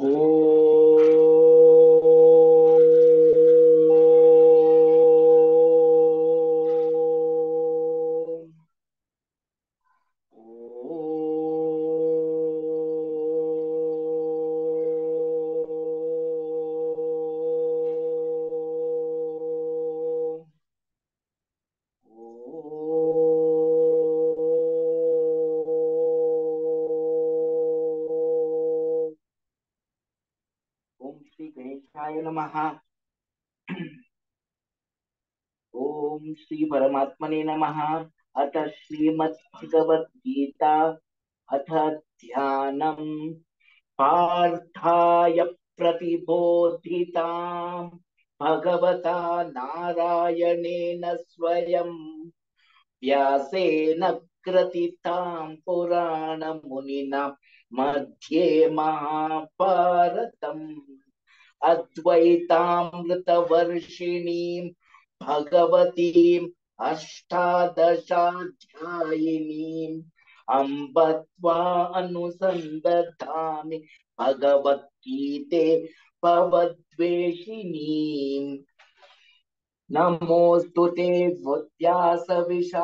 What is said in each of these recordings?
ॐ श्री गणेशाय नमः। ओम श्री परमात्मने नमः। अथ श्रीमद्भगवद्गीता अथ ध्यानम् पार्थाय प्रतिबोधिताम् भगवता नारायणेन स्वयं व्यासेन ग्रथिताम् पुराणमुनिना मध्ये महाभारतम् अद्वैतामृतवर्षिणीम् भगवतीम् अष्टादशाध्यायिनीम् अम्ब त्वा अनुसन्दधामि भगवद्गीते भवद्वेषिणीम्। नमोऽस्तु ते व्यासविशालबुद्धे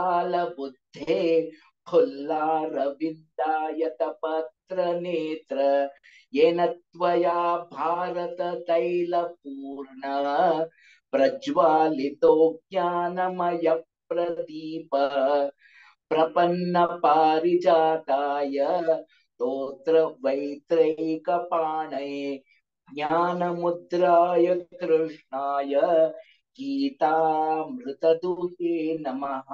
फुल्लारविन्दायतपत्रनेत्र येन त्वया भारततैलपूर्णः प्रज्वालितो ज्ञानमय प्रदीप प्रपन्नपारिजाताय स्तोत्रवैत्रैकपाणये ज्ञानमुद्राय कृष्णाय गीतामृतदुहे नमः।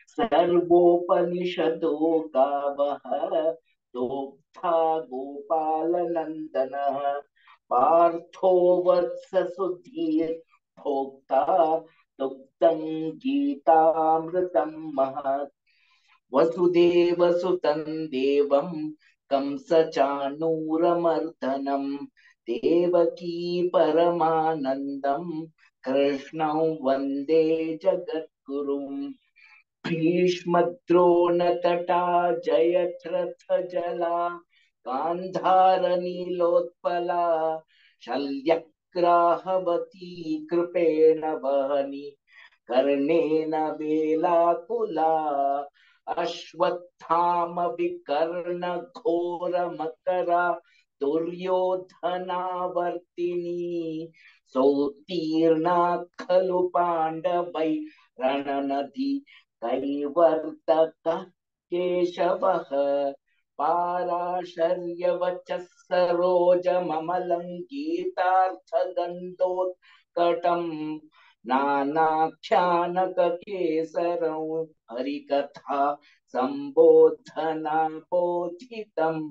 सर्वोपनिषदो गावः दोग्धा गोपालनन्दनः पार्थो वत्स सुधीर् भोक्ता दुग्धं गीतामृतं महत्। वसुदेवसुतं देवं कंसचाणूरमर्दनं देवकी परमानन्दं कृष्णं वन्दे जगद्गुरुम्। भीष्मद्रोणतटा जयद्रथजला गान्धारनीलोत्पला शल्यग्राहवती कृपेण वहनी कर्णेन वेलाकुला अश्वत्थाम विकर्ण घोर मकरा दुर्योधनावर्तिनी सोत्तीर्णा खलु पाण्डवै रणनदी कैवर्तकः केशवः पाराशर्यवचः सरोजममलं गीतार्थगन्धोत्कटम् नानाख्यानककेसरं हरिकथा सम्बोधना बोधितम्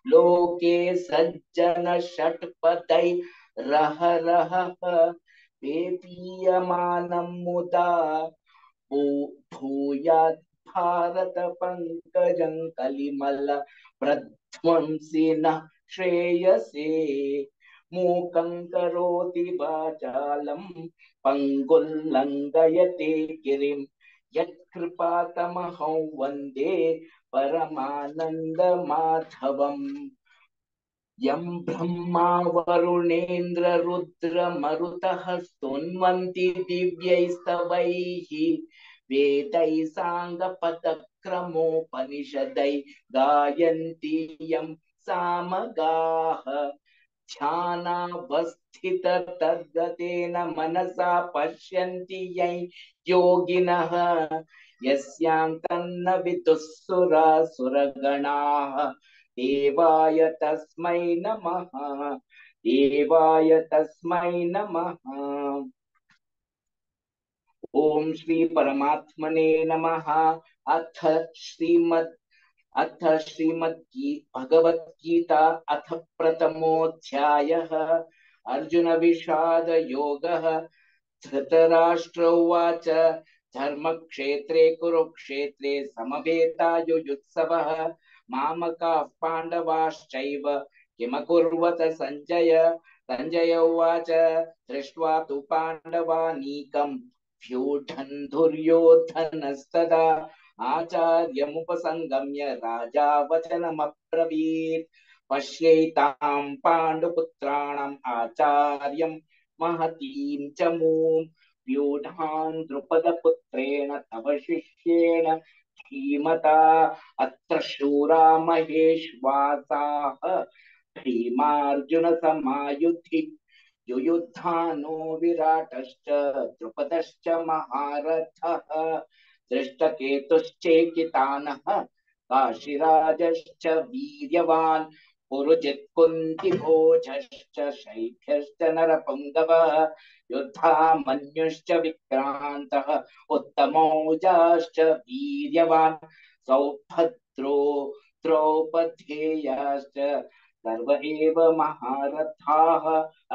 लोके सज्जन षट्पदै रह रह पेपीयमानं मुदा भूयात् भारत पंकजं कलिमल प्रध्वंसिनः श्रेयसे मूकं करोति वाचालं पंगुल्लंघयते गिरिं यत्कृपातमहं वन्दे परमानन्दमाधवम्। यं ब्रह्मा वरुणेन्द्र रुद्र मरुतः स्तुन्वन्ति दिव्यैस्तवैः वेदैः साङ्गपदक्रमोपनिषदै गायन्ति यं सामगाः ध्यानावस्थिततद्गतेन मनसा पश्यन्ति यं योगिनः यस्यां तन्न विदुःसुरासुरगणाः देवाय तस्मै नमः। देवाय तस्मै नमः। ओम श्री परमात्मने नमः। अथ श्रीमद् भगवद्गीता अथ प्रथमोऽध्यायः अर्जुन विषाद योगः। धृतराष्ट्र उवाच धर्मक्षेत्रे कुरुक्षेत्रे समवेतायुयुत्सवः मामकाः पाण्डवाश्चैव किमकुर्वत सञ्जय। सञ्जय उवाच दृष्ट्वा तु पाण्डवानीकं व्यूढन् दुर्योधनस्तदा आचार्यमुपसंगम्य राजा वचनमब्रवीत्। पश्यैतां पाण्डुपुत्राणाम् आचार्यं महतीं च मूं व्यूढां द्रुपदपुत्रेण तव शिष्येण धीमता अत्र शूरा महेश्वासाः भीमार्जुनसमायुधि युयुधानो विराटश्च द्रुपदश्च महारथः दृष्टकेतुश्चेकितानः काशीराजश्च वीर्यवान् पुरुजित् कुन्तिभोजश्च शैभ्यश्च नरपुङ्गवः युद्धामन्युश्च विक्रान्तः उत्तमौजाश्च वीर्यवान् सौभद्रो द्रौपदेयाश्च सर्व एव महारथाः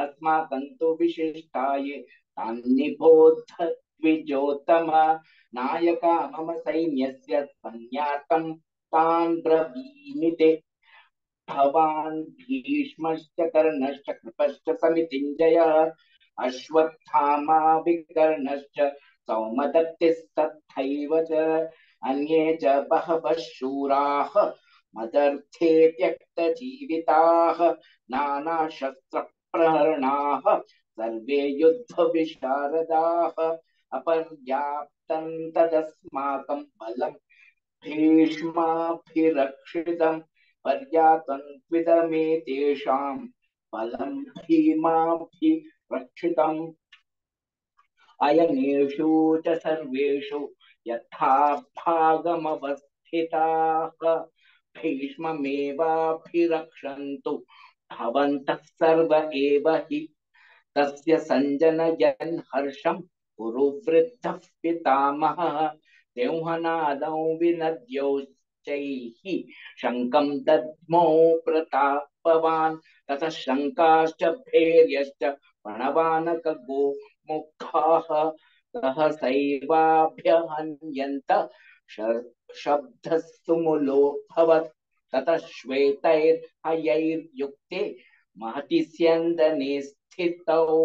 अस्माकं तु विशिष्टाये तान्निबोध द्विजोत्तम नायका मम सैन्यस्य सन्यासं तान् ब्रवीमि ते भवान् भीष्मश्च कर्णश्च कृपश्च समितिञ्जयः अश्वत्थामा विकर्णश्च सौमदत्तिस्तथैव च अन्ये च बहवः शूराः मदर्थे त्यक्तजीविताः नानाशस्त्रप्रहरणाः सर्वे युद्धविशारदाः अपर्याप्तं तदस्माकं बलं भीष्माभिरक्षितं पर्यातन्त्विदमेतेषां बलं भीमाभिरक्षितम् अयनेषु च सर्वेषु यथा भागमवस्थिताः भीष्ममेवाभिरक्षन्तु भवन्तः सर्व एव हि तस्य सञ्जनयन् हर्षं कुरुवृद्धः पितामहः सिंहनादौ विनद्योश्चैः शङ्खं दद्मौ प्रतापवान् ततः शङ्काश्च भैर्यश्च प्रणवानकगो मुखाः सहसैवाभ्यहन्यन्त शब्दस्तु मुलोऽभवत् ततः श्वेतैर्हयैर्युक्ते महति स्यन्दने स्थितौ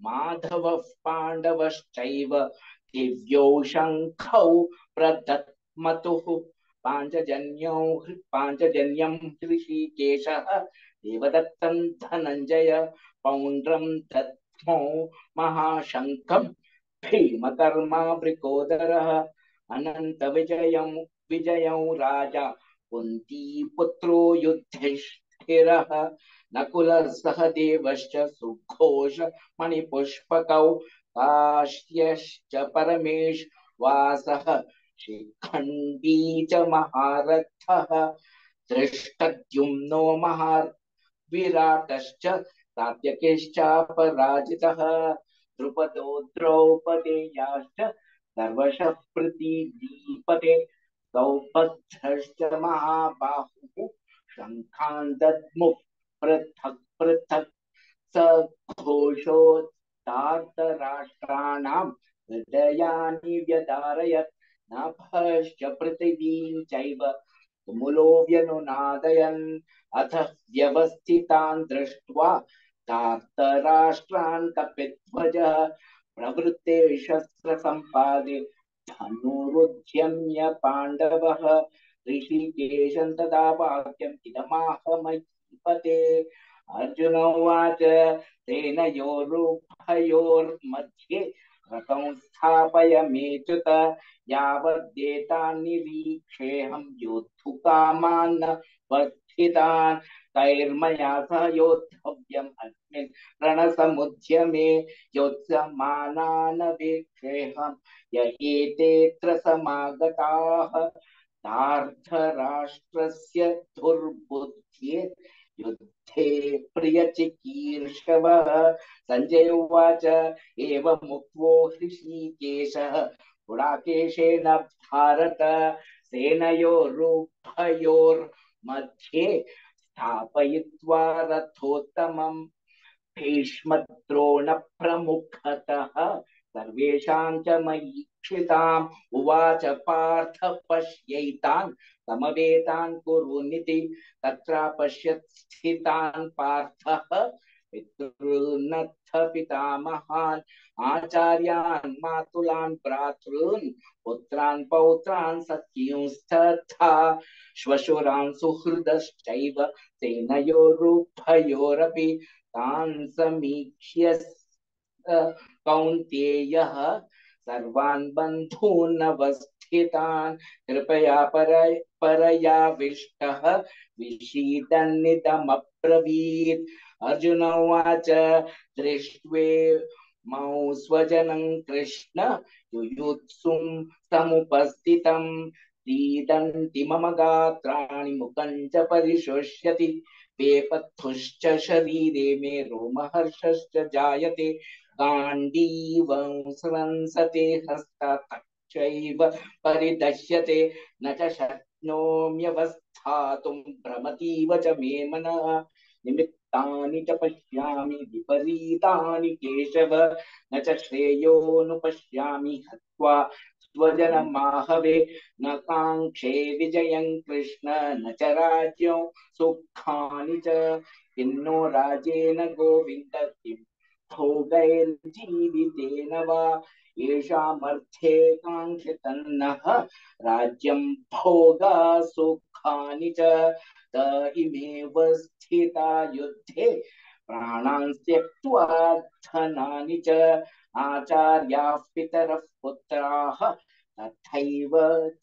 माधवः पाण्डवश्चैव दिव्यौ शङ्खौ प्रदत्मतुः पाञ्चजन्यं ऋषिकेशः देवदत्तं धनञ्जय पौण्ड्रं दद्मौ महाशङ्खं भीमकर्मावृकोदरः विजयं राजा कुन्तीपुत्रो युधिष्ठिरः नकुलः सहदेवश्च सुघोष मणिपुष्पकौ काश्यश्च परमेश्वासः शिखण्डी च महारथः धृष्टद्युम्नो महाविराटश्च सात्यकिश्चापराजितः द्रुपदो द्रौपदेयाश्च सर्वशः प्रतिदीपते सौभद्रश्च महाबाहुः शङ्खान् दद्मुः पृथक् पृथक् सघोषोत्तार्तराष्ट्राणां हृदयानि व्यधारयत् नभश्च पृथिवीं चैव तुमुलो व्यनुनादयन् अथ व्यवस्थितान् दृष्ट्वा धार्तराष्ट्रान् कपिध्वजः प्रवृत्ते शस्त्रसम्पादे धनुरुद्यम्य पाण्डवः ऋषिकेशं तदा वाक्यम् इदमाह महीपते अर्जुन उवाच सेनयोरुभयोर्मध्ये रथं स्थापयमेच्युत यावद्देतान्निरीक्षेऽहं योद्धुकामान् वर्धितान् तैर्मया सह योद्धव्यम् अस्मिन् रणसमुद्यमे योत्स्यमानान् वीक्षेऽहं य एतेऽत्र समागताः धार्तराष्ट्रस्य दुर्बुद्धे युद्धे प्रियचिकीर्षवः संजय उवाच एवमुक्तो ऋषिकेशः गुडाकेशेन भारत सेनयोरुभयोर्मध्ये स्थापयित्वा रथोत्तमम् भीष्मद्रोणप्रमुखतः सर्वेषां च महीक्षिताम् उवाच पार्थ पश्यैतान् समवेतान् कुरुनिति तत्र पश्यत् स्थितान् पार्थः पितॄन्नथ पितामहान् आचार्यान् मातुलान् भ्रातॄन् पुत्रान् पौत्रान् सख्युंस्तथा श्वशुरान् सुहृदश्चैव सेनयोरुभयोरपि तान् समीक्ष्य कौन्तेयः सर्वान् बन्धूनवस्थितान् कृपया परयाविष्टः विषीदन्निदमब्रवीत् अर्जुन उवाच दृष्ट्वे मौ स्वजनं कृष्ण युयुत्सुं समुपस्थितं सीदन्ति मम गात्राणि मुखं च परिशोष्यति वेपथुश्च शरीरे मे रोमहर्षश्च जायते गाण्डीवं स्रंसते हस्ताच्चैव परिदश्यते न च शक्नोम्यवस्थातुं भ्रमतीव च मे मनः निमित्तानि च पश्यामि विपरीतानि केशव न च श्रेयोनुपश्यामि हत्वा स्वजनमाहवे न काङ्क्षे विजयं कृष्ण न च राज्यं सुखानि च किन्नो राजेन गोविन्द किं भोगैर्जीवितेन वा येषामर्थे काङ्क्षितन्नः राज्यं भोगा सुखानि च त इमेव स्थिता युद्धे प्राणान् त्यक्त्वा धनानि च आचार्याः पितरः पुत्राः तथैव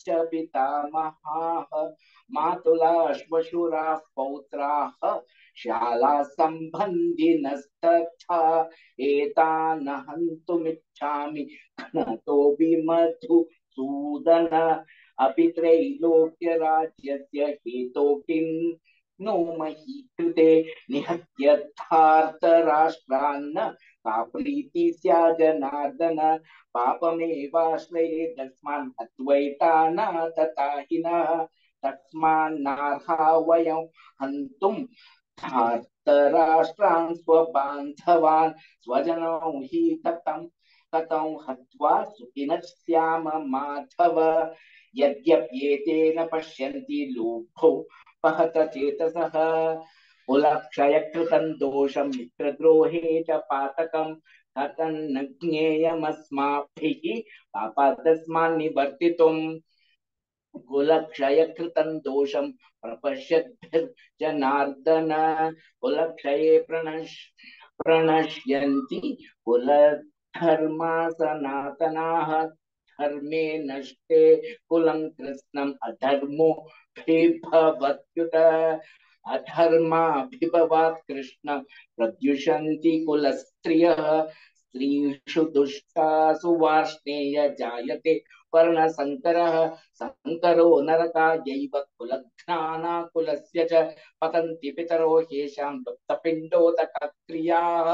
च पितामहाः मातुलाश्वशुराः पौत्राः शालाः सम्बन्धिनस्तथा एतान् हन्तुमिच्छामि घ्नतोऽपि मधुसूदन अपि त्रैलोक्यराज्यस्य हेतो किं नो मही कृते निहत्यर्थार्तराष्ट्रान्न का प्रीति स्या जनार्दन पापमेवाश्रये तस्मान् हत्वैतानातताहिनः तस्मान्नार्हा वयं हन्तुं धार्तराष्ट्रान् स्वबान्धवान् स्वजनौ हि कथं हत्वा सुखिनः स्याम माधव यद्यप्येतेन पश्यन्ति लोभो पहत चेतसः कुलक्षयकृतं दोषं मित्रद्रोहे च पातकं कथन्न ज्ञेयमस्माभिः पापादस्मान्निवर्तितुम् कुलक्षयकृतं दोषं प्रपश्यद्भिर्जनार्दन कुलक्षये प्रणश्यन्ति कुलधर्मा सनातनाः धर्मे नष्टे कुलं कृत्स्नम् अधर्मो भिभवत्युत अधर्माभिभवात् कृष्ण प्रद्युषन्ति कुलस्त्रियः स्त्रीषु दुष्टासु वार्ष्णेय जायते वर्णसङ्करः संकरो नरकायैव कुलघ्नानाकुलस्य च पतन्ति पितरो ह्येषां लुप्तपिण्डोदकक्रियाः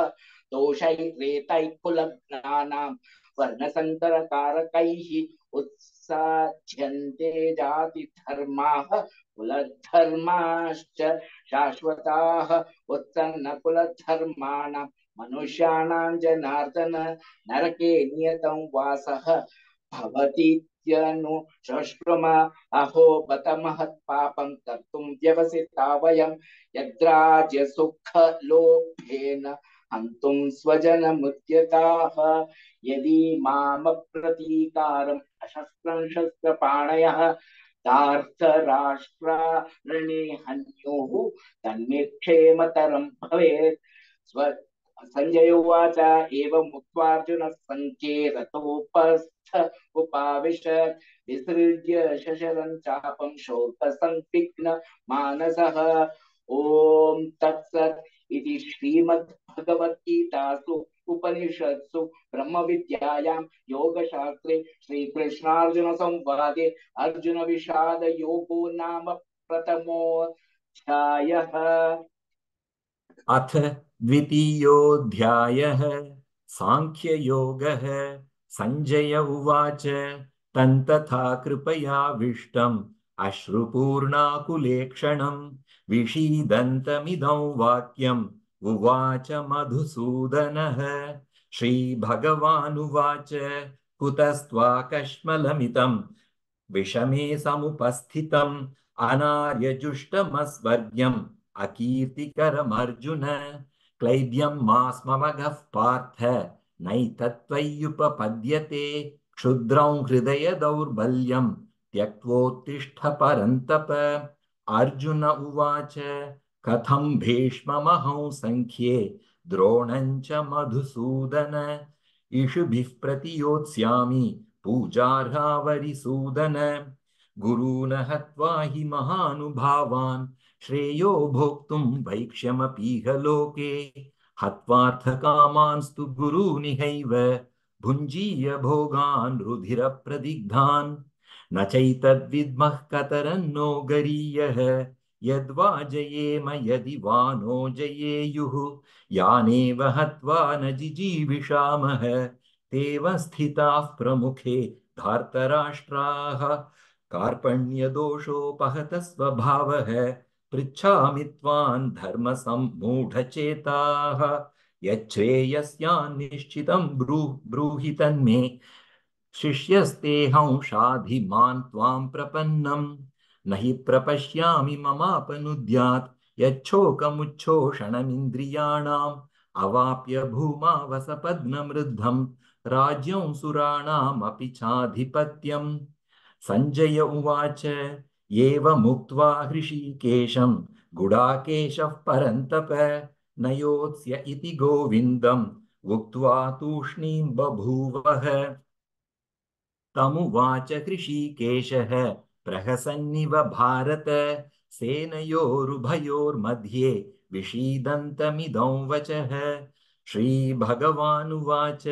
दोषैरेतैः कुलघ्नानां वर्णसङ्करकारकैः उत्साध्यन्ते जातिधर्माः कुलधर्माश्च शाश्वताः उत्सन्नकुलधर्माणां मनुष्याणां जनार्दन नरके नियतं वासः भवतीत्यनुशश्रुम अहो बत महत्पापं कर्तुं व्यवसिता वयं यद्राज्यसुखलोभेन हन्तुं स्वजनमुद्यताः यदि मामप्रतीकारम् अशस्त्रं शस्त्रपाणयः धार्तराष्ट्रारणे हन्युः तन्मे क्षेमतरं भवेत् संजय उवाच एवमुक्त्वार्जुनः सङ्केततोपस्थ उपाविशत् विसृज्य शशरं चापं शोकसंविघ्न मानसः ॐ तत्सत् इति श्रीमद्भगवद्गीतासु उपनिषत्सु ब्रह्मविद्यायां योगशास्त्रे श्रीकृष्णार्जुनसंवादे अर्जुनविषादयोगो नाम प्रथमोऽध्यायः। अथ द्वितीयोऽध्यायः सांख्ययोगः। संजय उवाच तन्तथा कृपयाविष्टम् अश्रुपूर्णाकुलेक्षणं विषीदन्तमिदं वाक्यम् उवाच मधुसूदनः। श्रीभगवानुवाच कुतस्त्वाकश्मलमितं विषमे समुपस्थितम् अनार्यजुष्टमस्वर्ग्यम् अकीर्तिकरमर्जुन। क्लैब्यं मास्मवगः पार्थ नैतत्त्वय्युपपद्यते क्षुद्रं हृदय दौर्बल्यं त्यक्त्वोत्तिष्ठ परन्तप अर्जुन उवाच कथं भीष्ममहं संख्ये द्रोणं च मधुसूदन इषुभिः प्रतियोत्स्यामि पूजार्हावरिसूदन गुरून् हत्वा हि महानुभावान् श्रेयो भोक्तुं भैक्ष्यमपीह लोके हत्वार्थकामांस्तु गुरूनिहैव भुञ्जीय भोगान् रुधिरप्रदिग्धान् न चैतद्विद्मः कतरन्नो गरीयः यद्वा जयेम यदि वा नो जयेयुः यानेव हत्वा न जिजीविषामः तेव स्थिताः प्रमुखे धार्तराष्ट्राः कार्पण्यदोषोपहत स्वभावः पृच्छामि त्वां धर्मसम्मूढचेताः यच्छ्रेयस्यान्निश्चितं ब्रूहि तन्मे शिष्यस्तेऽहं शाधिमान् त्वां प्रपन्नम् न हि प्रपश्यामि ममापनुद्यात् यच्छोकमुच्छोषणमिन्द्रियाणाम् अवाप्य भूमा वसपद्ममृद्धं राज्यं सुराणामपि चाधिपत्यम् सञ्जय उवाच एवमुक्त्वा हृषीकेशं गुडाकेशः परन्तप न योत्स्य इति गोविन्दम् उक्त्वा तूष्णीं बभूवः तमुवाच हृषीकेशः प्रहसन्निव भारत सेनयोरुभयोर्मध्ये विषीदन्तमिदं वचः श्रीभगवानुवाच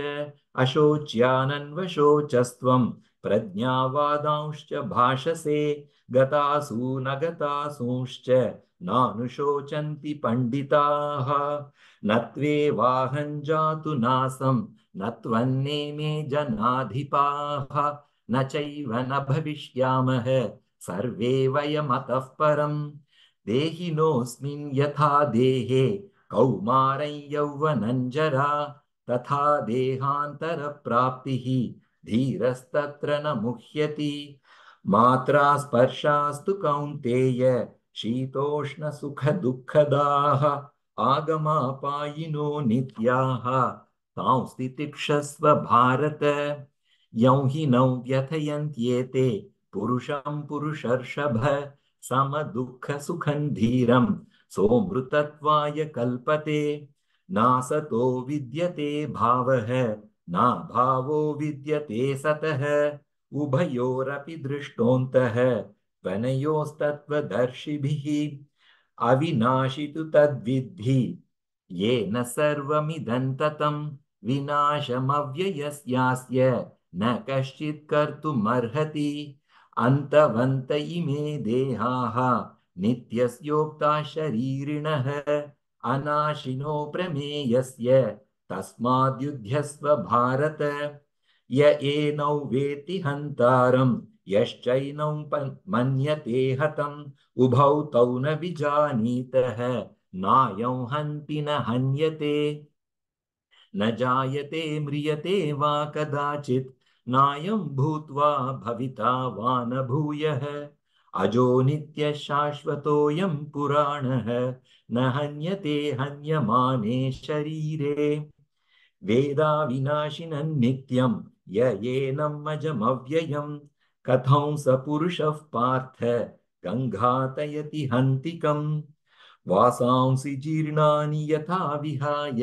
अशोच्यानन्वशोचस्त्वं प्रज्ञावादांश्च भाषसे गतासु न गतासूंश्च नानुशोचन्ति पण्डिताः न त्वेवाहं जातु नासं न त्वन्नेमे जनाधिपाः न चैव न भविष्यामः सर्वे वयमतः परम् देहिनोऽस्मिन् यथा देहे कौमारं यौवनं जरा तथा देहान्तरप्राप्तिः धीरस्तत्र न मुह्यति मात्रा स्पर्शास्तु कौन्तेय शीतोष्णसुखदुःखदाः आगमापायिनो नित्याः तांस्ति तिक्षस्व भारत यं हि नौ व्यथयन्त्येते पुरुषं पुरुषर्षभ समदुःखसुखं धीरं सोऽमृतत्वाय कल्पते नासतो विद्यते भावः नाभावो विद्यते सतः उभयोरपि दृष्टोऽन्तः त्वनयोस्तत्त्वदर्शिभिः अविनाशि तु तद्विद्धि येन सर्वमिदं ततं विनाशमव्ययस्यास्य न कश्चित् कर्तुमर्हति अन्तवन्त इमे देहाः नित्यस्योक्ता शरीरिणः अनाशिनो प्रमेयस्य तस्माद्युध्यस्व भारत य एनौ वेति हन्तारं यश्चैनं मन्यते हतम् उभौ तौ न विजानीतः नायं हन्ति न हन्यते न जायते म्रियते वा कदाचित् नायं भूत्वा भविता वा न भूयः अजो नित्यः शाश्वतोऽयं पुराणः न हन्यते हन्यमाने शरीरे वेदा विनाशिनं नित्यं य एनम् अजमव्ययं कथं स पुरुषः पार्थ गङ्घातयति हन्तिकम् वासांसि जीर्णानि यथा विहाय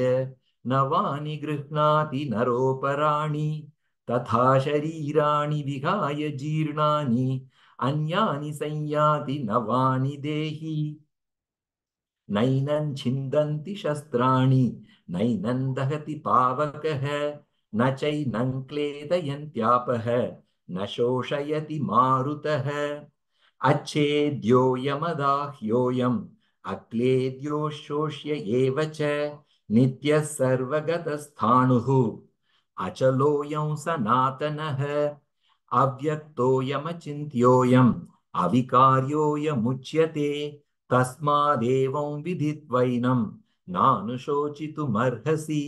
नवानि गृह्णाति नरोपराणि तथा शरीराणि विहाय जीर्णानि अन्यानि संयाति नवानि देहि नैनं छिन्दन्ति शस्त्राणि नैनं दहति पावकः न चैनं क्लेदयन्त्यापः न शोषयति मारुतः अच्छेद्योऽयमदाह्योऽयम् अक्लेद्यो शोष्य एव च नित्यः सर्वगतस्थाणुः अचलोऽयं सनातनः अव्यक्तोऽयमचिन्त्योऽयम् अविकार्योऽयमुच्यते तस्मादेवं विदित्वैनं नानुशोचितुमर्हसि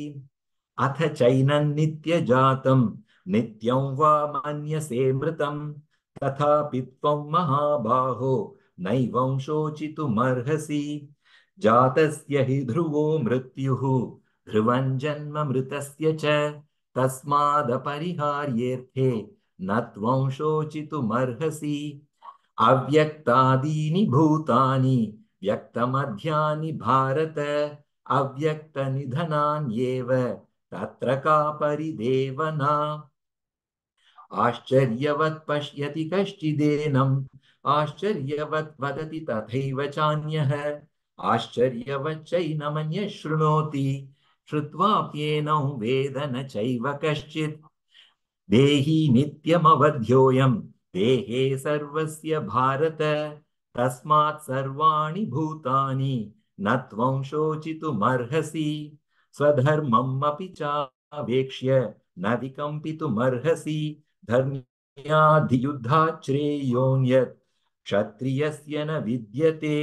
अथ चैनं नित्यजातं नित्यं वा मन्यसे मृतं तथापि त्वं महाबाहो नैवं शोचितुमर्हसि जातस्य हि ध्रुवो मृत्युः ध्रुवं जन्म मृतस्य च तस्मादपरिहार्येऽर्थे न त्वं शोचितुमर्हसि अव्यक्तादीनि भूतानि व्यक्तमध्यानि भारत अव्यक्तनिधनान्येव तत्र का परिदेवना आश्चर्यवत् पश्यति कश्चिदेनम् आश्चर्यवत् वदति तथैव चान्यः आश्चर्यवच्चैनमन्यः शृणोति श्रुत्वाप्येनं वेद न चैव कश्चित् देहि नित्यमवध्योऽयं देहे सर्वस्य भारत तस्मात् सर्वाणि भूतानि न त्वं शोचितुमर्हसि स्वधर्मम् अपि चावेक्ष्य न विकम्पितुमर्हसि धर्म्याधियुद्धात् श्रेयोऽन्यत् क्षत्रियस्य न विद्यते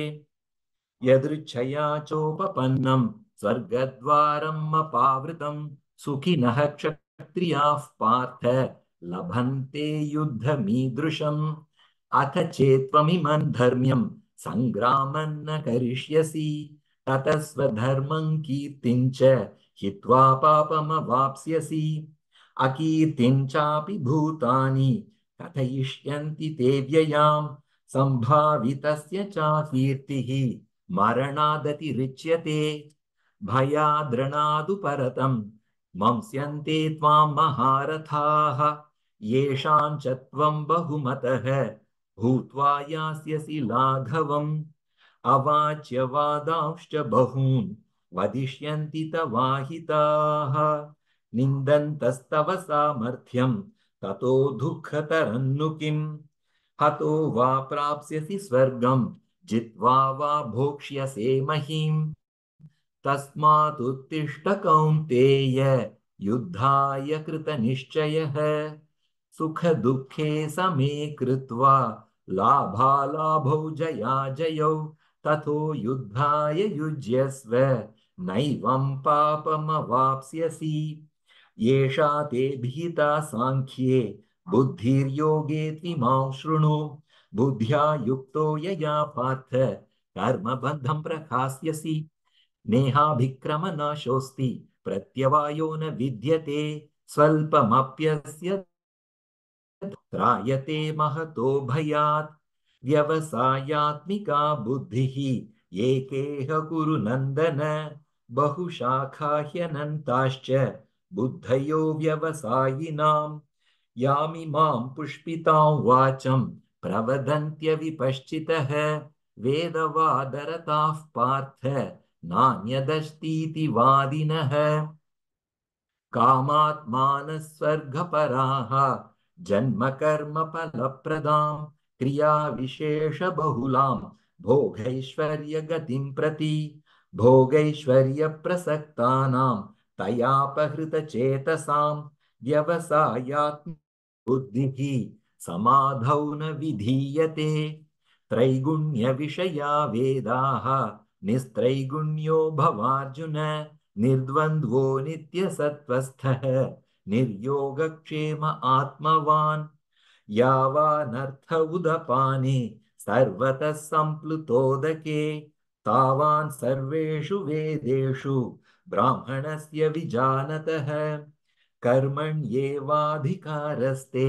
यदृच्छया चोपपन्नं स्वर्गद्वारम् अपावृतं सुखिनः क्षत्रियाः पार्थ लभन्ते युद्धमीदृशम् अथ चेत्त्वमिमं धर्म्यं सङ्ग्रामं न करिष्यसि ततः स्वधर्मं कीर्तिं च हित्वा पापमवाप्स्यसि अकीर्तिं चापि भूतानि कथयिष्यन्ति ते व्ययाम् सम्भावितस्य चाकीर्तिः मरणादतिरिच्यते भयाद्रणादु परतं मंस्यन्ते त्वां महारथाः येषां च त्वं बहुमतः भूत्वा यास्यसि लाघवम् अवाच्यवादांश्च बहून् वदिष्यन्ति तवाहिताः निन्दन्तस्तव सामर्थ्यं ततो दुःखतरन्नु किम् हतो वा प्राप्स्यसि स्वर्गं जित्वा वा भोक्ष्यसे महीम् तस्मादुत्तिष्ठ कौन्तेय युद्धाय कृतनिश्चयः सुखदुःखे समे कृत्वा लाभालाभौ जयाजयौ ततो युद्धाय युज्यस्व नैवं पापमवाप्स्यसि येषा ते भीता सांख्ये बुद्धिर्योगे त्विमां शृणु बुद्ध्या युक्तो यया पार्थ कर्मबन्धं प्रहास्यसि नेहाभिक्रमनाशोऽस्ति प्रत्यवायो न विद्यते स्वल्पमप्यस्य त्रायते महतो भयात् व्यवसायात्मिका बुद्धिः एकेह कुरु नन्दन बहुशाखा ह्यनन्ताश्च बुद्धयो व्यवसायिनाम् यामिमां पुष्पितां वाचं प्रवदन्त्यविपश्चितः वेदवादरताः पार्थ नान्यदस्तीति वादिनः कामात्मानः स्वर्गपराः जन्मकर्मफलप्रदां क्रियाविशेषबहुलां भोगैश्वर्यगतिं प्रति भोगैश्वर्यप्रसक्तानां तयापहृतचेतसां व्यवसायात्म बुद्धिः समाधौ न विधीयते त्रैगुण्यविषया वेदाः निस्त्रैगुण्यो भवार्जुन निर्द्वन्द्वो नित्यसत्त्वस्थः निर्योगक्षेम आत्मवान् यावानर्थ उदपाने सर्वतः सम्प्लुतोदके तावान् सर्वेषु वेदेषु ब्राह्मणस्य विजानतः कर्मण्येवाधिकारस्ते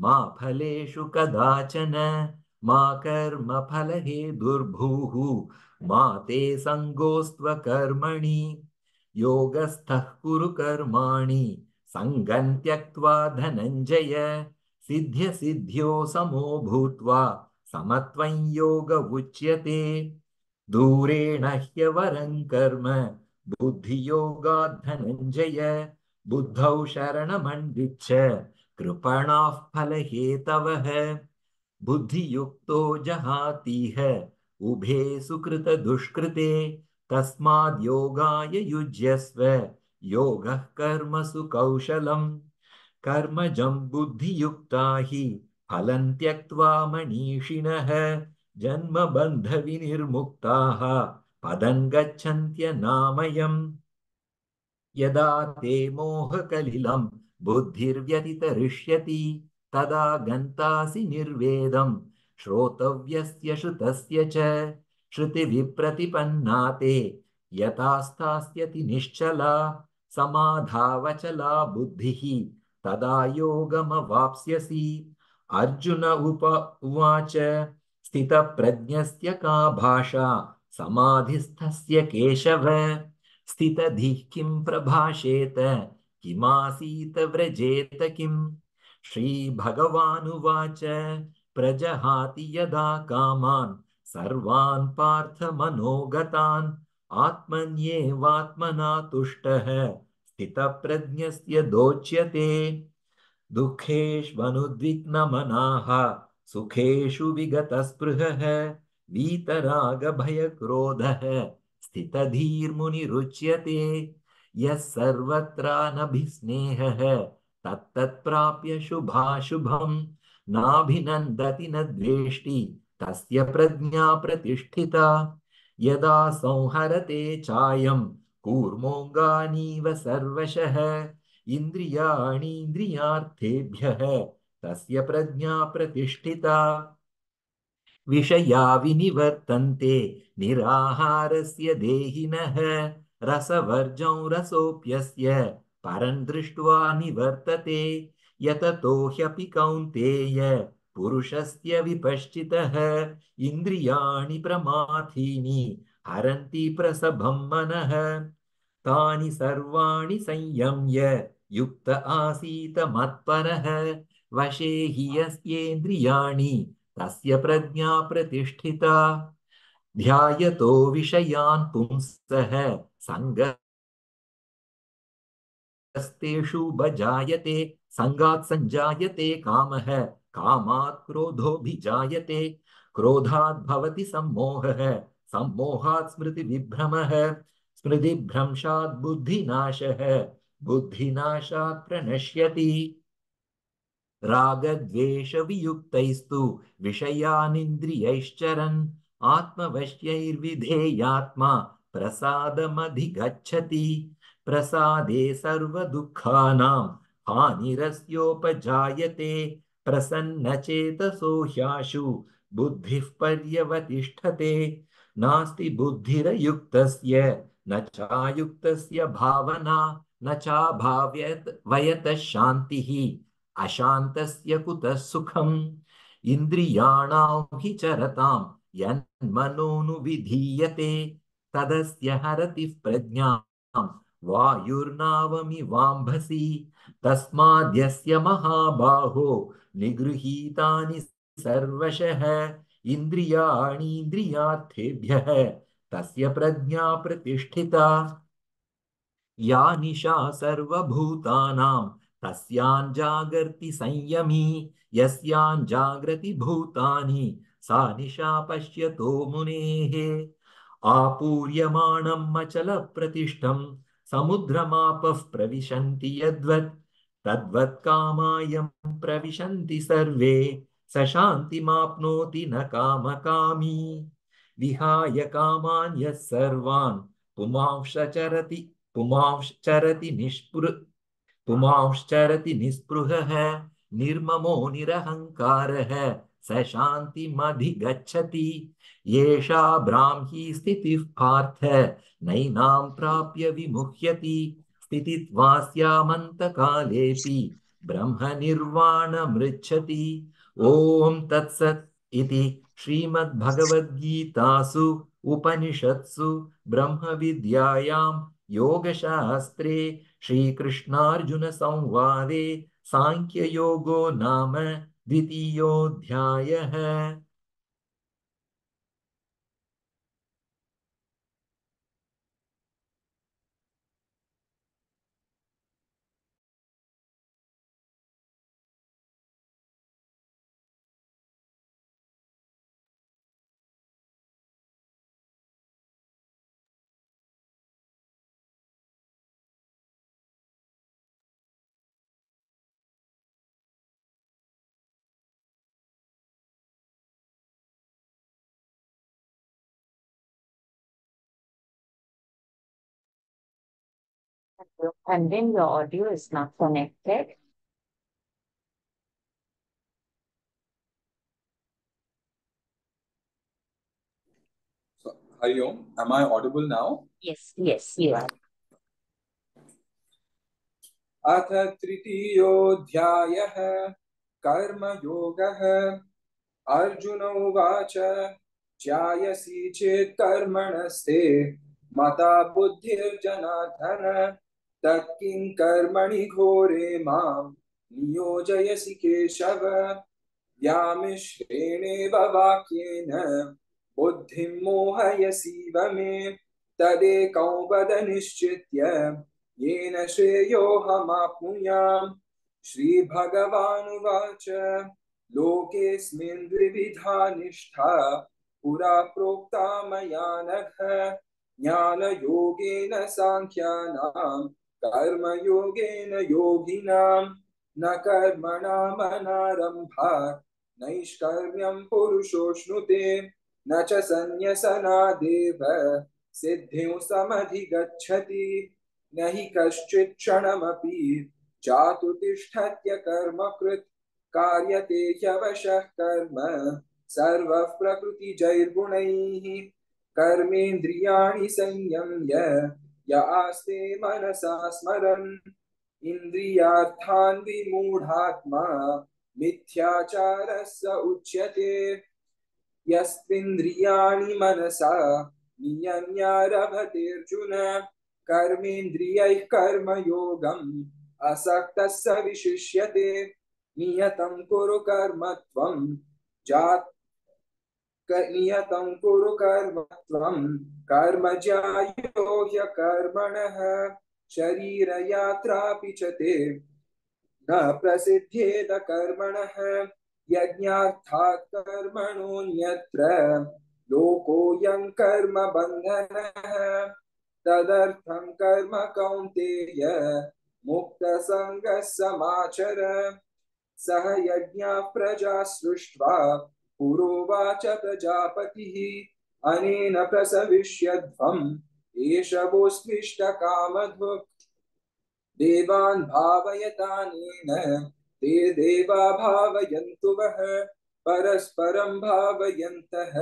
मा फलेषु कदाचन मा कर्मफलहे दुर्भूः मा ते सङ्गोऽस्त्वकर्मणि योगस्थः कुरु कर्माणि सङ्गं त्यक्त्वा धनञ्जय सिद्ध्यसिद्ध्यो समो भूत्वा समत्वं योग उच्यते दूरेण ह्यवरं कर्म बुद्धियोगात् धनञ्जय बुद्धौ शरणमन्विच्छ कृपणाः फलहेतवः बुद्धियुक्तो जहातीह उभे सुकृतदुष्कृते तस्माद् योगाय युज्यस्व योगः कर्मसु कौशलम् कर्मजं बुद्धियुक्ता हि फलं त्यक्त्वा मनीषिणः जन्मबन्धविनिर्मुक्ताः पदं गच्छन्त्यनामयम् यदा ते मोहकलिलं बुद्धिर्व्यतितरिष्यति तदा गन्तासि निर्वेदं श्रोतव्यस्य श्रुतस्य च श्रुतिविप्रतिपन्ना ते यथा स्थास्यति निश्चला समाधावचला बुद्धिः तदा योगमवाप्स्यसि। अर्जुन उवाच स्थितप्रज्ञस्य का भाषा समाधिस्थस्य केशव स्थितधिः किं प्रभाषेत किमासीत व्रजेत किम्। श्रीभगवानुवाच प्रजहाति यदा कामान् सर्वान् पार्थमनोगतान् आत्मन्येवात्मना तुष्टः स्थितप्रज्ञस्य दोच्यते। दुःखेष्वनुद्विग्नमनाः सुखेषु विगतस्पृहः वीतरागभयक्रोधः स्थितधीर्मुनिरुच्यते। यः सर्वत्रानभिस्नेहः तत्तत्प्राप्य शुभाशुभम् नाभिनन्दति न द्वेष्टि तस्य प्रज्ञा प्रतिष्ठिता। यदा संहरते चायं कूर्मोऽङ्गानीव सर्वशः इन्द्रियाणीन्द्रियार्थेभ्यः तस्य प्रज्ञा प्रतिष्ठिता। विषया विनिवर्तन्ते निराहारस्य देहिनः रसवर्जं रसोऽप्यस्य परं दृष्ट्वा निवर्तते। यततो ह्यपि कौन्तेय पुरुषस्य विपश्चितः इन्द्रियाणि प्रमाथीनि हरन्ति प्रसभं मनः। तानि सर्वाणि संयम्य युक्त आसीत मत्परः वशे हि यस्येन्द्रियाणि तस्य प्रज्ञा प्रतिष्ठिता। ध्यायतो विषयान् पुंसः सङ्गस्तेषु भजायते सङ्गात् सञ्जायते कामः कामात् क्रोधोऽभिजायते क्रोधात् भवति सम्मोहः सम्मोहात् स्मृतिविभ्रमः स्मृतिभ्रंशात् बुद्धिनाशः बुद्धिनाशात् प्रणश्यति। रागद्वेषवियुक्तैस्तु विषयानिन्द्रियैश्चरन् आत्मवश्यैर्विधेयात्मा प्रसादमधिगच्छति। प्रसादे सर्वदुःखानां हानिरस्योपजायते प्रसन्नचेतसो ह्याशु बुद्धिः पर्यवतिष्ठते। नास्ति बुद्धिरयुक्तस्य न चायुक्तस्य भावना न चाभाव्यत वयतः शान्तिः अशान्तस्य कुतः सुखम्। इन्द्रियाणां हि चरतां यन्मनोनुविधीयते तदस्य हरति प्रज्ञां वायुर्नावमिवाम्भसि। तस्माद्यस्य महाबाहो निगृहीतानि सर्वशः इन्द्रियाणीन्द्रियार्थेभ्यः तस्य प्रज्ञा प्रतिष्ठिता। या निशा सर्वभूतानां तस्यां जागर्ति संयमी यस्यां जागृति भूतानि सा निशा पश्यतो मुनेः। आपूर्यमाणम् अचलप्रतिष्ठं समुद्रमापः प्रविशन्ति यद्वत् तद्वत् कामायं प्रविशन्ति सर्वे स शान्तिमाप्नोति न कामकामी। विहाय कामान् यः सर्वान् पुमांश्चरति निःस्पृहः निर्ममो निरहङ्कारः स शान्तिमधिगच्छति। येषा ब्राह्मी स्थितिः पार्थ नैनां प्राप्य विमुह्यति स्थितित्वास्यामन्तकालेऽपि ब्रह्मनिर्वाणमृच्छति। ॐ तत्सत् इति श्रीमद्भगवद्गीतासु उपनिषत्सु ब्रह्मविद्यायां योगशास्त्रे श्रीकृष्णार्जुनसंवादे सांख्ययोगो नाम द्वितीयोऽध्यायः। And then your audio is not connected. Hari Om. Am I audible now? Yes, yes, you are. अथ तृतीयोऽध्यायः कर्मयोगः। अर्जुन उवाच ज्यायसि चेत् कर्मणस्ते मता बुद्धिर्जनार्दन तत्किं कर्मणि घोरे मां नियोजयसि केशव। व्यामिश्रेणेव वाक्येन बुद्धिं मोहयसीव मे तदेकं वद निश्चित्य येन श्रेयोऽहमाप्नुयाम्। श्रीभगवानुवाच लोकेऽस्मिन् द्विविधा निष्ठा पुरा प्रोक्ता मया नघ ज्ञानयोगेन साङ्ख्यानां कर्मयोगेन योगिनां न कर्मणामनारम्भात् नैष्कर्म्यं पुरुषोऽश्नुते न च सन्न्यसनादेव सिद्धिं समधिगच्छति न हि कश्चित् क्षणमपि जातु तिष्ठत्य कर्मकृत् कार्यते ह्यवशः कर्म सर्वः प्रकृतिजैर्गुणैः कर्मेन्द्रियाणि संयम्य य आस्ते मनसा स्मरन् इन्द्रियार्थान् विमूढात्मा मिथ्याचारः स उच्यते। यस्त्विन्द्रियाणि मनसा नियम्यारभतेऽर्जुन कर्मेन्द्रियैः कर्मयोगम् असक्तः स विशिष्यते। नियतं कुरु कर्म त्वं कर्म ज्यायो ह्यकर्मणः शरीरयात्रापि च ते न प्रसिद्ध्येद कर्मणः यज्ञार्थात् कर्मणोऽन्यत्र लोकोऽयं कर्म बन्धनः तदर्थं कर्म कौन्तेय मुक्तसङ्गः समाचर। सह यज्ञाः प्रजा सृष्ट्वा पुरोवाच प्रजापतिः अनेन प्रसविष्यध्वम् एष वोऽस्मिष्टकामधुक् देवान् भावयतानेन ते देवा भावयन्तु वः परस्परं भावयन्तः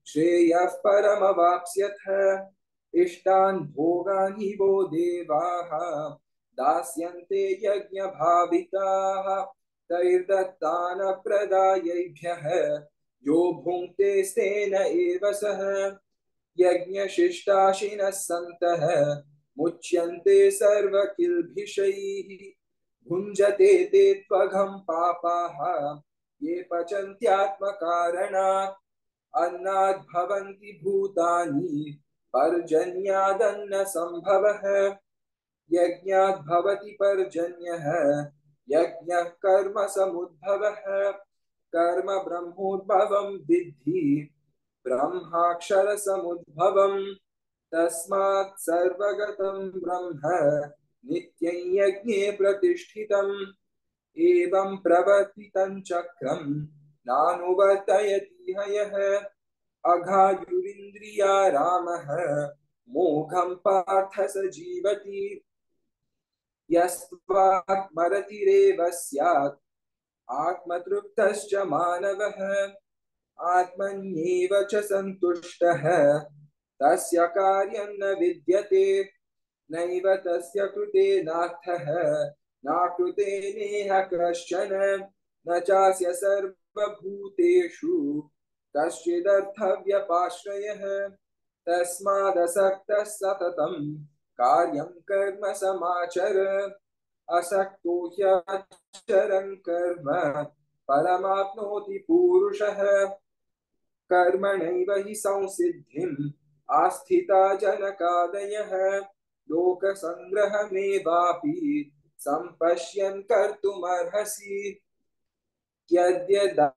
श्रेयः परमवाप्स्यथ। इष्टान् भोगान् हि वो देवाः दास्यन्ते यज्ञभाविताः तैर्दत्तान् प्रदायैभ्यः यो भुङ्क्ते स्तेन एव सः। यज्ञशिष्टाशिनः सन्तः मुच्यन्ते सर्वकिल्बिषैः भुञ्जते ते त्वघं पापाः ये पचन्त्यात्मकारणात् अन्नाद् भवन्ति भूतानि पर्जन्यादन्न संभवः यज्ञाद् भवति पर्जन्यः यज्ञः कर्म समुद्भवः कर्म ब्रह्मोद्भवं विद्धि ब्रह्माक्षर समुद्भवम् तस्मात् सर्वगतं ब्रह्म नित्यं यज्ञे प्रतिष्ठितम् एवं प्रवर्तितं चक्रं नानुवर्तयति हयः अघायुरिन्द्रिया रामः मोघं पार्थ स जीवति यस्त्वात्मरतिरेव स्यात् आत्मतृप्तश्च मानवः आत्मन्येव च सन्तुष्टः तस्य कार्यं न विद्यते नैव तस्य कृते नार्थः नाकृते नेह कश्चन न चास्य सर्वभूतेषु कश्चिदर्थव्यपाश्रयः तस्मादसक्तः सततं कार्यं कर्म समाचर असक्तो ह्यचरन् कर्म परमाप्नोति पूरुषः कर्मणैव हि संसिद्धिम् आस्थिता जनकादयः लोकसङ्ग्रहमेवापि सम्पश्यन् कर्तुमर्हसि यद्यदा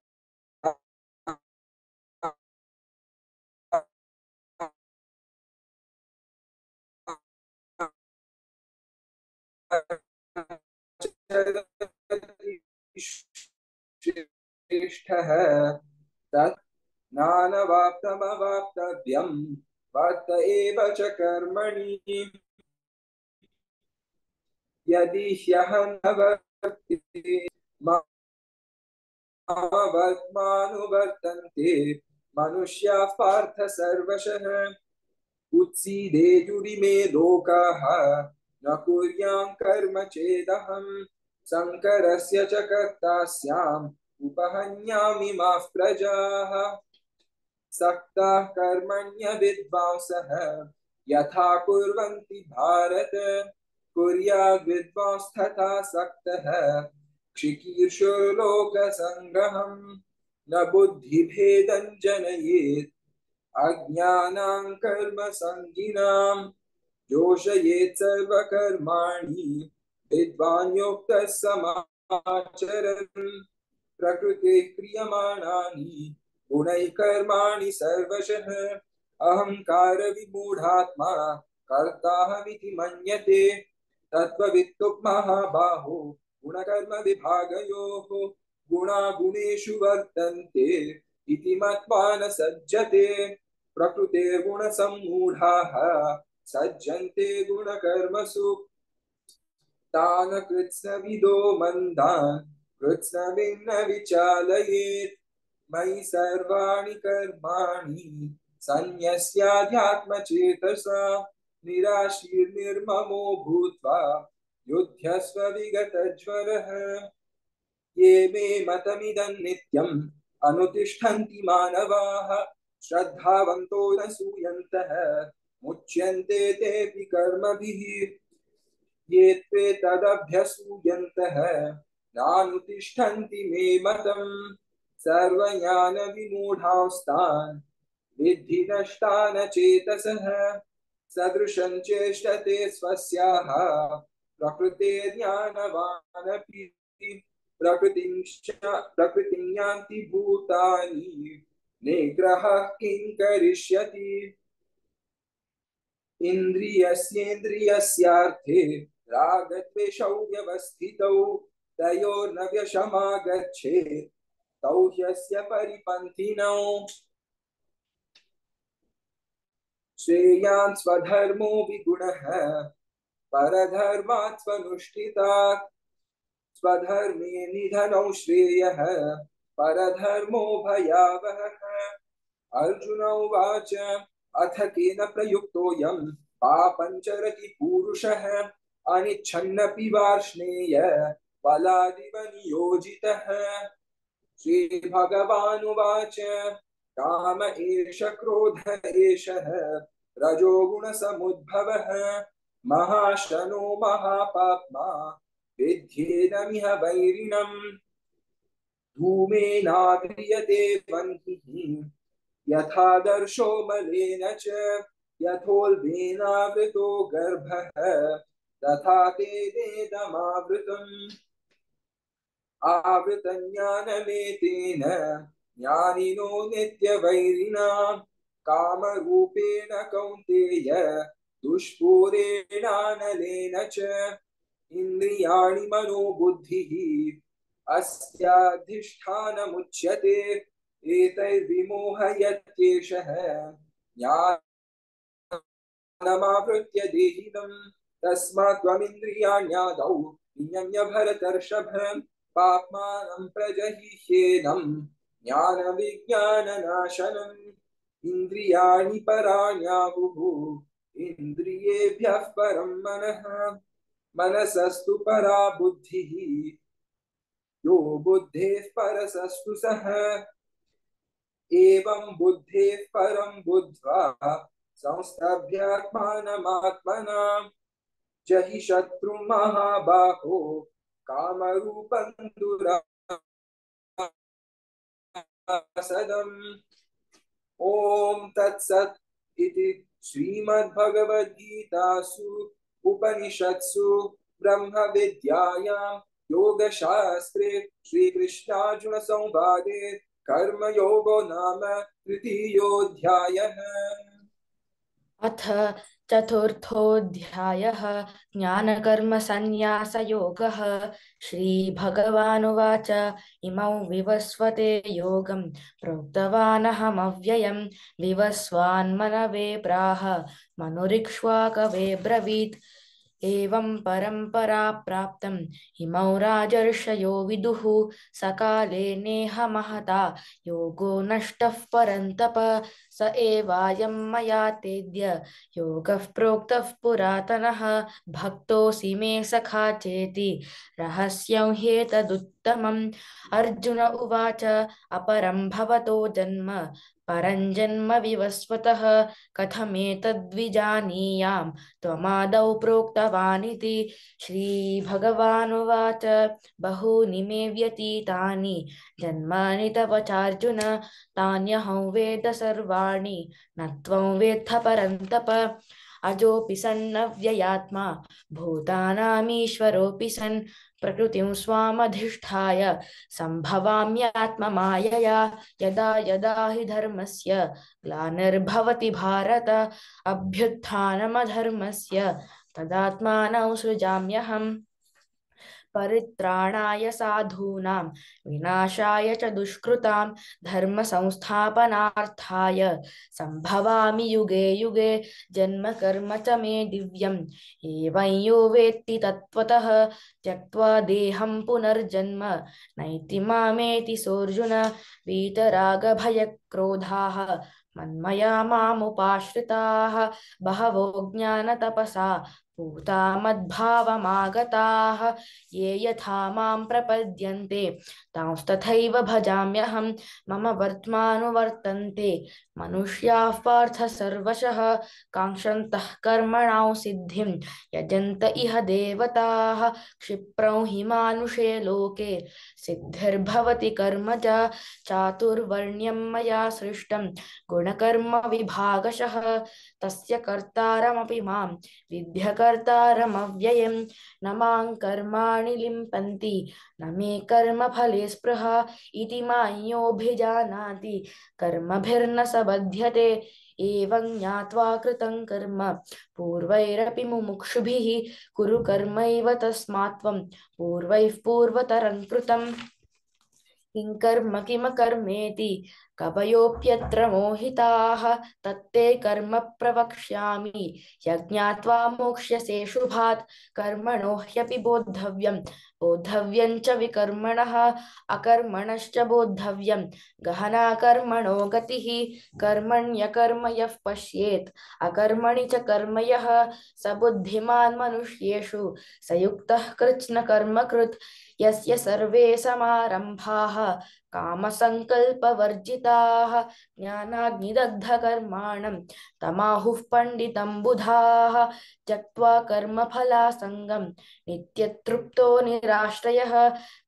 श्रेष्ठः तत् नानवाप्तमवाप्तव्यं वर्त एव च कर्मणि यदि ह्यहं न वर्तते मामवर्त्मानुवर्तन्ते मनुष्याः पार्थ सर्वशः उत्सीदेयुरिमे लोकाः न कुर्यां कर्म चेदहं शङ्करस्य च कर्ता स्याम् उपहन्यामि माः प्रजाः सक्ताः कर्मण्य विद्वांसः यथा कुर्वन्ति भारत कुर्याद् विद्वांस्तथा सक्तः क्षिकीर्षुर्लोकसङ्ग्रहम् न बुद्धिभेदं जनयेत् अज्ञानां कर्मसङ्गिनां जोषयेत् सर्वकर्माणि विद्वान् युक्तः समाचरन् प्रकृतेः क्रियमाणानि गुणैः कर्माणि सर्वशः अहंकार विमूढात्मा कर्ताहमिति मन्यते तत्त्ववित्तु महाबाहो गुणकर्म विभागयोः गुणा गुणेषु वर्तन्ते इति मत्वा न सज्जते प्रकृतेर्गुणसम्मूढाः सज्जन्ते गुणकर्मसु तान् कृत्स्नविदो मन्दान् कृत्स्नविन्न विचालयेत् मयि सर्वाणि कर्माणि सन्न्यस्याध्यात्मचेतसा निराशीर्निर्ममो भूत्वा युध्यस्व विगतज्वरः ये मे मतमिदं नित्यम् अनुतिष्ठन्ति मानवाः श्रद्धावन्तो न सूयन्तः मुच्यन्ते तेऽपि कर्मभिः ये त्वेतदभ्यसूयन्तः नानुतिष्ठन्ति मे मतम् सर्वज्ञानविमूढांस्तान् विद्धि नष्टान् चेतसः सदृशं चेष्टते स्वस्याः प्रकृतेर्ज्ञानवानपि प्रकृतिं यान्ति भूतानि निग्रहः किं करिष्यति इन्द्रियस्येन्द्रियस्यार्थे रागद्वेषौ व्यवस्थितौ तयोर्न व्यशमागच्छेत् तौ ह्यस्य परिपन्थिनौ श्रेयान् स्वधर्मो विगुणः परधर्मात् स्वनुष्ठितात् स्वधर्मे निधनौ श्रेयः परधर्मो भयावहः अर्जुन उवाच अथ केन प्रयुक्तोऽयं पापं चरति पूरुषः अनिच्छन्नपि वार्ष्णेय बलादिव नियोजितः श्रीभगवानुवाच काम एष क्रोध एषः रजोगुणसमुद्भवः महाशनो महापाप्मा विद्येदमिह वैरिणम् धूमेनाव्रियते वह्निः यथादर्शो मलेन च यथोल्बेनावृतो गर्भः तथा तेनेदमावृतम् आवृतं ज्ञानमेतेन ज्ञानिनो नित्यवैरिणा कामरूपेण कौन्तेय दुष्पूरेणानलेन च इन्द्रियाणि मनो बुद्धिः अस्याधिष्ठानमुच्यते एतैर्विमोहयत्येषः ज्ञानमावृत्य देहिनम् तस्मात् त्वमिन्द्रियाण्यादौ नियम्य भरतर्षभ पाप्मानं प्रजहिह्येनं ज्ञानविज्ञाननाशनम् इन्द्रियाणि पराण्याहुः इन्द्रियेभ्यः परं मनः मनसस्तु परा बुद्धिः यो बुद्धेः परसस्तु सः एवं बुद्धेः परं बुद्ध्वा संस्तभ्यात्मानमात्मना जहि शत्रुं महाबाहो कामरूपं दुरासदम् ॐ तत्सत् इति श्रीमद्भगवद्गीतासु उपनिषत्सु ब्रह्मविद्यायां योगशास्त्रे श्रीकृष्णार्जुनसंवादे कर्मयोगो नाम तृतीयोऽध्यायः। अथ चतुर्थोऽध्यायः ज्ञानकर्मसन्न्यासयोगः। श्रीभगवानुवाच इमौ विवस्वते योगं प्रोक्तवानहमव्ययं विवस्वान्मनवे प्राह मनुरिक्ष्वाकवे ब्रवीत् एवं परम्परा प्राप्तम् इमौ राजर्षयो विदुः सकाले नेह महता योगो नष्टः परन्तप स एवायं मया तेद्य योगः प्रोक्तः पुरातनः भक्तोऽसि मे सखा चेति रहस्यं ह्येतदुत्तमम् अर्जुन उवाच अपरं भवतो जन्म परञ्जन्म विवस्वतः कथमेतद्विजानीयाम् त्वमादौ प्रोक्तवानिति श्रीभगवानुवाच बहूनि मे व्यतीतानि जन्मानि तव चार्जुन तान्यहं वेद सर्वाणि न त्वं वेत्थ परन्तप अजोऽपि सन्नव्ययात्मा भूतानामीश्वरोऽपि सन् प्रकृतिं स्वामधिष्ठाय सम्भवाम्यात्ममायया यदा यदा हि धर्मस्य ग्लानिर्भवति भारत अभ्युत्थानमधर्मस्य तदात्मानं सृजाम्यहम् परित्राणाय साधूनां विनाशाय च दुष्कृतां धर्म संस्थापनार्थाय संभवामि युगे युगे जन्म कर्म च मे दिव्यम् एवं यो वेत्ति तत्त्वतः त्यक्त्वा देहं पुनर्जन्म नैति मामेति सोऽर्जुन वीतरागभयक्रोधाः मन्मया मामुपाश्रिताः बहवो ज्ञानतपसा पूता मद्भावमागताः ये यथा मां प्रपद्यन्ते तांस्तथैव भजाम्यहं मम वर्त्मानुवर्तन्ते मनुष्याः पार्थ सर्वशः काङ्क्षन्तः कर्मणां सिद्धिं यजन्त इह देवताः क्षिप्रं हि मानुषे लोके सिद्धिर्भवति कर्मजा चातुर्वर्ण्यं मया सृष्टं गुणकर्म विभागशः तस्य कर्तारमपि मां विद्यकर्तारमव्ययं न मां कर्माणि लिम्पन्ति न मे कर्मफले स्पृहा इति मान्योऽभिजानाति कर्मभिर्न स बध्यते एवं ज्ञात्वा कृतं कर्म पूर्वैरपि मुमुक्षुभिः कुरु कर्मैव तस्मात् त्वं पूर्वैः पूर्वतरं कृतम् किं कर्म किमकर्मेति कवयोऽप्यत्र मोहिताः तत्ते कर्म प्रवक्ष्यामि यज्ञात्वा मोक्ष्यसे शुभात् कर्मणो ह्यपि बोद्धव्यं च विकर्मणः अकर्मणश्च बोद्धव्यं गहना कर्मणो गतिः कर्मण्यकर्म यः पश्येत् अकर्मणि च कर्म यः स बुद्धिमान् मनुष्येषु स युक्तः कृत्स्नकर्मकृत् यस्य सर्वे समारम्भाः कामसङ्कल्पवर्जिताः ज्ञानाग्निदग्धकर्माणं तमाहुः पण्डितं बुधाः त्यक्त्वा कर्मफलासङ्गं नित्यतृप्तो निराश्रयः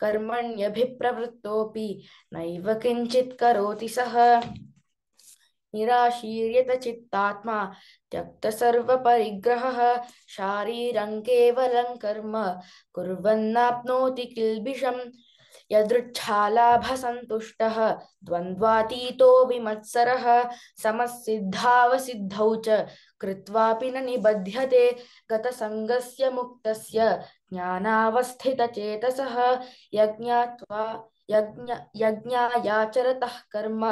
कर्मण्यभिप्रवृत्तोऽपि नैव किञ्चित् करोति सः निराशीर्यत चित्तात्मा त्यक्त सर्वपरिग्रहः शारीरं केवलं कर्म कुर्वन्नाप्नोति किल्बिषम् यदृच्छालाभसन्तुष्टः द्वन्द्वातीतो विमत्सरः समसिद्धावसिद्धौ च कृत्वापि न निबध्यते गतसङ्गस्य मुक्तस्य ज्ञानावस्थितचेतसः यज्ञायाचरतः कर्म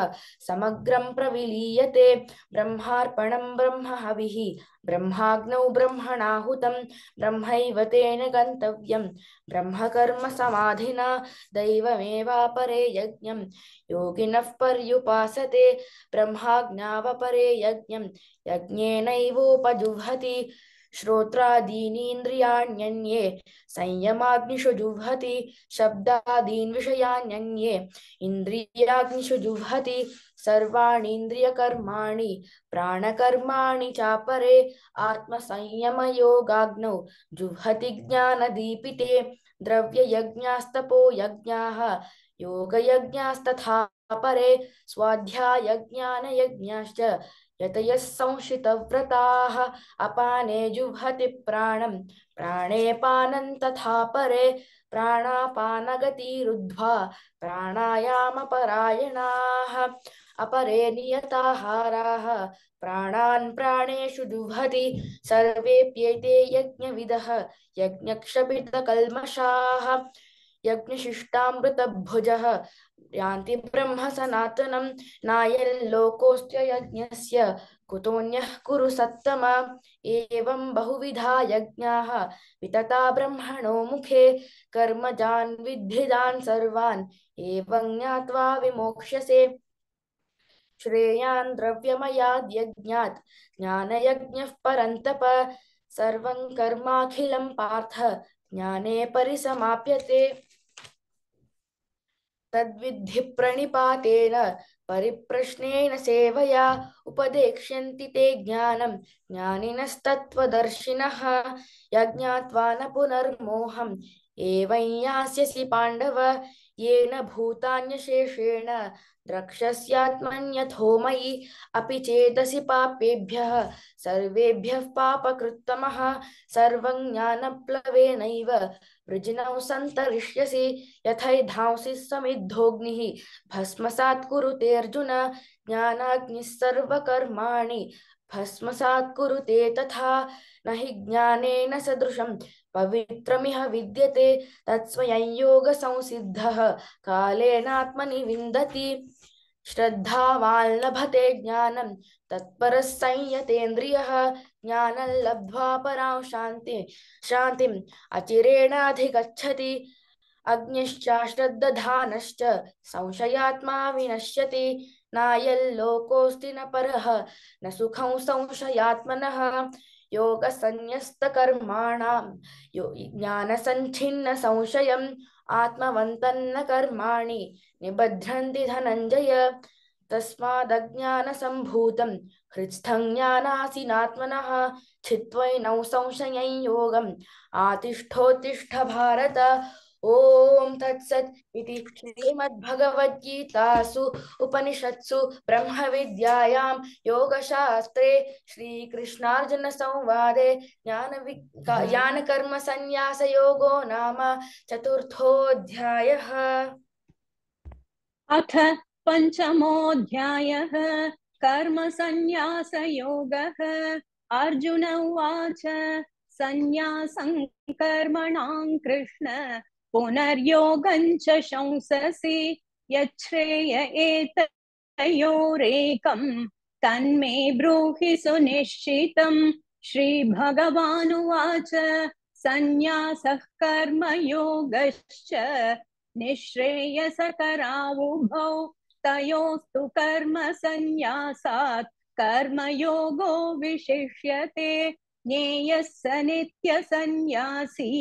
समग्रं प्रविलीयते ब्रह्मार्पणं ब्रह्महविः ब्रह्माग्नौ ब्रह्मणाहुतं ब्रह्मैव तेन गन्तव्यं ब्रह्मकर्म समाधिना दैवमेवापरे यज्ञं योगिनः पर्युपासते ब्रह्माज्ञावपरे यज्ञं यज्ञेनैवोपजुह्वति श्रोत्रादीनीन्द्रियाण्यन्ये संयमाग्निषु जुह्वति शब्दादीन् विषयान्यन्ये इन्द्रियाग्निषु जुह्वति सर्वाणीन्द्रियकर्माणि प्राणकर्माणि चापरे आत्मसंयमयोगाग्नौ जुह्वति ज्ञानदीपिते द्रव्ययज्ञास्तपो यज्ञाः योगयज्ञास्तथा परे स्वाध्यायज्ञानयज्ञाश्च यतयः संशितव्रताः अपाने जुह्वति प्राणं प्राणे पानं तथा परे प्राणापानगतिरुद्ध्वा प्राणायामपरायणाः अपरे नियताहाराः प्राणान् प्राणेषु जुह्वति सर्वेऽप्येते यज्ञविदः यज्ञक्षपितकल्मषाः यज्ञशिष्टामृतभुजः यान्ति ब्रह्म सनातनं नायल्लोकोऽस्त्य यज्ञस्य कुतोऽन्यः कुरु सत्तम एवं बहुविधा यज्ञाः वितता ब्रह्मणो मुखे कर्मजान् विद्धिदान् सर्वान् एवं ज्ञात्वा विमोक्ष्यसे श्रेयान् द्रव्यमयाद् यज्ञात् ज्ञानयज्ञः परन्तप सर्वं कर्माखिलं पार्थ ज्ञाने परिसमाप्यते तद्विद्धि प्रणिपातेन परिप्रश्नेन सेवया उपदेक्ष्यन्ति ते ज्ञानं ज्ञानिनस्तत्त्वदर्शिनः यज्ञात्वा न पुनर्मोहम् एवं यास्यसि पाण्डव येन भूतान्यशेषेण द्रक्ष्यस्यात्मन्यथो मयि अपि चेदसि पापेभ्यः सर्वेभ्यः पापकृत्तमः सर्वं ज्ञानप्लवेनैव वृजिनौ सन्तरिष्यसि यथैधांसि समिद्धोऽग्निः भस्मसात् कुरुते अर्जुन ज्ञानाग्निः सर्वकर्माणि भस्मसात् कुरुते तथा न हि ज्ञानेन सदृशं पवित्रमिह विद्यते तत्स्वयं योगसंसिद्धः कालेनात्मनि विन्दति श्रद्धावान् लभते ज्ञानं तत्परः संयतेन्द्रियः ज्ञानं लब्ध्वा परां शान्तिम् अचिरेणाधिगच्छति अग्निश्चाश्रद्दधानश्च संशयात्मा विनश्यति नायल्लोकोऽस्ति न परः न सुखं संशयात्मनः योगसन्न्यस्तकर्माणां ज्ञानसञ्छिन्न संशयम् आत्मवन्तन्न कर्माणि निबध्नन्ति धनञ्जय तस्मादज्ञानसम्भूतं हृत्स्थं ज्ञानासीनात्मनः छित्त्वैनौ संशयं योगम् आतिष्ठोत्तिष्ठ भारत ओम तत्सत् इति श्रीमद्भगवद्गीतासु उपनिषत्सु ब्रह्मविद्यायां योगशास्त्रे श्रीकृष्णार्जुनसंवादे ज्ञानकर्मसन्न्यासयोगो नाम चतुर्थोऽध्यायः। अथ पञ्चमोऽध्यायः कर्मसन्न्यासयोगः। अर्जुन उवाच सन्न्यासं कर्मणां कृष्ण पुनर्योगं च शंससि यच्छ्रेय एतयोरेकं तन्मे ब्रूहि सुनिश्चितं। श्रीभगवानुवाच सन्न्यासः कर्मयोगश्च निःश्रेयसकरावुभौ तयोस्तु कर्मसन्न्यासात् कर्मयोगो विशिष्यते। ज्ञेयः स नित्यसन्न्यासी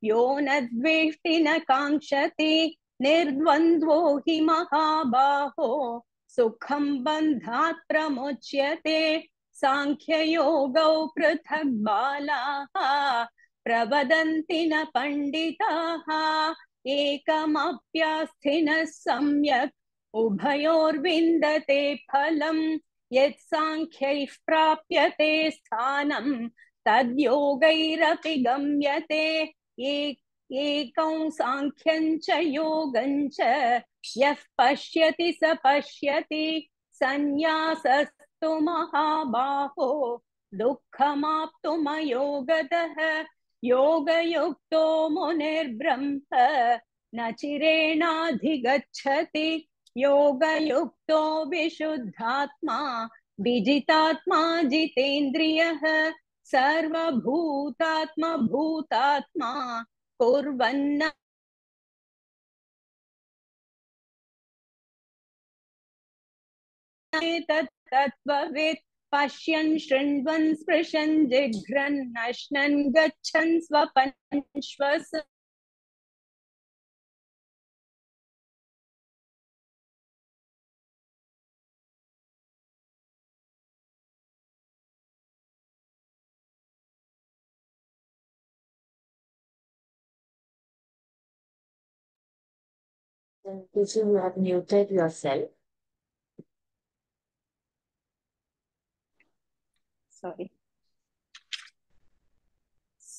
यो न द्वेष्टि न काङ्क्षति निर्द्वन्द्वो हि महाबाहो सुखं बन्धात् प्रमुच्यते। साङ्ख्ययोगौ पृथक् बालाः प्रवदन्ति न पण्डिताः एकमप्यास्थिनः सम्यक् उभयोर्विन्दते फलम् यत् साङ्ख्यैः प्राप्यते स्थानं तद्योगैरपि गम्यते। एकं साङ्ख्यं च योगं च यः पश्यति स पश्यति सन्न्यासस्तु महाबाहो दुःखमाप्तुमयोगतः। योगयुक्तो मुनिर्ब्रह्म न चिरेणाधिगच्छति योगयुक्तो विशुद्धात्मा विजितात्मा जितेन्द्रियः सर्वभूतात्मा भूतात्मा कुर्वन्न तत्त्ववित् पश्यन् शृण्वन् स्पृशन् जिघ्रन् नश्नन् गच्छन् स्वपन् श्वस Teacher, you have muted yourself. Sorry.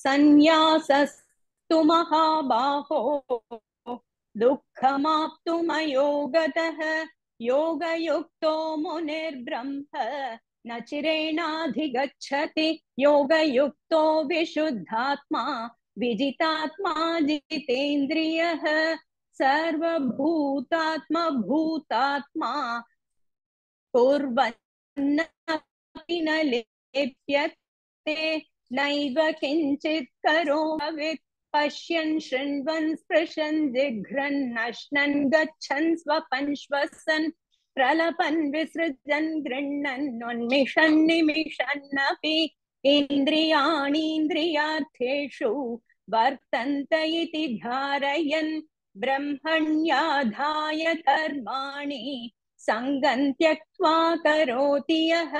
सन्न्यासस्तु महाबाहो दुःखमाप्तुमयोगतः। योगयुक्तो मुनिर्ब्रह्म न चिरेणाधिगच्छति योगयुक्तो विशुद्धात्मा विजितात्मा जितेन्द्रियः सर्वभूतात्मा भूतात्मा कुर्वन्न किमपि न लिप्यते नैव किञ्चित् करोमीत् पश्यन् शृण्वन् स्पृशन् जिघ्रन् नश्नन् गच्छन् स्वपन् श्वसन् प्रलपन् विसृजन् गृह्णन् उन्मिषन् निमिषन्नपि इन्द्रियाणीन्द्रियार्थेषु वर्तन्त इति धारयन् ब्रह्मण्याधाय कर्माणि सङ्गं त्यक्त्वा करोति यः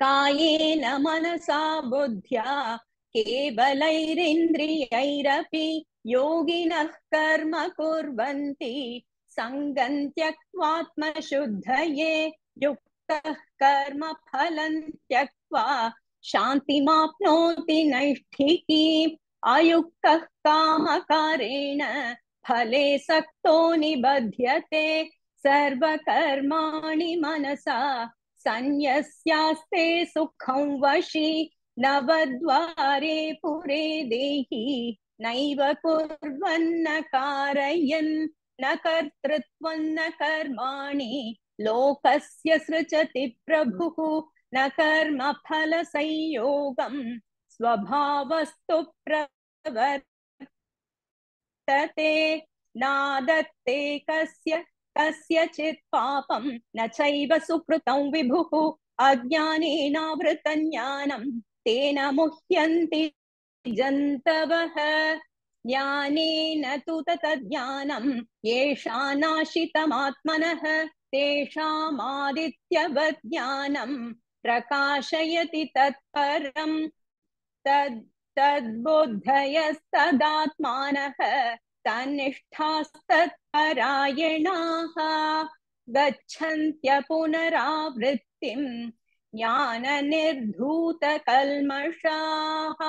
कायेन मनसा बुद्ध्या केवलैरिन्द्रियैरपि योगिनः कर्म कुर्वन्ति सङ्गं त्यक्त्वात्मशुद्धये युक्तः कर्म फलं त्यक्त्वा शान्तिमाप्नोति नैष्ठिकीम् अयुक्तः कामकारेण फले सक्तो निबध्यते सर्वकर्माणि मनसा संयस्यास्ते सुखं वशी नवद्वारे पुरे देहि नैव कुर्वन्न कारयन् न कर्तृत्वं न कर्माणि लोकस्य सृजति प्रभुः न कर्मफलसंयोगं स्वभावस्तु प्रवर्तते नादत्ते कस्यचित् पापं न चैव सुकृतं विभुः अज्ञानेनावृतं ज्ञानं तेन मुह्यन्ति जन्तवः ज्ञानेन तु ततज्ज्ञानं येषानाशितमात्मनः तेषामादित्यवत् ज्ञानं प्रकाशयति तत्परं तद्बुद्धयस्तदात्मानः तन्निष्ठास्तत्परायणाः गच्छन्त्य पुनरावृत्तिं ज्ञाननिर्धूतकल्मषाः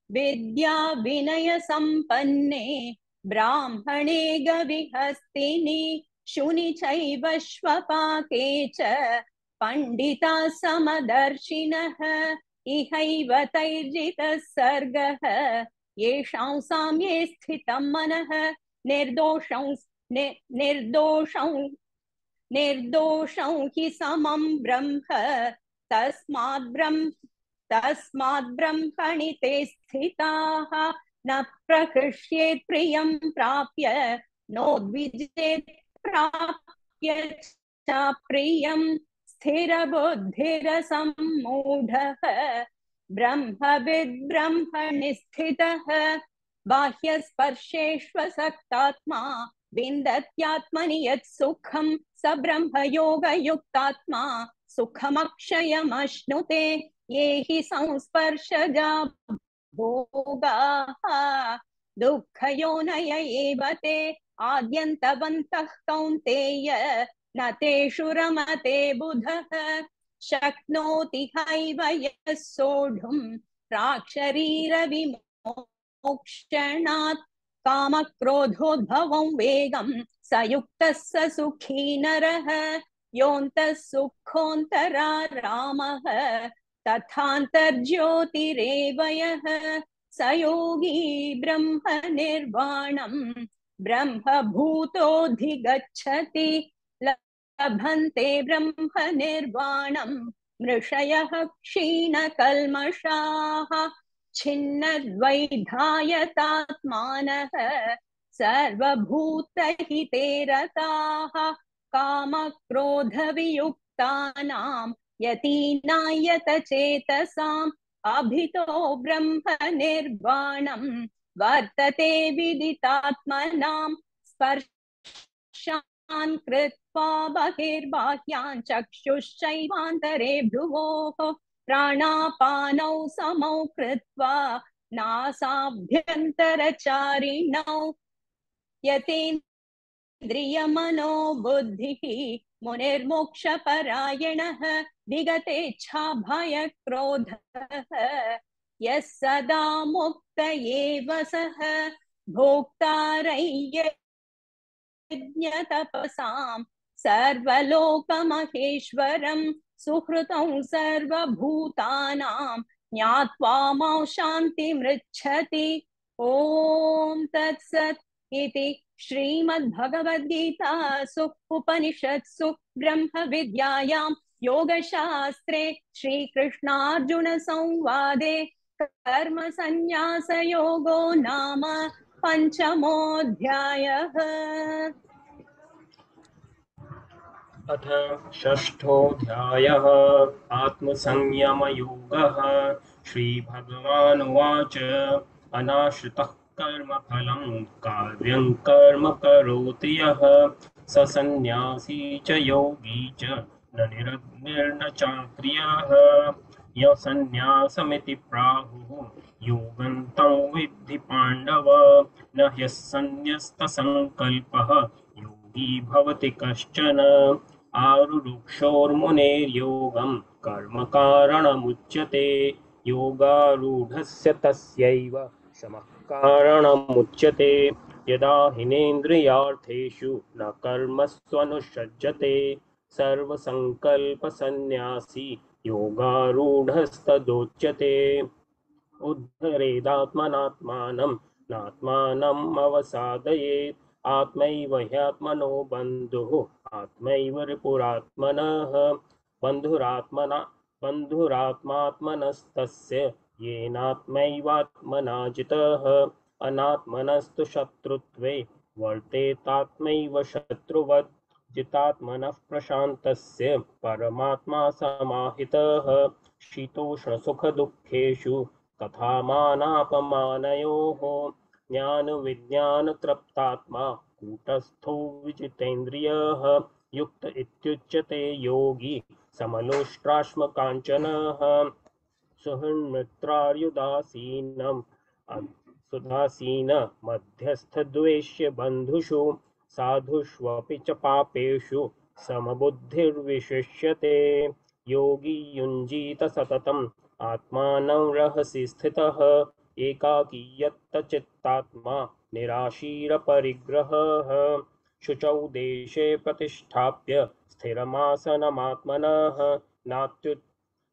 विद्या विनयसम्पन्ने ब्राह्मणे गविहस्तिनि शुनि चैव श्वपाके च पण्डिताः समदर्शिनः इहैव तैर्जितः सर्गः येषां साम्ये स्थितं मनः निर्दोषं हि समं ब्रह्म तस्माद् ब्रह्मणि ते स्थिताः न प्रहृष्येत् प्रियं प्राप्य नोद्विजेत् प्राप्य च प्रियं स्थिरबुद्धिरसम्मूढः ब्रह्मविद् ब्रह्मणि स्थितः बाह्यस्पर्शेष्वसक्तात्मा विन्दत्यात्मनि यत् सुखं स ब्रह्मयोगयुक्तात्मा सुखमक्षयमश्नुते ये हि संस्पर्शजा भोगाः दुःखयोनय एव ते आद्यन्तवन्तः कौन्तेय न तेषु रमते बुधः शक्नोति हैव यः सोढुं प्राक्शरीरविमोक्षणात् कामक्रोधोद्भवं वेगं स युक्तः स सुखी नरः योऽन्तः सुखोऽन्तरारामः तथान्तर्ज्योतिरेव यः स योगी ब्रह्मनिर्वाणं ब्रह्मभूतोऽधिगच्छति लभन्ते ब्रह्मनिर्वाणं मृषयः क्षीणकल्मषाः छिन्नद्वैधायतात्मानः सर्वभूतहिते रताः कामक्रोधवियुक्तानां यतीनायतचेतसाम् अभितो ब्रह्मनिर्वाणं वर्तते विदितात्मनां स्पर्शान् कृत्वा बहिर्बाह्यान् चक्षुश्चैवान्तरे भ्रुवोः प्राणापानौ समौ कृत्वा नासाभ्यन्तरचारिणौ यतेन्द्रियमनो बुद्धिः मुनिर्मोक्षपरायणः विगतेच्छाभयक्रोधः यः सदा मुक्त एव सः भोक्तारय्यज्ञतपसां सर्वलोकमहेश्वरं सुहृतं सर्वभूतानां ज्ञात्वा मां शान्तिमृच्छति। ॐ तत्सत् इति श्रीमद्भगवद्गीतासु उपनिषत्सु ब्रह्मविद्यायां योगशास्त्रे श्रीकृष्णार्जुनसंवादे कर्मसन्न्यासयोगो नाम पञ्चमोऽध्यायः। अथ षष्ठोऽध्यायः आत्मसंयमयोगः। श्रीभगवानुवाच अनाश्रितः कर्मफलं कार्यं कर्म करोति यः स सन्न्यासी च योगी च न निरग्निर्न चाक्रियः। यः सन्न्यासमिति प्राहुः योगं तं विद्धि पाण्डव। न ह्यः सन्न्यस्तसङ्कल्पः योगी भवति कश्चन। आरुरुक्षोर्मुनेर्योगं कर्म कारणमुच्यते। योगारूढस्य तस्यैव शमः कारणमुच्यते। यदा हिनेन्द्रियार्थेषु न कर्मस्वनुषज्यते सर्वसङ्कल्पसन्न्यासी योगारूढस्तदोच्यते। उद्धरेदात्मनात्मानं नात्मानम् अवसादयेत्। आत्मैव ह्यात्मनो बन्धुः आत्मैव रिपुरात्मनः। बन्धुरात्मात्मनस्तस्य येनात्मैवात्मना जितः। अनात्मनस्तु शत्रुत्वे वर्तेतात्मैव शत्रुवत्। जितात्मनः प्रशान्तस्य परमात्मा समाहितः। शीतोष्णसुखदुःखेषु तथा मानापमानयोः। ज्ञानविज्ञानतृप्तात्मा कूटस्थो विजितेन्द्रियः। युक्त इत्युच्यते योगी समलोष्टाश्मकाञ्चनः। सुहृन्मित्रार्युदासीनम् सुदासीन मध्यस्थद्वेष्य बन्धुषु। साधुष्वपि च पापेषु समबुद्धिर्विशिष्यते। योगी युञ्जीत सततम् आत्मानं रहसि स्थितः। एकाकी यत्तचित्तात्मा निराशीरपरिग्रहः। शुचौ देशे प्रतिष्ठाप्य स्थिरमासनमात्मनः।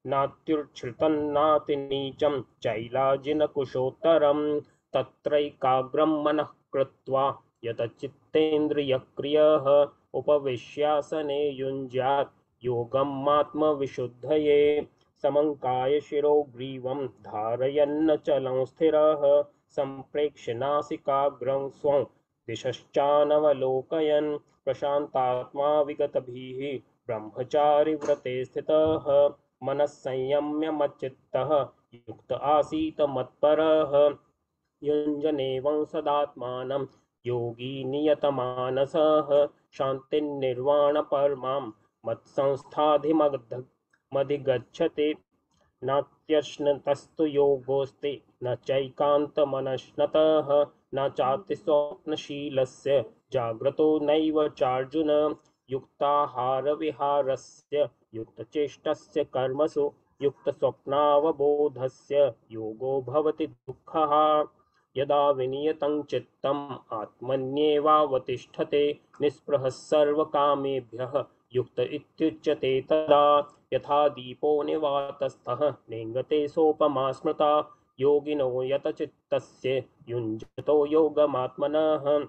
नात्युच्छ्रितन्नातिनीचं चैलाजिनकुशोत्तरं। तत्रैकाग्रं मनः कृत्वा यतचित्तेन्द्रियक्रियः। उपविश्यासने युञ्ज्यात् योगमात्मविशुद्धये। समङ्काय शिरो ग्रीवं धारयन्नचलं स्थिरः। सम्प्रेक्ष्य नासिकाग्रं स्वं दिशश्चानवलोकयन्। प्रशान्तात्मा विगतभिः ब्रह्मचारिव्रते स्थितः। मनः संयम्य मच्चित्तः युक्त आसीत् मत्परः। युञ्जनेवं सदात्मानं योगी नियतमानसः। शान्तिर्निर्वाणपरमां मत्संस्थाधिमधिगच्छति। नात्यश्नतस्तु योगोऽस्ति न चैकान्तमनश्नतः। न चातिस्वप्नशीलस्य जाग्रतो नैव चार्जुन। युक्ताहारविहारस्य युक्तचेष्टस्य कर्मसु युक्तस्वप्नावबोधस्य योगो भवति दुःखः। यदा विनियतं चित्तम् आत्मन्येवावतिष्ठते। निःस्पृहः सर्वकामेभ्यः युक्त इत्युच्यते तदा। यथा दीपो निवातस्थः नेङ्गते सोपमा स्मृता। योगिनो यतचित्तस्य युञ्जतो योगमात्मनः।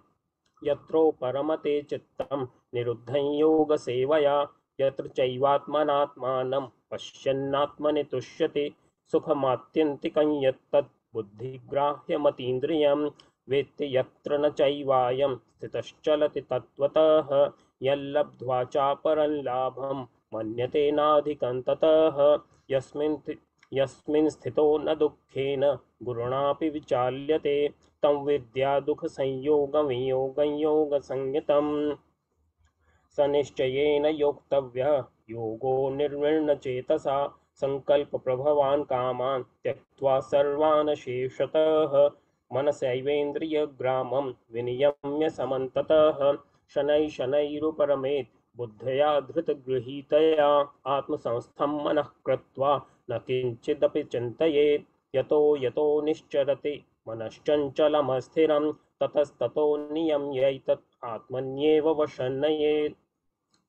यत्रो परमते चित्तं निरुद्धं योगसेवया। यत्र चैवात्मनात्मानं पश्यन्नात्मनि तुष्यति। सुखमात्यन्तिकं यत्तत् बुद्धिग्राह्यमतीन्द्रियं। वेत्ति यत्र न चैवायं स्थितश्चलति तत्त्वतः। यल्लब्ध्वा चापरं लाभं मन्यते नाधिकं ततः। यस्मिन् स्थितो न दुःखेन गुरुणापि विचाल्यते। तं विद्या दुःखसंयोगवियोगं योगसंज्ञितम्। स निश्चयेन योक्तव्यः योगो निर्विण्णचेतसा। सङ्कल्पप्रभवान् कामान् त्यक्त्वा सर्वान् शेषतः। मनसैवेन्द्रियग्रामं विनियम्य समन्ततः। शनैः शनैरुपरमेत् बुद्धया धृतगृहीतया। आत्मसंस्थं मनः कृत्वा न किञ्चिदपि चिन्तयेत्। यतो यतो निश्चरति मनश्चञ्चलमस्थिरं। ततस्ततो नियम्यैतत् आत्मन्येव वशन्नयेत्।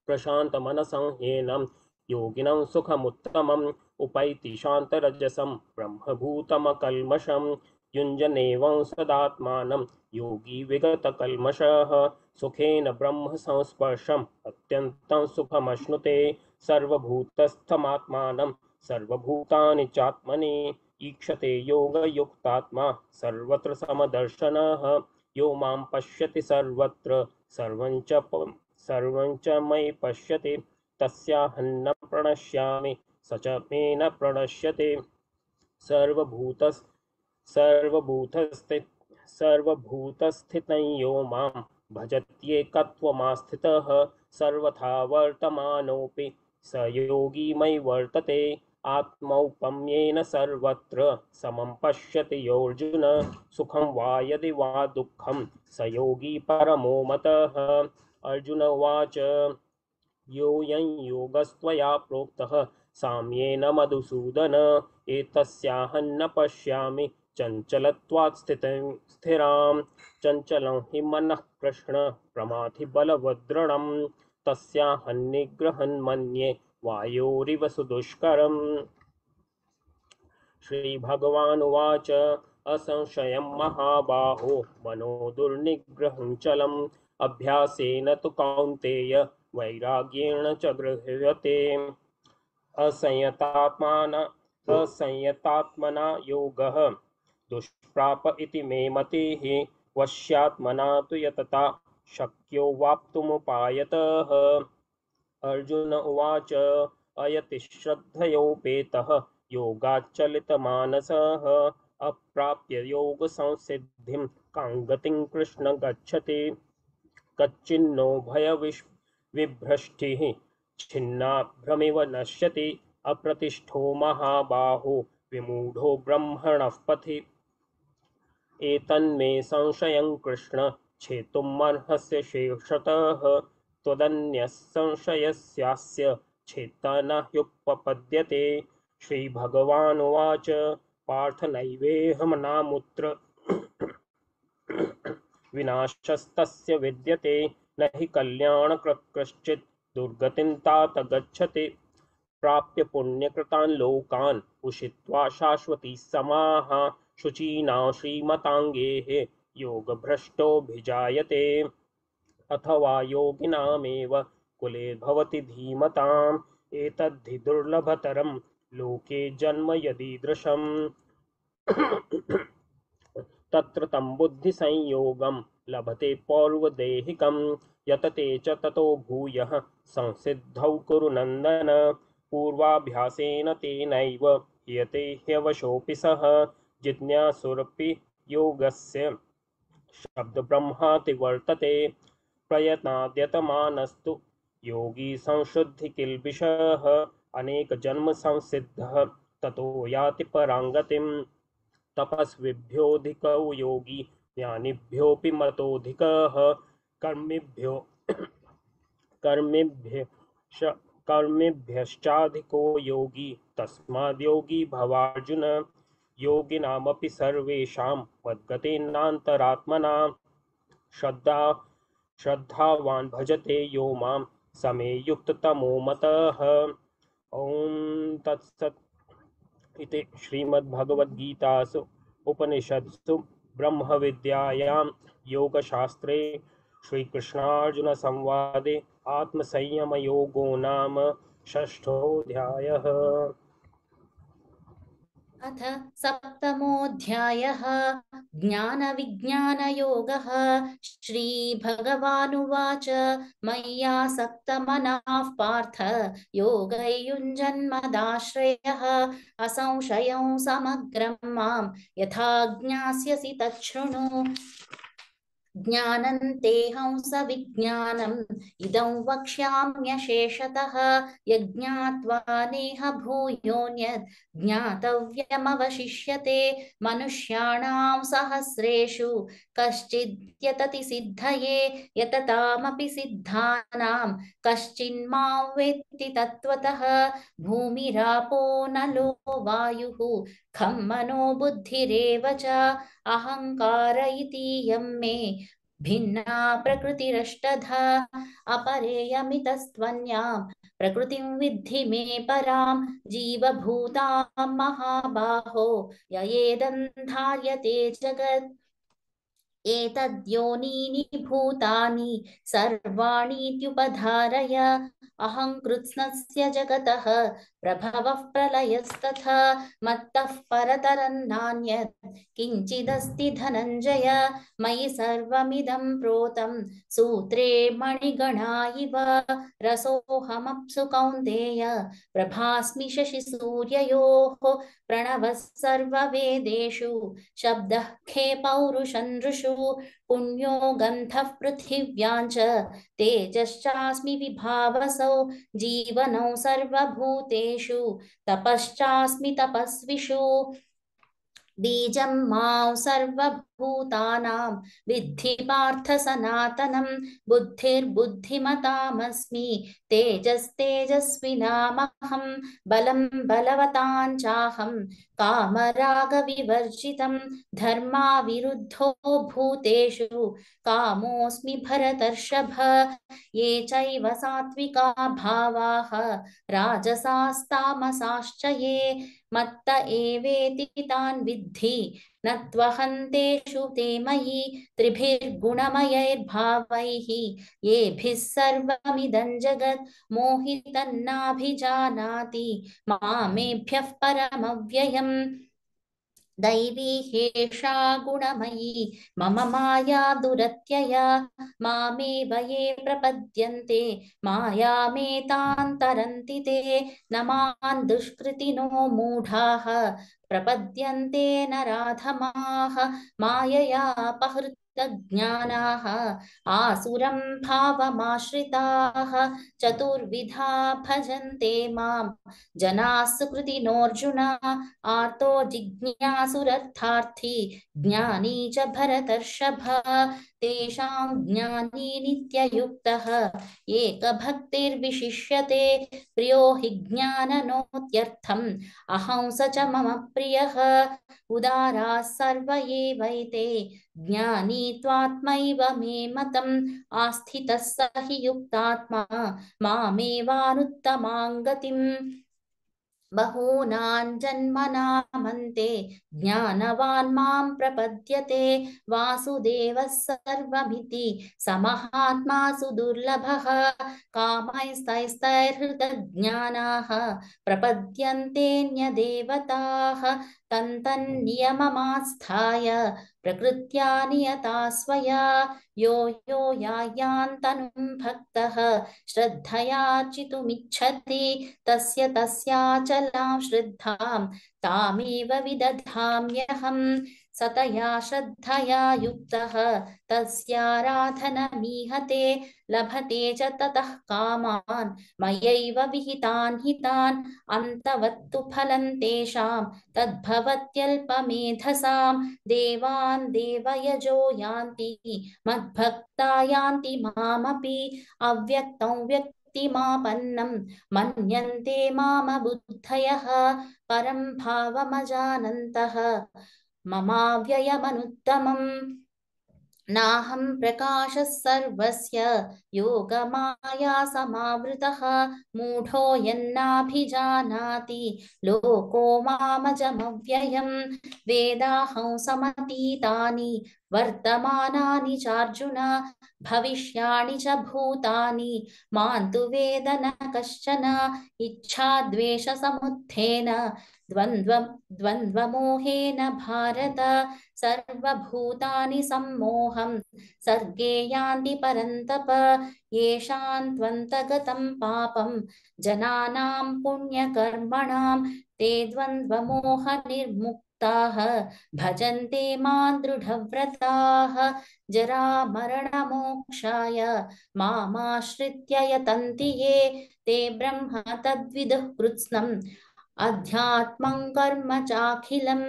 प्रशान्तमनसं ह्येनं योगिनं सुखमुत्तमम् उपैति शान्तरजसं ब्रह्मभूतमकल्मषं युञ्जनेवं सदात्मानं योगी विगतकल्मषः सुखेन ब्रह्म संस्पर्शम् अत्यन्तं सुखमश्नुते सर्वभूतस्थमात्मानं सर्वभूतानि चात्मनि ईक्षते योगयुक्तात्मा सर्वत्र समदर्शनः यो मां पश्यति सर्वत्र सर्वं च मयि पश्यति तस्याहं न प्रणश्यामि स च मे न प्रणश्यते सर्वभूतस्थितं यो मां भजत्येकत्वमास्थितः सर्वथा वर्तमानोऽपि स योगी मयि वर्तते आत्मौपम्येन सर्वत्र समं पश्यति योऽर्जुन सुखं वा यदि वा दुःखं स योगी परमो मतः अर्जुन उवाच योऽयं योगस्त्वया प्रोक्तः साम्येन मधुसूदन एतस्याहं न पश्यामि चञ्चलत्वात् स्थिरां चञ्चलं हि मनः कृष्ण प्रमाथि बलवद्दृढं तस्याहं निग्रहं मन्ये वायोरिव सुदुष्करम् श्रीभगवानुवाच असंशयं महाबाहो मनो दुर्निग्रहं चलम् अभ्यासेन तु कौन्तेय वैराग्येण च गृह्यते असंयतात्मना योगः दुष्प्राप इति मे मतिः वश्यात्मना तु यतता शक्यो वाप्तुमुपायतः अर्जुन उवाच अयति श्रद्धयोपेतः योगाच्चलितमानसः अप्राप्य योगसंसिद्धिं कां गतिं कृष्ण गच्छति कच्चिन्नो भयविभ्रष्टिः छिन्नाभ्रमिव नश्यति अप्रतिष्ठो महाबाहो विमूढो ब्रह्मणः पथि एतन्मे संशयं कृष्ण छेतुमर्हस्य शेषतः त्वदन्यः संशयस्यास्य छेत्ता न ह्युपपद्यते श्रीभगवानुवाच पार्थ नैवेहमनामुत्र विनाशस्तस्य विद्यते न हि कल्याणकृत् कश्चित् दुर्गतिं तात गच्छति प्राप्य पुण्यकृतान् लोकान् उषित्वा शाश्वती समाः शुचीनां श्रीमताङ्गेः योगभ्रष्टोऽभिजायते अथवा योगिनामेव कुले भवति धीमताम् एतद्धि दुर्लभतरं लोके जन्म यदीदृशम् तत्र तं बुद्धिसंयोगं लभते पौर्वदेहिकं यतते च ततो भूयः संसिद्धौ कुरु नन्दन पूर्वाभ्यासेन तेनैव ह्यते ह्यवशोऽपि सः जिज्ञासुरपि योगस्य शब्दब्रह्माति वर्तते प्रयत्नाद्यतमानस्तु योगी संशुद्धिकिल्बिषः अनेकजन्म संसिद्धः ततो याति पराङ्गतिम् तपस्विभ्योऽधिको योगी ज्ञानिभ्योऽपि मतोऽधिकः कर्मिभ्यश्चाधिको योगी तस्माद्योगी भवार्जुन योगिनामपि सर्वेषां मद्गतेनान्तरात्मना श्रद्धावान् भजते यो मां समे युक्ततमो मतः ॐ तत्सत् इति श्रीमद्भगवद्गीतासु उपनिषत्सु ब्रह्मविद्यायां योगशास्त्रे श्रीकृष्णार्जुनसंवादे आत्मसंयमयोगो नाम षष्ठोऽध्यायः। अथ सप्तमोऽध्यायः ज्ञानविज्ञानयोगः। श्रीभगवानुवाच मय्यासक्तमनः पार्थ योगैयुञ्जन्मदाश्रयः असंशयं समग्रं मां यथा ज्ञास्यसि तच्छृणु ज्ञानं तेऽहं सविज्ञानम् इदं वक्ष्याम्यशेषतः यज्ञात्वा नेह भूयोऽन्यत् ज्ञातव्यमवशिष्यते मनुष्याणां सहस्रेषु कश्चिद्यतति सिद्धये यततामपि सिद्धानां कश्चिन्मां वेत्ति तत्त्वतः भूमिरापो नलो वायुः खं मनो बुद्धिरेव च अहङ्कार इतीयं मे भिन्ना प्रकृतिरष्टधा अपरेयमितस्त्वन्यां प्रकृतिं विद्धि मे परां जीवभूतां महाबाहो ययेदन्धार्यते जगत् एतद्योनीनि भूतानि सर्वाणीत्युपधारय अहं कृत्स्नस्य जगतः प्रभवः प्रलयस्तथा मत्तः परतरं नान्यत् किञ्चिदस्ति धनञ्जय मयि सर्वमिदं प्रोतं सूत्रे मणिगणा इव रसोऽहमप्सु कौन्तेय प्रभास्मि शशिसूर्ययोः प्रणवः सर्ववेदेषु शब्दः खे पौरुषं नृषु पुण्यो गन्धः पृथिव्यां च तेजश्चास्मि विभावसौ जीवनौ सर्वभूतेषु तपश्चास्मि तपस्विषु बीजं मां सर्वभूतानां विद्धि पार्थ सनातनं बुद्धिर्बुद्धिमतामस्मि तेजस्तेजस्विनामहं बलं बलवतां चाहं कामरागविवर्जितं धर्माविरुद्धो भूतेषु कामोऽस्मि भरतर्षभ ये चैव सात्विका भावाः राजसास्तामसाश्च ये मत्त एवेति तान् विद्धि न त्वहन्तेषु ते मयि त्रिभिर्गुणमयैर्भावैः येभिः सर्वमिदं जगत् मोहितन्नाभिजानाति मामेभ्यः परमव्ययम् दैवी ह्येषा गुणमयी मम माया दुरत्यया मामेव ये प्रपद्यन्ते मायामेतां तरन्ति ते न मां दुष्कृतिनो मूढाः प्रपद्यन्ते नराधमाः माययापहृतज्ञानाः आसुरं भावमाश्रिताः चतुर्विधा भजन्ते मां जनाः सुकृतिनोऽर्जुन आर्तो जिज्ञासुरर्थार्थी ज्ञानी च भरतर्षभ तेषां ज्ञानी नित्ययुक्तः एकभक्तिर्विशिष्यते प्रियो हि ज्ञाननोत्यर्थम् अहं स च मम प्रियः उदाराः सर्व एवैते ज्ञानी त्वात्मैव मे मतम् आस्थितः स हि युक्तात्मा मामेवानुत्तमां गतिम् बहूनां जन्मनामन्ते ज्ञानवान् मां प्रपद्यते वासुदेवः सर्वमिति समहात्मा सुदुर्लभः कामैस्तैस्तैर्हृतज्ञानाः प्रपद्यन्तेऽन्यदेवताः तन्तन्नियममास्थाय प्रकृत्या नियता स्वया यो यो यायान्तनुं भक्तः श्रद्धयार्चितुमिच्छति तस्य तस्याचलां श्रद्धां तामेव विदधाम्यहं सतया श्रद्धया युक्तः तस्याराधनमीहते लभते च ततः कामान् मयैव विहितान् हितान् अन्तवत्तु फलं तेषां तद्भवत्यल्पमेधसां देवान् देवयजो यान्ति मद्भक्ता यान्ति मामपि अव्यक्तं व्यक्तिमापन्नं मन्यन्ते मामबुद्धयः परं भावमजानन्तः ममाव्ययमनुत्तमम् नाहं प्रकाशः सर्वस्य योगमाया समावृतः मूढो यन्नाभिजानाति लोको मामजमव्ययं वेदाहं समतीतानि वर्तमानानि चार्जुन भविष्याणि च भूतानि मां तु वेद न कश्चन इच्छाद्वेषसमुत्थेन द्वन्द्वमोहेन भारत सर्वभूतानि सम्मोहं सर्गे यान्ति परन्तप येषां त्वन्तगतं पापं जनानां पुण्यकर्मणां ते द्वन्द्वमोहनिर्मुक्ताः भजन्ते मां दृढव्रताः जरामरणमोक्षाय मामाश्रित्य यतन्ति ये ते ब्रह्म तद्विदुः कृत्स्नम् अध्यात्मं कर्म चाखिलं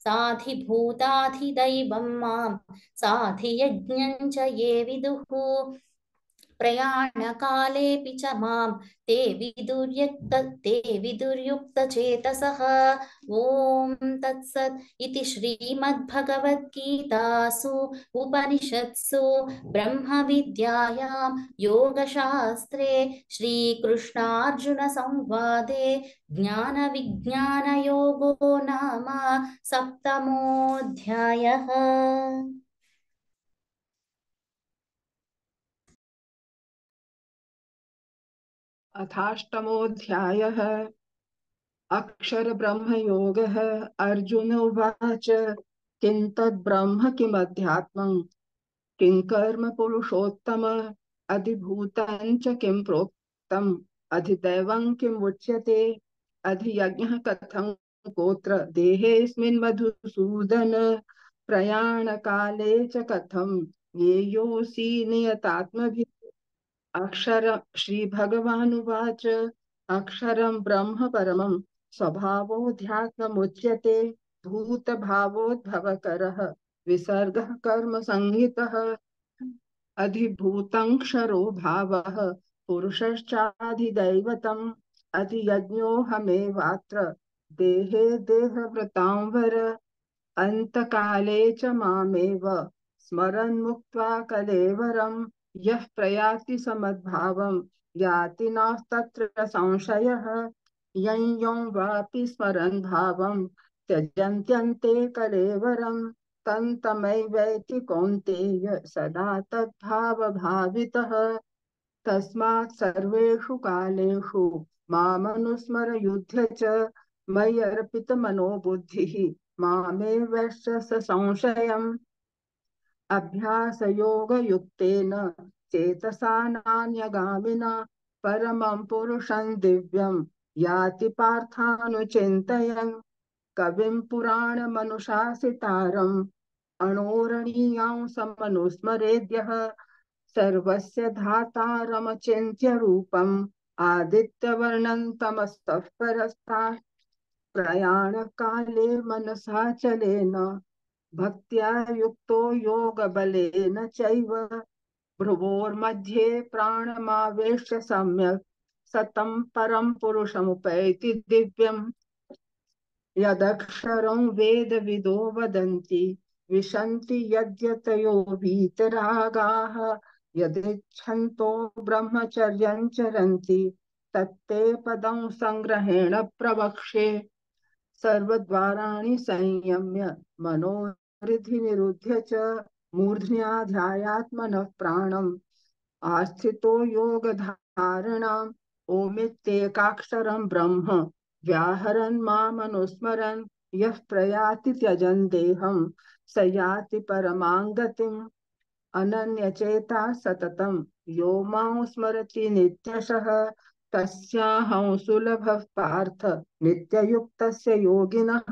साधिभूताधिदैवं मां साधियज्ञं च ये विदुः प्रयाणकालेऽपि च मां ते विदुर्युक्तचेतसः। ॐ तत्सत् इति श्रीमद्भगवद्गीतासु उपनिषत्सु ब्रह्मविद्यायां योगशास्त्रे श्रीकृष्णार्जुनसंवादे ज्ञानविज्ञानयोगो नाम सप्तमोऽध्यायः। अथाष्टमोऽध्यायः। अक्षरब्रह्मयोगः। अर्जुन उवाच किं तद्ब्रह्म किमध्यात्मं किं कर्म पुरुषोत्तम अधिभूतं च किं प्रोक्तम् अधिदैवं किम् उच्यते अधियज्ञः कथं गोत्र देहेऽस्मिन् मधुसूदन प्रयाणकाले च कथं येयोऽसि नियतात्मभिः। अक्षर श्रीभगवानुवाच अक्षरं ब्रह्म परमं स्वभावोऽध्यात्ममुच्यते भूतभावोद्भवकरः विसर्गः कर्म संहितः अधिभूतङ्क्षरो भावः पुरुषश्चाधिदैवतम् अधियज्ञोऽहमेवात्र देहे देहभृतां वर अन्तकाले च मामेव स्मरन् मुक्त्वा कलेवरम् यः प्रयाति समद्भावं याति नास्तत्र संशयः यं यं वापि स्मरन् भावं त्यजन्त्यन्ते कलेवरं तं तमैवैति कौन्तेय सदा तद्भावभावितः। तस्मात् सर्वेषु कालेषु मामनुस्मर युध्य च मयि अर्पितमनो बुद्धिः मामेवैश्च संशयम्। अभ्यासयोगयुक्तेन चेतसा नान्यगामिना परमं पुरुषं दिव्यं याति पार्थानुचिन्तयन् कविं पुराणमनुशासितारम् अणोरणीयां समनुस्मरेद्यः सर्वस्य धातारमचिन्त्य रूपम् आदित्यवर्णं तमस्तः परस्तात् प्रयाणकाले मनसा चलेन भक्त्या युक्तो योगबलेन चैव भ्रुवोर्मध्ये प्राणमावेश्य सम्यक् सतं परं पुरुषमुपैति दिव्यम्। यदक्षरं वेदविदो वदन्ति विशन्ति यद्यतयो वीतरागाः यदिच्छन्तो ब्रह्मचर्यं चरन्ति तत्ते पदं संग्रहेण प्रवक्ष्ये। सर्वद्वाराणि संयम्य मनोहृदि निरुध्य च मूर्ध्न्याध्यायात्मनः प्राणम् आस्थितो योगधारणाम् ओमित्येकाक्षरं ब्रह्म व्याहरन् मामनुस्मरन् यः प्रयाति त्यजन् देहं स याति परमां गतिम्। अनन्यचेता सततं यो मां स्मरति नित्यशः तस्याहं सुलभः पार्थ नित्ययुक्तस्य योगिनः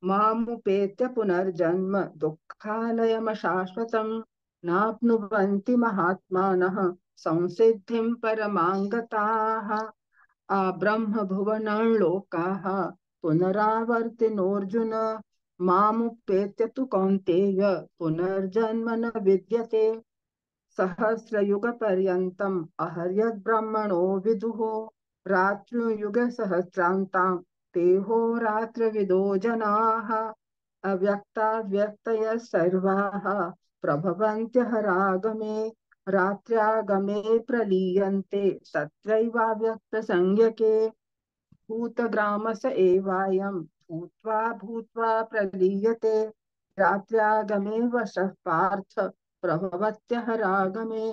मामुपेत्य पुनर्जन्म दुःखालयमशाश्वतं नाप्नुवन्ति महात्मानः संसिद्धिं परमां गताः। आब्रह्मभुवनं लोकाः पुनरावर्तिनोऽर्जुन मामुपेत्य तु कौन्तेय पुनर्जन्म न विद्यते। सहस्रयुगपर्यन्तम् अहर्यद्ब्रह्मणो विदुः रात्रियुगसहस्रान्तां तेहोरात्रविदो जनाः अव्यक्ताव्यक्तयः सर्वाः प्रभवन्त्यहरागमे रात्र्यागमे प्रलीयन्ते तत्रैवाव्यक्तसंज्ञके भूतग्रामस एवायं भूत्वा भूत्वा प्रलीयते रात्र्यागमे वशः पार्थ प्रभवत्यहरागमे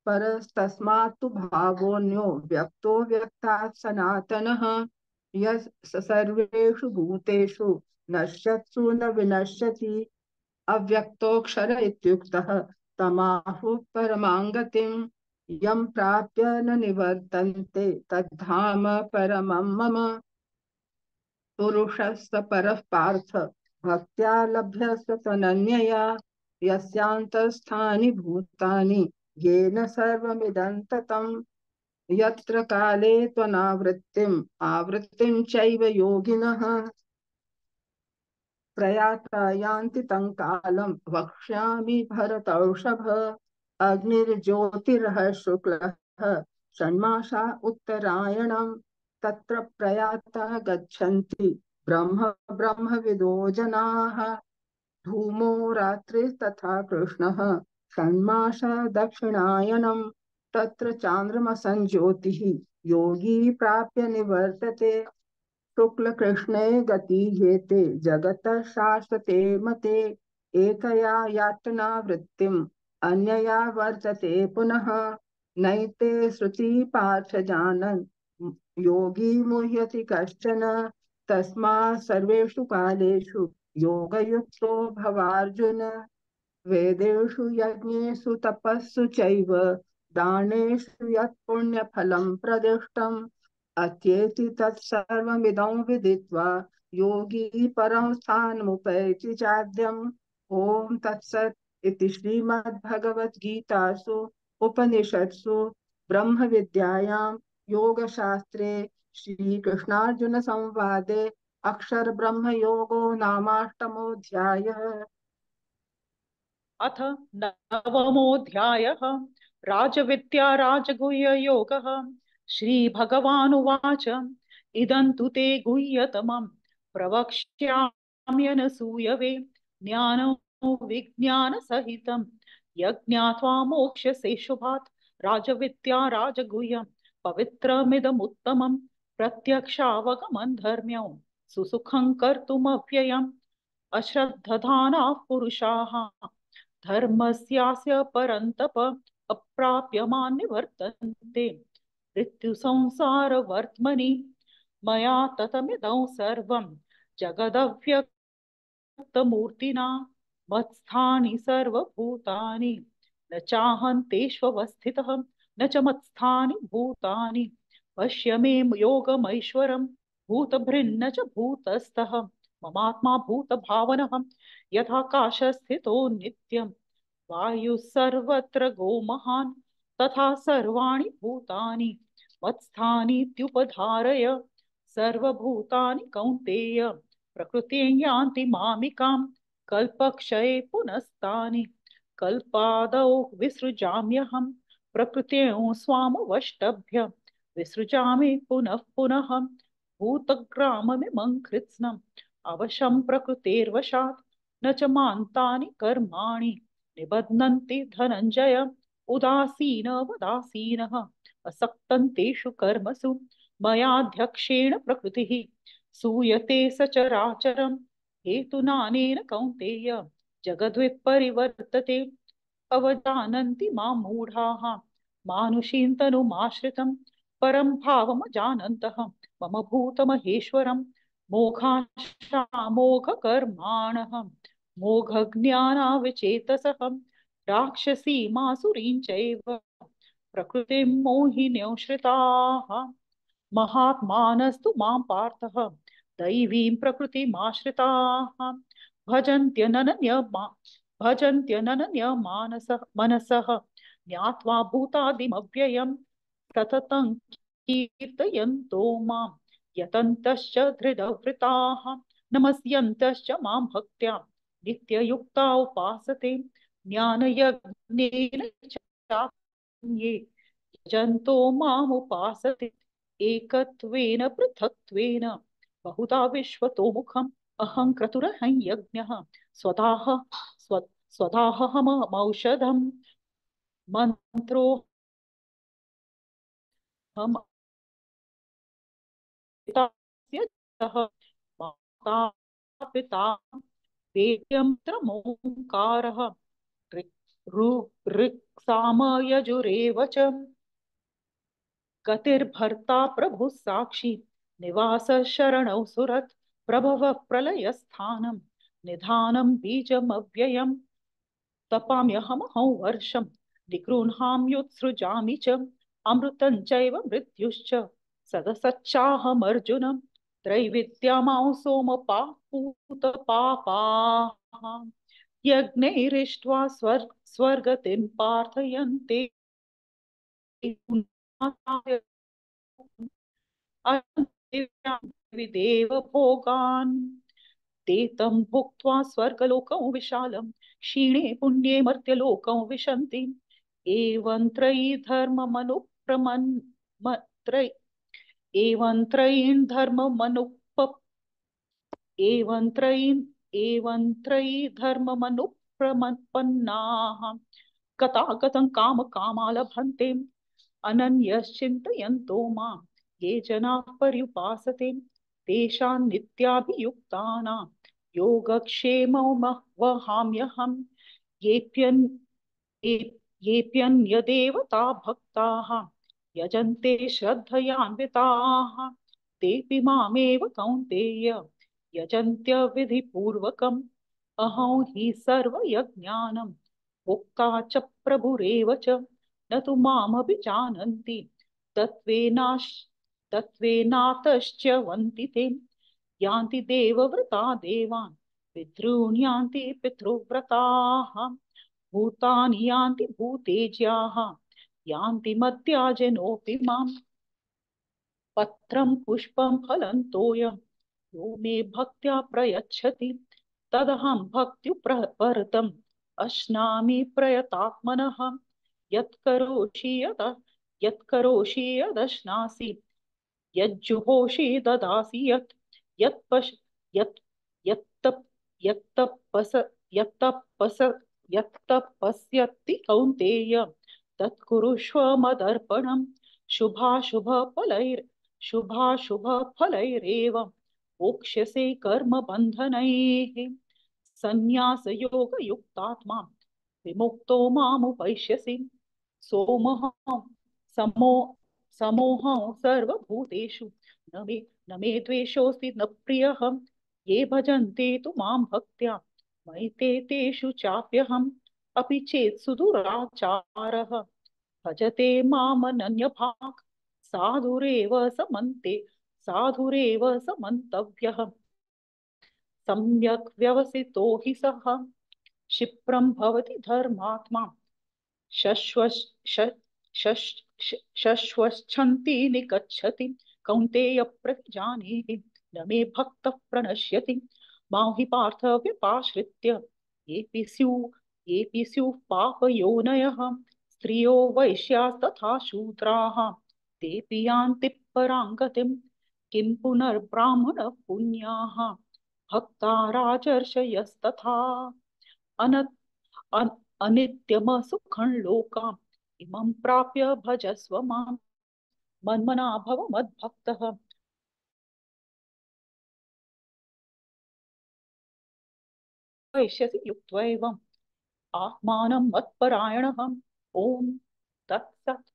परस्तस्मात् तु भावोऽन्यो व्यक्तो व्यक्तात् सनातनः यः सर्वेषु भूतेषु नश्यत्सु न विनश्यति अव्यक्तोऽक्षर इत्युक्तः तमाहुः परमां गतिम् यं प्राप्य न निवर्तन्ते तद्धाम परमं मम। पुरुषस्य परः पार्थ भक्त्या लभ्यस्य तनन्यया यस्यान्तस्थानि भूतानि येन सर्वमिदं ततं यत्र काले त्वनावृत्तिम् आवृत्तिं चैव योगिनः प्रयाता यान्ति तं कालं वक्ष्यामि भरतौषभ अग्निर्ज्योतिरः शुक्लः षण्मासा उत्तरायणं तत्र प्रयातः गच्छन्ति ब्रह्मविदो जनाः धूमो रात्रिस्तथा कृष्णः षण्मासा दक्षिणायनं तत्र चान्द्रमसञ्ज्योतिः योगी प्राप्य निवर्तते शुक्लकृष्णे गतिहेते जगतः शाश्वते मते एकया यातनावृत्तिम् अन्यया वर्तते पुनः नैते श्रुति पार्थ जानन् योगी मुह्यति कश्चन तस्मात् सर्वेषु कालेषु योगयुक्तो भवार्जुन वेदेषु यज्ञेषु तपस्सु चैव दानेषु यत् पुण्यफलं प्रदिष्टम् अत्येति तत्सर्वमिदं विदित्वा योगी परं स्थानमुपैति चाद्यम् ॐ तत्सत् इति श्रीमद्भगवद्गीतासु उपनिषत्सु ब्रह्मविद्यायां योगशास्त्रे श्रीकृष्णार्जुनसंवादे अक्षरब्रह्मयोगो नामाष्टमोऽध्यायः। अथ नवमोऽध्यायः राजविद्या राजगुह्ययोगः श्रीभगवानुवाच इदं तु ते गुह्यतमं प्रवक्ष्याम्यनसूयवे ज्ञानो विज्ञानसहितं यज्ञात्वा मोक्ष्यसे शुभात् राजविद्या राजगुह्यं पवित्रमिदमुत्तमं प्रत्यक्षावगमं धर्म्यं सुसुखं कर्तुमव्ययम् अश्रद्धधानाः पुरुषाः धर्मस्यास्य परन्तप अप्राप्यमान् निवर्तन्ते मृत्युसंसारवर्त्मनि मया ततमिदं सर्वं जगदव्यक्तमूर्तिना मत्स्थानि सर्वभूतानि न चाहं तेष्वस्थितः न च मत्स्थानि भूतानि पश्य मे योगमैश्वरं भूतभृन्न च भूतस्थः ममात्मा भूतभावनः यथाकाशस्थितो नित्यं वायुः सर्वत्र गोमहान् तथा सर्वाणि भूतानि मत्स्थानीत्युपधारय सर्वभूतानि कौन्तेय प्रकृतिं यान्ति मामिकां कल्पक्षये पुनस्तानि कल्पादौ विसृजाम्यहं प्रकृतिं स्वामवष्टभ्य विसृजामि पुनः पुनः भूतग्राममिमं कृत्स्नम् अवशं प्रकृतेर्वशात् न च मान्तानि कर्माणि निबध्नन्ति धनञ्जय उदासीनवदासीनः असक्तं तेषु कर्मसु मयाध्यक्षेण प्रकृतिः सूयते सचराचरं हेतुनानेन कौन्तेय जगद्विपरिवर्तते अवजानन्ति मां मूढाः मानुषीं तनुमाश्रितं परं भावमजानन्तः मम भूतमहेश्वरं मोघाशामोघकर्माणः मोघज्ञानाविचेतसः राक्षसीमासुरीं चैव प्रकृतिं मोहिनीं श्रिताः महात्मानस्तु मां पार्थः दैवीं प्रकृतिमाश्रिताः भजन्त्यनन्यमानसः ज्ञात्वा भूतादिमव्ययं सततं कीर्तयन्तो मां यतन्तश्च धृतवृताः नमस्यन्तश्च मां भक्त्या नित्ययुक्ता उपासते ज्ञानयज्ञेन चान्ये यजन्तो मामुपासते एकत्वेन पृथक्त्वेन बहुधा विश्वतो मुखम् अहं क्रतुरहं यज्ञः स्वदाहमौषधं मन्त्रोऽहम् माता पिता वेद्यमोङ्कारः ऋक्सामयजुरेव च गतिर्भर्ता प्रभुः साक्षी निवासः शरणौ सुरत् प्रभवः प्रलयस्थानं निधानं बीजमव्ययं तपाम्यहमहं वर्षं निगृह्णाम्युत्सृजामि च अमृतं चैव मृत्युश्च सदसच्चाहमर्जुनं त्रैविद्यामां सोमपापूतपापाः यज्ञैरिष्ट्वा स्वर्गतिं प्रार्थयन्ते विदेव भोगान् ते तं भुक्त्वा स्वर्गलोकं विशालं क्षीणे पुण्ये मर्त्यलोकं विशन्ति एवं त्रयी धर्ममनुप्रपन्नाः गतागतं कामकामा लभन्ते अनन्यश्चिन्तयन्तो मां ये जनाः पर्युपासते तेषां नित्याभियुक्तानां योगक्षेममवहाम्यहम् येऽप्यन्यदेवता भक्ताः यजन्ते श्रद्धयान्विताः तेऽपि मामेव कौन्तेय यजन्त्य विधिपूर्वकम् अहं हि सर्वयज्ञानं भोक्ता च प्रभुरेव च न तु मामभिजानन्ति तत्त्वेनातश्च वन्ति ते यान्ति देवव्रता देवान् पितॄन् यान्ति पितृव्रताः भूतानि यान्ति भूतेज्याः यान्ति मद्याजनोऽपि माम् पत्रं पुष्पं फलं तोयं यो मे भक्त्या प्रयच्छति तदहं भक्त्युपरतम् अश्नामि प्रयतात्मनः यत्करोषि यदश्नासि यज्जुहोषि ददासि यत्तपस्यति कौन्तेय तत्कुरुष्व मदर्पणम् शुभाशुभफलैरेव मोक्ष्यसे कर्मबन्धनैः संन्यासयोगयुक्तात्मा विमुक्तो मामुपैष्यसि समोहं सर्वभूतेषु न मे द्वेषोऽस्ति न प्रियः ये भजन्ते तु मां भक्त्या मयि तेषु चाप्यहम् अपि चेत् सुदुराचारः भजते मामनन्यभाक् साधुरेव समन्तव्यः सम्यक् व्यवसितो हि सः क्षिप्रं भवति धर्मात्मा शश्वच्छन्ति निगच्छति कौन्तेय प्रतिजानीहि न मे भक्तः प्रणश्यति मां हि पार्थ व्यपाश्रित्य येऽपि स्युः पापयोनयः स्त्रियो वैश्यास्तथा शूद्राः तेऽपि यान्ति परां गतिं किं पुनर्ब्राह्मणः पुण्याः भक्ता राजर्षयस्तथा अनित्यमसुखं लोकाम् इमं प्राप्य भजस्व मां मन्मना भव मद्भक्तः वैश्यसि युक्त्वैवम् आत्मानं मत्परायणः ॐ तत्सत्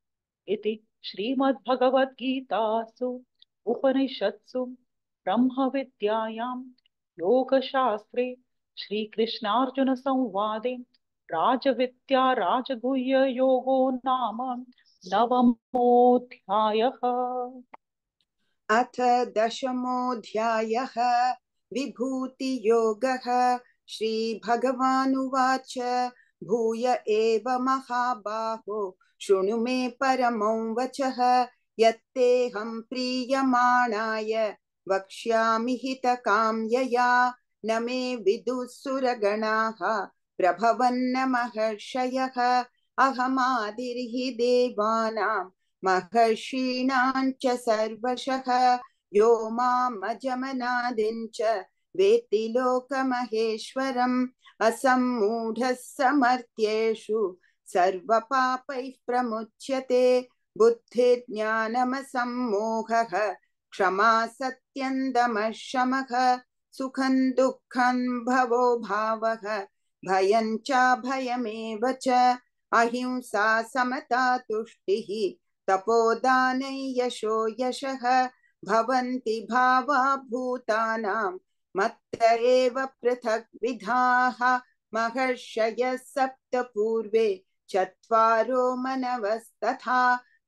इति श्रीमद्भगवद्गीतासु उपनिषत्सु ब्रह्मविद्यायां योगशास्त्रे श्रीकृष्णार्जुनसंवादे राजविद्या राजगुह्ययोगो नाम नवमोऽध्यायः। अथ दशमोऽध्यायः विभूतियोगः। श्रीभगवानुवाच भूय एव महाबाहो शृणु मे परमं वचः यत्तेऽहं प्रीयमाणाय वक्ष्यामि हितकाम्यया न मे विदुः सुरगणाः प्रभवन्न महर्षयः अहमादिर्हि देवानां महर्षीणां च सर्वशः यो मामजमनादिं च वेत्ति लोकमहेश्वरम् असम्मूढः समर्थ्येषु सर्वपापैः प्रमुच्यते बुद्धिर्ज्ञानमसम्मोहः क्षमा सत्यं दमः शमः सुखं दुःखं भवो भावः भयं चाभयमेव च अहिंसा समता तुष्टिः तपोदानै यशो यशः भवन्ति भावा भूतानां मत्त एव पृथक् विधाः महर्षयः सप्त पूर्वे चत्वारो मनवस्तथा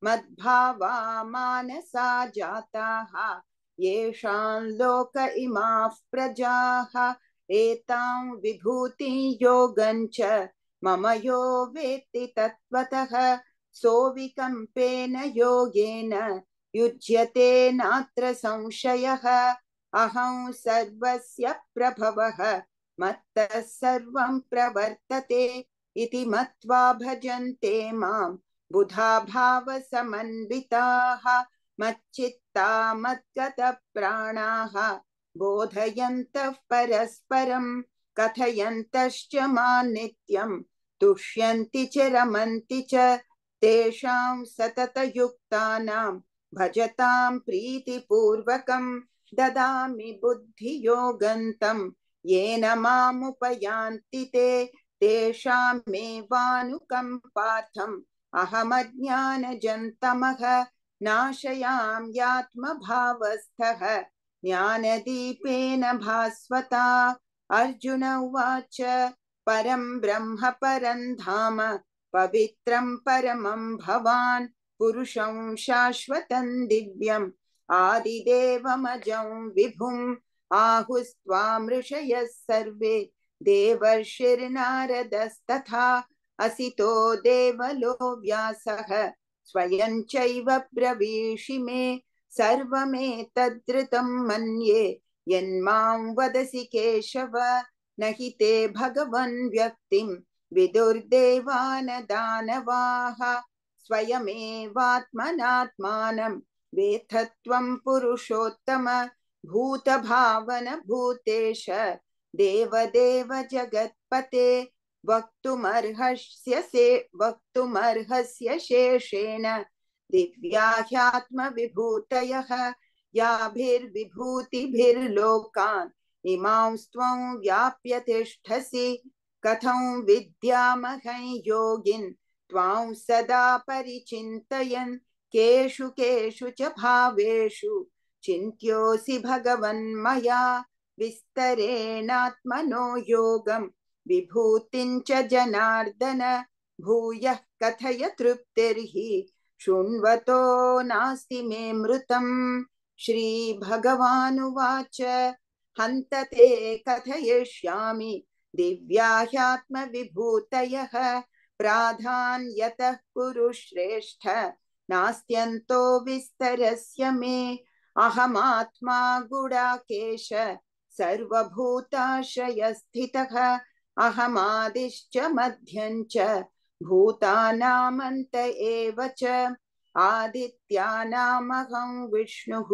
मद्भावा मानसा जाताः येषां लोक इमाः प्रजाः एतां विभूतिं योगं च मम यो वेत्ति तत्त्वतः सोऽविकम्पेन योगेन युज्यते नात्र संशयः अहं सर्वस्य प्रभवः मत्तः सर्वं प्रवर्तते इति मत्वा भजन्ते मां बुधा भावसमन्विताः मच्चित्ता मद्गतप्राणाः बोधयन्तः परस्परं कथयन्तश्च मां नित्यं तुष्यन्ति च रमन्ति च तेषां सततयुक्तानां भजतां प्रीतिपूर्वकं ददामि बुद्धियोगन्तं येन मामुपयान्ति ते तेषामेवानुकम्पार्थम् अहमज्ञानजन्तमः नाशयाम्यात्मभावस्थः ज्ञानदीपेन भास्वता। अर्जुन उवाच परं ब्रह्म परं धाम पवित्रं परमं भवान् पुरुषं शाश्वतं दिव्यम् आदिदेवमजं विभुम् आहुस्त्वां ऋषयः सर्वे देवर्षिर्नारदस्तथा असितो देवलो व्यासः स्वयं चैव ब्रवीषि मे सर्वमेतद्धृतं मन्ये यन्मां वदसि केशव न हि ते भगवन् व्यक्तिं विदुर्देवानदानवाः स्वयमेवात्मनात्मानं वेत्थत्वं पुरुषोत्तम भूतभावन भूतेश देवदेव जगत्पते वक्तुमर्हस्य शेषेण दिव्या ह्यात्मविभूतयः याभिर्विभूतिभिर्लोकान् इमांस्त्वं व्याप्य तिष्ठसि कथं विद्यामहं योगिन् त्वां सदा परिचिन्तयन् केषु केषु च भावेषु चिन्त्योऽसि भगवन्मया विस्तरेणात्मनो योगं विभूतिं च जनार्दन भूयः कथय तृप्तिर्हि शृण्वतो नास्ति मे मृतम्। श्रीभगवानुवाच हन्त ते कथयिष्यामि दिव्या ह्यात्मविभूतयः प्राधान्यतः कुरु श्रेष्ठ नास्त्यन्तो विस्तरस्य मे अहमात्मा गुडाकेश सर्वभूताश्रयस्थितः अहमादिश्च मध्यं च भूतानामन्त एव च आदित्यानामहं विष्णुः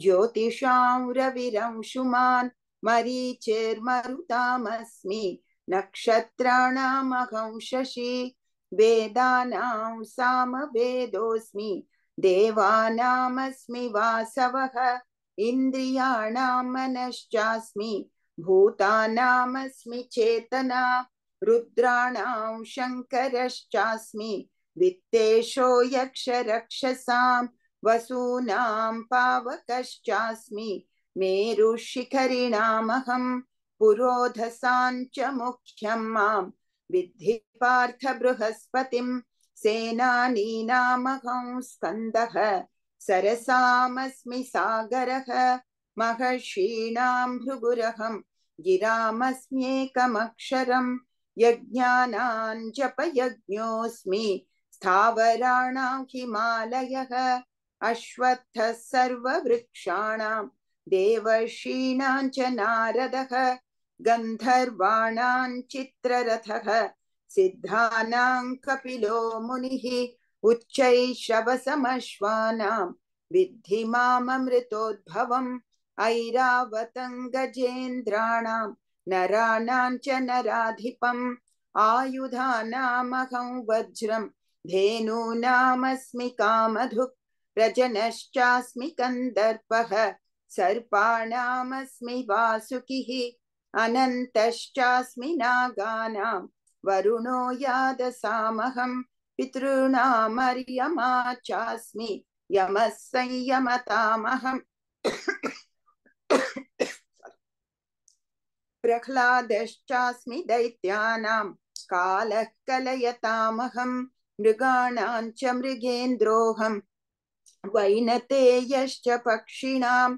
ज्योतिषां रविरंशुमान् मरीचिर्मरुतामस्मि नक्षत्राणामहं शशि वेदानां सामवेदोऽस्मि देवानामस्मि वासवः इन्द्रियाणां मनश्चास्मि भूतानामस्मि चेतना रुद्राणां शङ्करश्चास्मि वित्तेशो यक्षरक्षसां वसूनां पावकश्चास्मि मेरुशिखरिणामहं पुरोधसां च मुख्यं मां विद्धि पार्थ बृहस्पतिं सेनानीनामहं स्कन्दः सरसामस्मि सागरः महर्षीणां भृगुरहं गिरामस्म्येकमक्षरं यज्ञानां जपयज्ञोऽस्मि स्थावराणां हिमालयः अश्वत्थः सर्ववृक्षाणां देवर्षीणां च नारदः गन्धर्वाणां चित्ररथः सिद्धानां कपिलो मुनिः उच्चैश्रवसमश्वानां विद्धि माममृतोद्भवम् ऐरावतं गजेन्द्राणां नराणां च नराधिपम् आयुधानामहं वज्रं धेनूनामस्मि कामधुक् रजनश्चास्मि कन्दर्पः सर्पाणामस्मि वासुकिः अनन्तश्चास्मि नागानां वरुणो यादसामहं पितॄणामर्यमा चास्मि यमः संयमतामहम् प्रह्लादश्चास्मि दैत्यानां कालः कलयतामहं मृगाणां च मृगेन्द्रोऽहं वैनतेयश्च पक्षिणां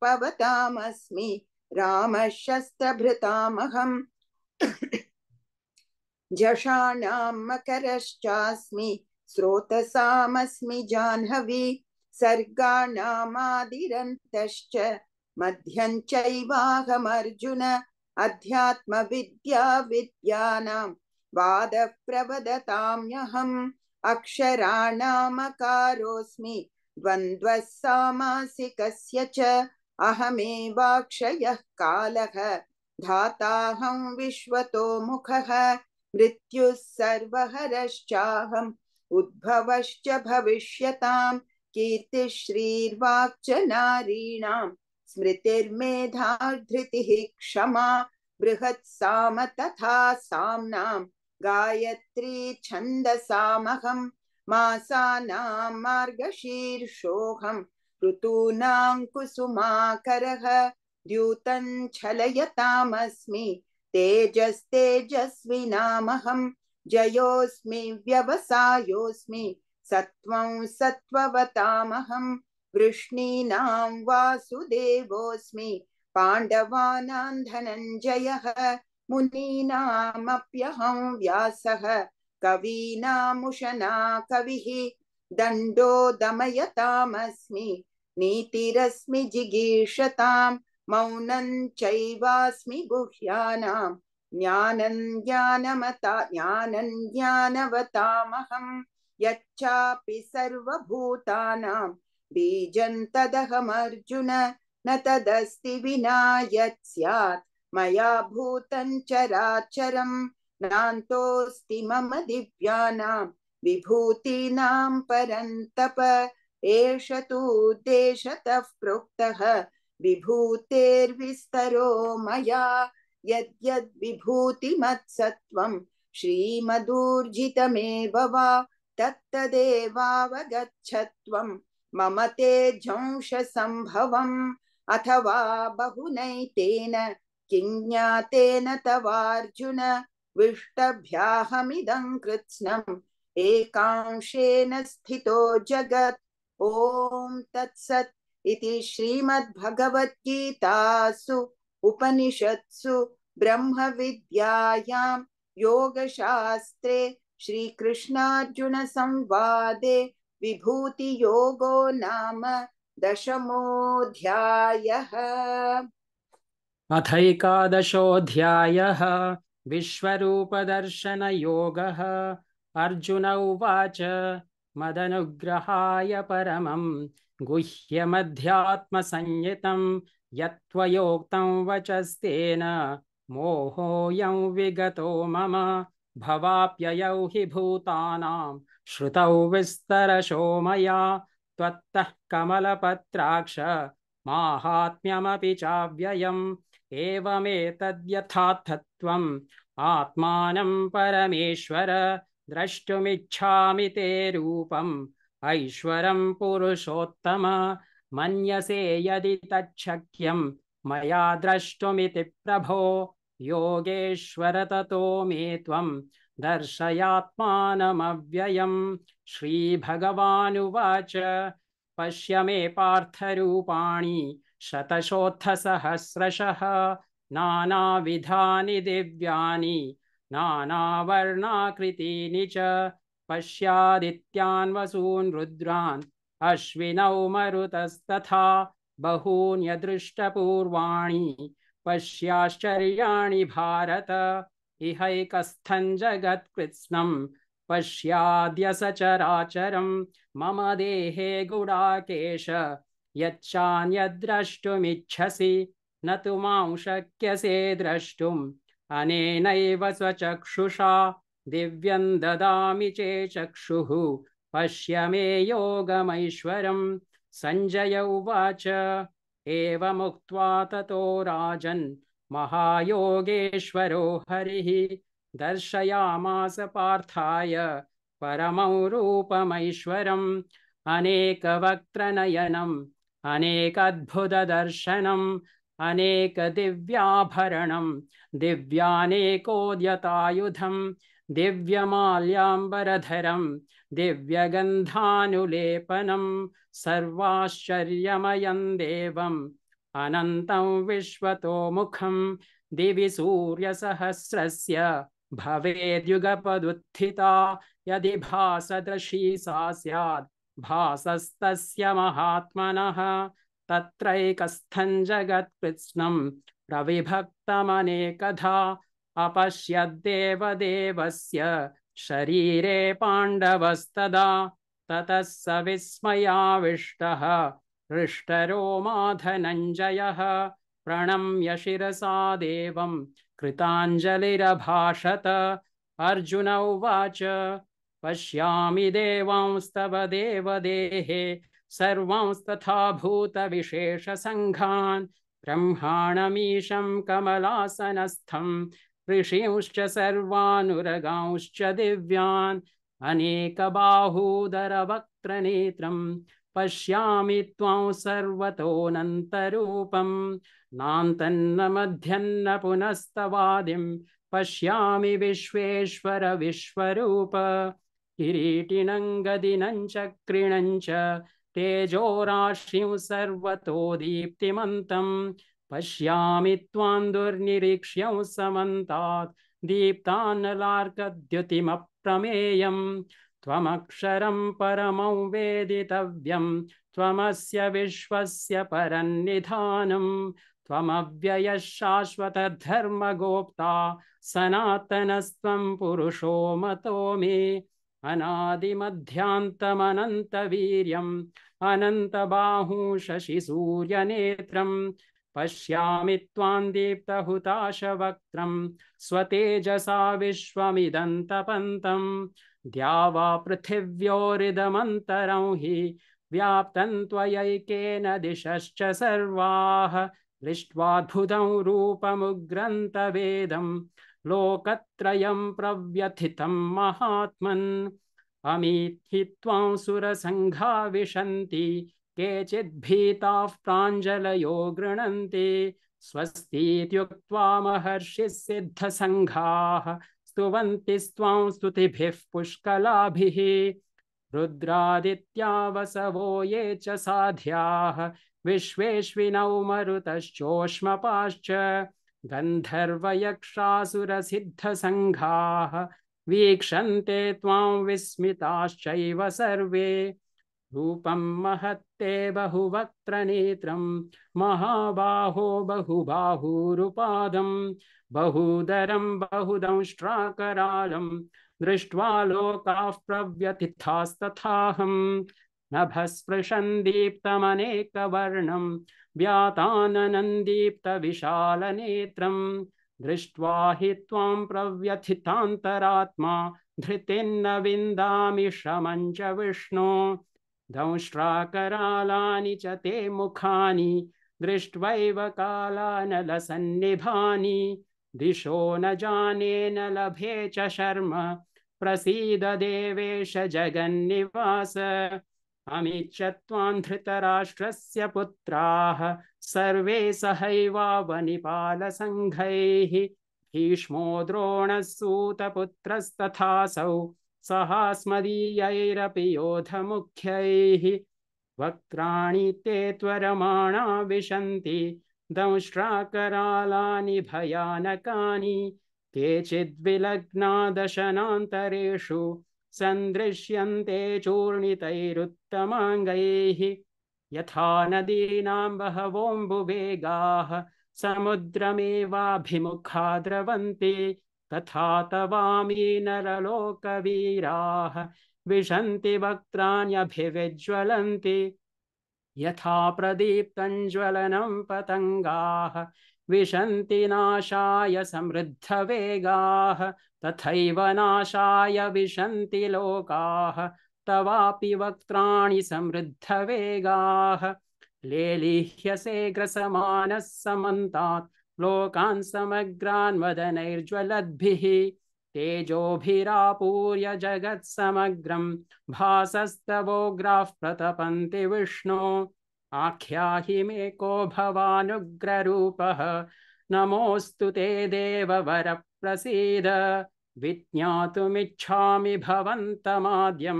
पवतामस्मि रामः शस्त्रभृतामहं जषाणां मकरश्चास्मि स्रोतसामस्मि जाह्नवी सर्गाणामादिरन्तश्च मध्यं चैवाहमर्जुन अध्यात्मविद्या विद्यानां वादप्रवदताम्यहम् अक्षराणामकारोऽस्मि द्वन्द्वः सामासिकस्य च अहमेवाक्षयः कालः धाताहं विश्वतो मुखः मृत्युः सर्वहरश्चाहम् उद्भवश्च भविष्यताम् कीर्तिः श्रीर्वाक् च नारीणां स्मृतिर्मेधा धृतिः क्षमा बृहत् साम तथा साम्नां गायत्री छन्दसामहं मासानां मार्गशीर्षोऽहं ऋतूनां कुसुमाकरः द्यूतं छलयतामस्मि तेजस्तेजस्विनामहं जयोऽस्मि व्यवसायोऽस्मि सत्त्वं सत्त्ववतामहं वृष्णीनां वासुदेवोऽस्मि पाण्डवानां धनञ्जयः मुनीनामप्यहं व्यासः कवीनामुशना कविः दण्डो दमयतामस्मि नीतिरस्मि जिगीषतां मौनं चैवास्मि गुह्यानां ज्ञानं ज्ञानवतामहं यच्चापि सर्वभूतानां बीजं तदहमर्जुन न तदस्ति विना यत् स्यात् मया भूतं चराचरं नान्तोऽस्ति मम दिव्यानां विभूतीनां परन्तप एष तु देशतः प्रोक्तः विभूतेर्विस्तरो मया यद्यद् विभूतिमत्सत्त्वं श्रीमदूर्जितमेव वा तत्तदेवावगच्छत्वं मम तेजंशसम्भवम् अथवा बहुनैतेन किं ज्ञातेन तवार्जुन विष्टभ्याहमिदं कृत्स्नम् एकांशेन स्थितो जगत् ॐ तत्सत् इति श्रीमद्भगवद्गीतासु उपनिषत्सु ब्रह्मविद्यायां योगशास्त्रे श्रीकृष्णार्जुन संवादे विभूतियोगो नाम दशमोऽध्यायः। अथैकादशोऽध्यायः विश्वरूपदर्शनयोगः। अर्जुन उवाच मदनुग्रहाय परमं गुह्यमध्यात्मसंज्ञितं यत्त्वयोक्तं वचस्तेन मोहोऽयं विगतो मम भवाप्ययौ हि भूतानां श्रुतौ विस्तरशो मया त्वत्तः कमलपत्राक्ष माहात्म्यमपि चाव्ययम् एवमेतद्यथार्थत्वम् आत्मानं परमेश्वर द्रष्टुमिच्छामि ते रूपम् ऐश्वरं पुरुषोत्तम मन्यसे यदि तच्छक्यं मया द्रष्टुमिति प्रभो योगेश्वर ततो मे त्वं दर्शयात्मानमव्ययम्। श्रीभगवानुवाच पश्य मे पार्थरूपाणि शतशोत्थसहस्रशः नानाविधानि दिव्यानि नानावर्णाकृतीनि च पश्यादित्यान् वसून् रुद्रान् अश्विनौ मरुतस्तथा बहून्यदृष्टपूर्वाणि पश्याश्चर्याणि भारत इहैकस्थं जगत्कृत्स्नं पश्याद्य सचराचरं मम देहे गुडाकेश यच्चान्यद्द्रष्टुमिच्छसि न तु मां शक्यसे द्रष्टुम् अनेनैव स्वचक्षुषा दिव्यं ददामि चेचक्षुः पश्य मे योगमैश्वरम्। सञ्जय उवाच एवमुक्त्वा ततो राजन् महायोगेश्वरो हरिः दर्शयामास पार्थाय परमं रूपमैश्वरम् अनेकवक्त्रनयनम् अनेकाद्भुतदर्शनम् अनेकदिव्याभरणम् दिव्यानेकोद्यतायुधम् दिव्यमाल्याम्बरधरम् दिव्यगन्धानुलेपनम् सर्वाश्चर्यमयं देवम् अनन्तं विश्वतोमुखं दिवि सूर्यसहस्रस्य भवेद्युगपदुत्थिता यदि भासदृशी सा स्यात् भासस्तस्य महात्मनः तत्रैकस्थं जगत्कृत्स्नं प्रविभक्तमनेकधा अपश्यद्देवदेवस्य शरीरे पाण्डवस्तदा ततः स विस्मयाविष्टः हृष्टरोमा धनञ्जयः प्रणम्य शिरसा देवं कृताञ्जलिरभाषत अर्जुन उवाच पश्यामि देवांस्तव देवदेहे सर्वांस्तथा भूतविशेषसङ्घान् ब्रह्माणमीशं कमलासनस्थं ऋषींश्च सर्वानुरगांश्च दिव्यान् अनेकबाहूदरवक्त्रनेत्रं पश्यामि त्वां सर्वतोऽनन्तरूपं नान्तन्न मध्यन्न पुनस्तवादिं पश्यामि विश्वेश्वर विश्वरूप किरीटिनं गदिनं चक्रिणं च तेजोराशिं सर्वतो दीप्तिमन्तं पश्यामि त्वां दुर्निरीक्ष्यं समन्तात् दीप्तानलार्कद्युतिमप्रमेयं त्वमक्षरं परमं वेदितव्यं त्वमस्य विश्वस्य परन्निधानं त्वमव्ययः शाश्वतधर्मगोप्ता सनातनस्त्वं पुरुषो मतो मे अनादिमध्यान्तमनन्तवीर्यम् अनन्तबाहुं शशिसूर्यनेत्रं पश्यामि त्वां दीप्तहुताशवक्त्रं स्वतेजसा विश्वमिदन्तपन्तं द्यावा पृथिव्योरिदमन्तरं हि व्याप्तं त्वयैकेन दिशश्च सर्वाः दृष्ट्वाद्भुतं रूपमुग्रन्तवेदं लोकत्रयं प्रव्यथितं महात्मन् अमीहि त्वां सुरसङ्घा विशन्ति केचिद्भीताः प्राञ्जलयो गृह्णन्ति स्वस्तीत्युक्त्वा महर्षिः सिद्धसङ्घाः स्तुवन्ति स्वां स्तुतिभिः पुष्कलाभिः रुद्रादित्या वसवो ये च साध्याः विश्वेश्विनौ मरुतश्चोष्मपाश्च गन्धर्वयक्षासुरसिद्धसङ्घाः वीक्षन्ते त्वां विस्मिताश्चैव सर्वे रूपं महत्ते बहुवक्त्रनेत्रं महाबाहो बहुबाहुरुपादं बहुदरं बहुदंष्ट्राकरालं दृष्ट्वा लोकाः प्रव्यथितास्तथाहं नभस्पृशं दीप्तमनेकवर्णं व्याताननं दीप्तविशालनेत्रं दृष्ट्वा हि त्वां प्रव्यथितान्तरात्मा धृतिर्न विन्दामि शमं च विष्णो दंष्ट्राकरालानि च ते मुखानि दृष्ट्वैव कालानलसन्निभानि दिशो न जाने न लभे च शर्म प्रसीद देवेश जगन्निवास अमीच्य त्वां धृतराष्ट्रस्य पुत्राः सर्वे सहैवावनिपालसङ्घैः भीष्मो द्रोणः सूतपुत्रस्तथासौ सहास्मदीयैरपि योधमुख्यैः वक्त्राणि ते त्वरमाणा विशन्ति दंष्ट्राकरालानि भयानकानि केचिद्विलग्ना दशनान्तरेषु सन्दृश्यन्ते चूर्णितैरुत्तमाङ्गैः यथा नदीनां बहवोऽम्बुवेगाः समुद्रमेवाभिमुखा द्रवन्ति तथा तवामी नरलोकवीराः विशन्ति वक्त्राण्यभिविज्वलन्ति यथा प्रदीप्तं ज्वलनं पतङ्गाः विशन्ति नाशाय समृद्धवेगाः तथैव नाशाय विशन्ति लोकाः तवापि वक्त्राणि समृद्धवेगाः लेलिह्यसे ग्रसमानः समन्तात् लोकान् समग्रान् वदनैर्ज्वलद्भिः तेजोभिरापूर्य जगत्समग्रं भासस्तवोग्राः प्रतपन्ति विष्णो आख्याहि मे को भवानुग्ररूपः नमोऽस्तु ते देववर प्रसीद विज्ञातुमिच्छामि भवन्तमाद्यं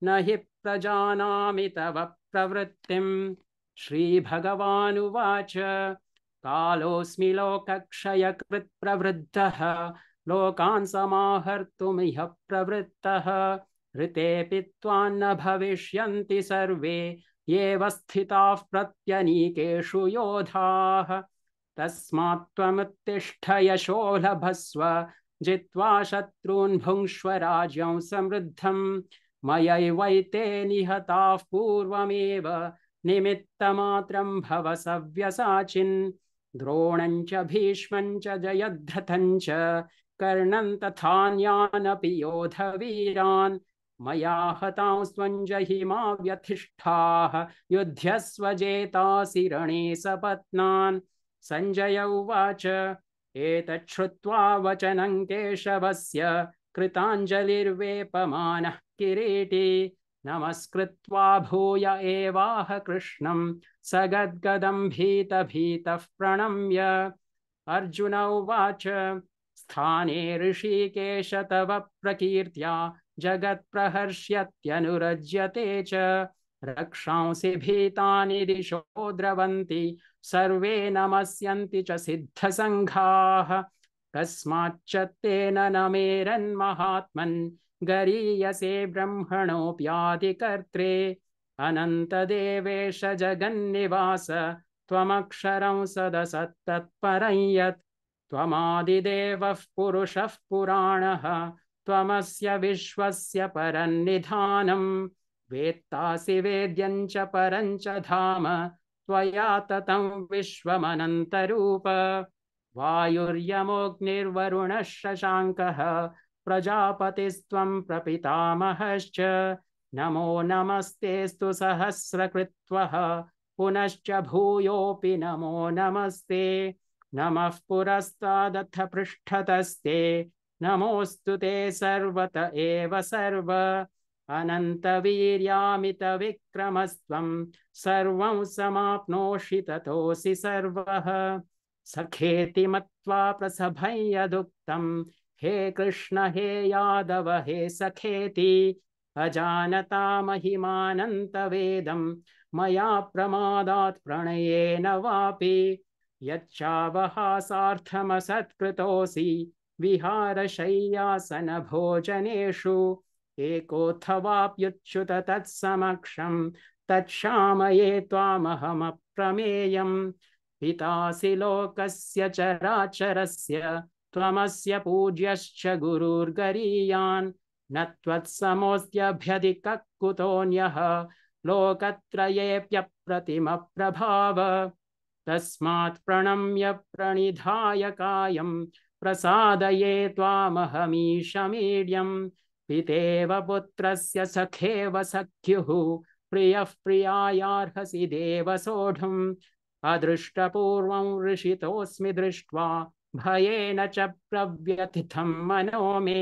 न हि प्रजानामि तव प्रवृत्तिम् श्रीभगवानुवाच कालोऽस्मि लोकक्षयकृत् प्रवृद्धः लोकान् समाहर्तुमिह प्रवृत्तः ऋतेऽपि त्वान्न भविष्यन्ति सर्वे येव स्थिताः प्रत्यनीकेषु योधाः तस्मात् त्वमुत्तिष्ठ यशो लभस्व जित्वा शत्रून् भुङ्क्ष्व राज्यं समृद्धम् मयैवैते निहताः पूर्वमेव निमित्तमात्रं भव सव्यसाचिन् द्रोणं च भीष्मं च जयद्रथं च कर्णं तथान्यानपि योधवीरान् मया हतांस्त्वं जहिमा व्यथिष्ठाः युध्यस्व जेतासि रणे सपत्नान् सञ्जय उवाच एतत् श्रुत्वा वचनं केशवस्य कृताञ्जलिर्वेपमानः किरीटी नमस्कृत्वा भूय एवाह कृष्णं सगद्गदं भीतः प्रणम्य अर्जुन उवाच स्थाने ऋषिकेश तव प्रकीर्त्या जगत्प्रहर्ष्यत्यनुरज्यते च रक्षांसि भीतानि दिशो द्रवन्ति सर्वे नमस्यन्ति च सिद्धसङ्घाः कस्माच्च तेन न मेरन्महात्मन् गरीयसे ब्रह्मणोऽप्यादिकर्त्रे अनन्तदेवेश जगन्निवास त्वमक्षरं सदसत्तत्परं यत् त्वमादिदेवः पुरुषः पुराणः त्वमस्य विश्वस्य परन्निधानम् वेत्तासि वेद्यं च परं च धाम त्वया ततं विश्वमनन्तरूप वायुर्यमोऽग्निर्वरुणः शशाङ्कः प्रजापतिस्त्वं प्रपितामहश्च नमो नमस्तेऽस्तु सहस्रकृत्वः पुनश्च भूयोऽपि नमो नमस्ते नमः पुरस्तादथ पृष्ठतस्ते नमोऽस्तु ते सर्वत एव सर्व अनन्तवीर्यामितविक्रमस्त्वं सर्वं समाप्नोषि ततोऽसि सर्वः सखेति मत्वा प्रसभं यदुक्तं हे कृष्ण हे यादव हे सखेति अजानता महिमानन्तवेदं मया प्रमादात् प्रणयेन वापि यच्चावहासार्थमसत्कृतोऽसि विहारशय्यासनभोजनेषु एकोऽथवाप्युच्युत तत्समक्षं तत्क्षामये त्वामहमप्रमेयम् पितासि लोकस्य चराचरस्य त्वमस्य पूज्यश्च गुरुर्गरीयान् न त्वत्समोऽस्त्यभ्यधिकः कुतोऽन्यः लोकत्रयेऽप्यप्रतिमप्रभाव तस्मात् प्रणम्य प्रणिधाय कायं प्रसादये त्वामहमीशमीड्यं पितेव पुत्रस्य सखेव सख्युः प्रियः प्रियायार्हसि देव सोढुम् अदृष्टपूर्वं ऋषितोऽस्मि दृष्ट्वा भयेन च प्रव्यथितं मनो मे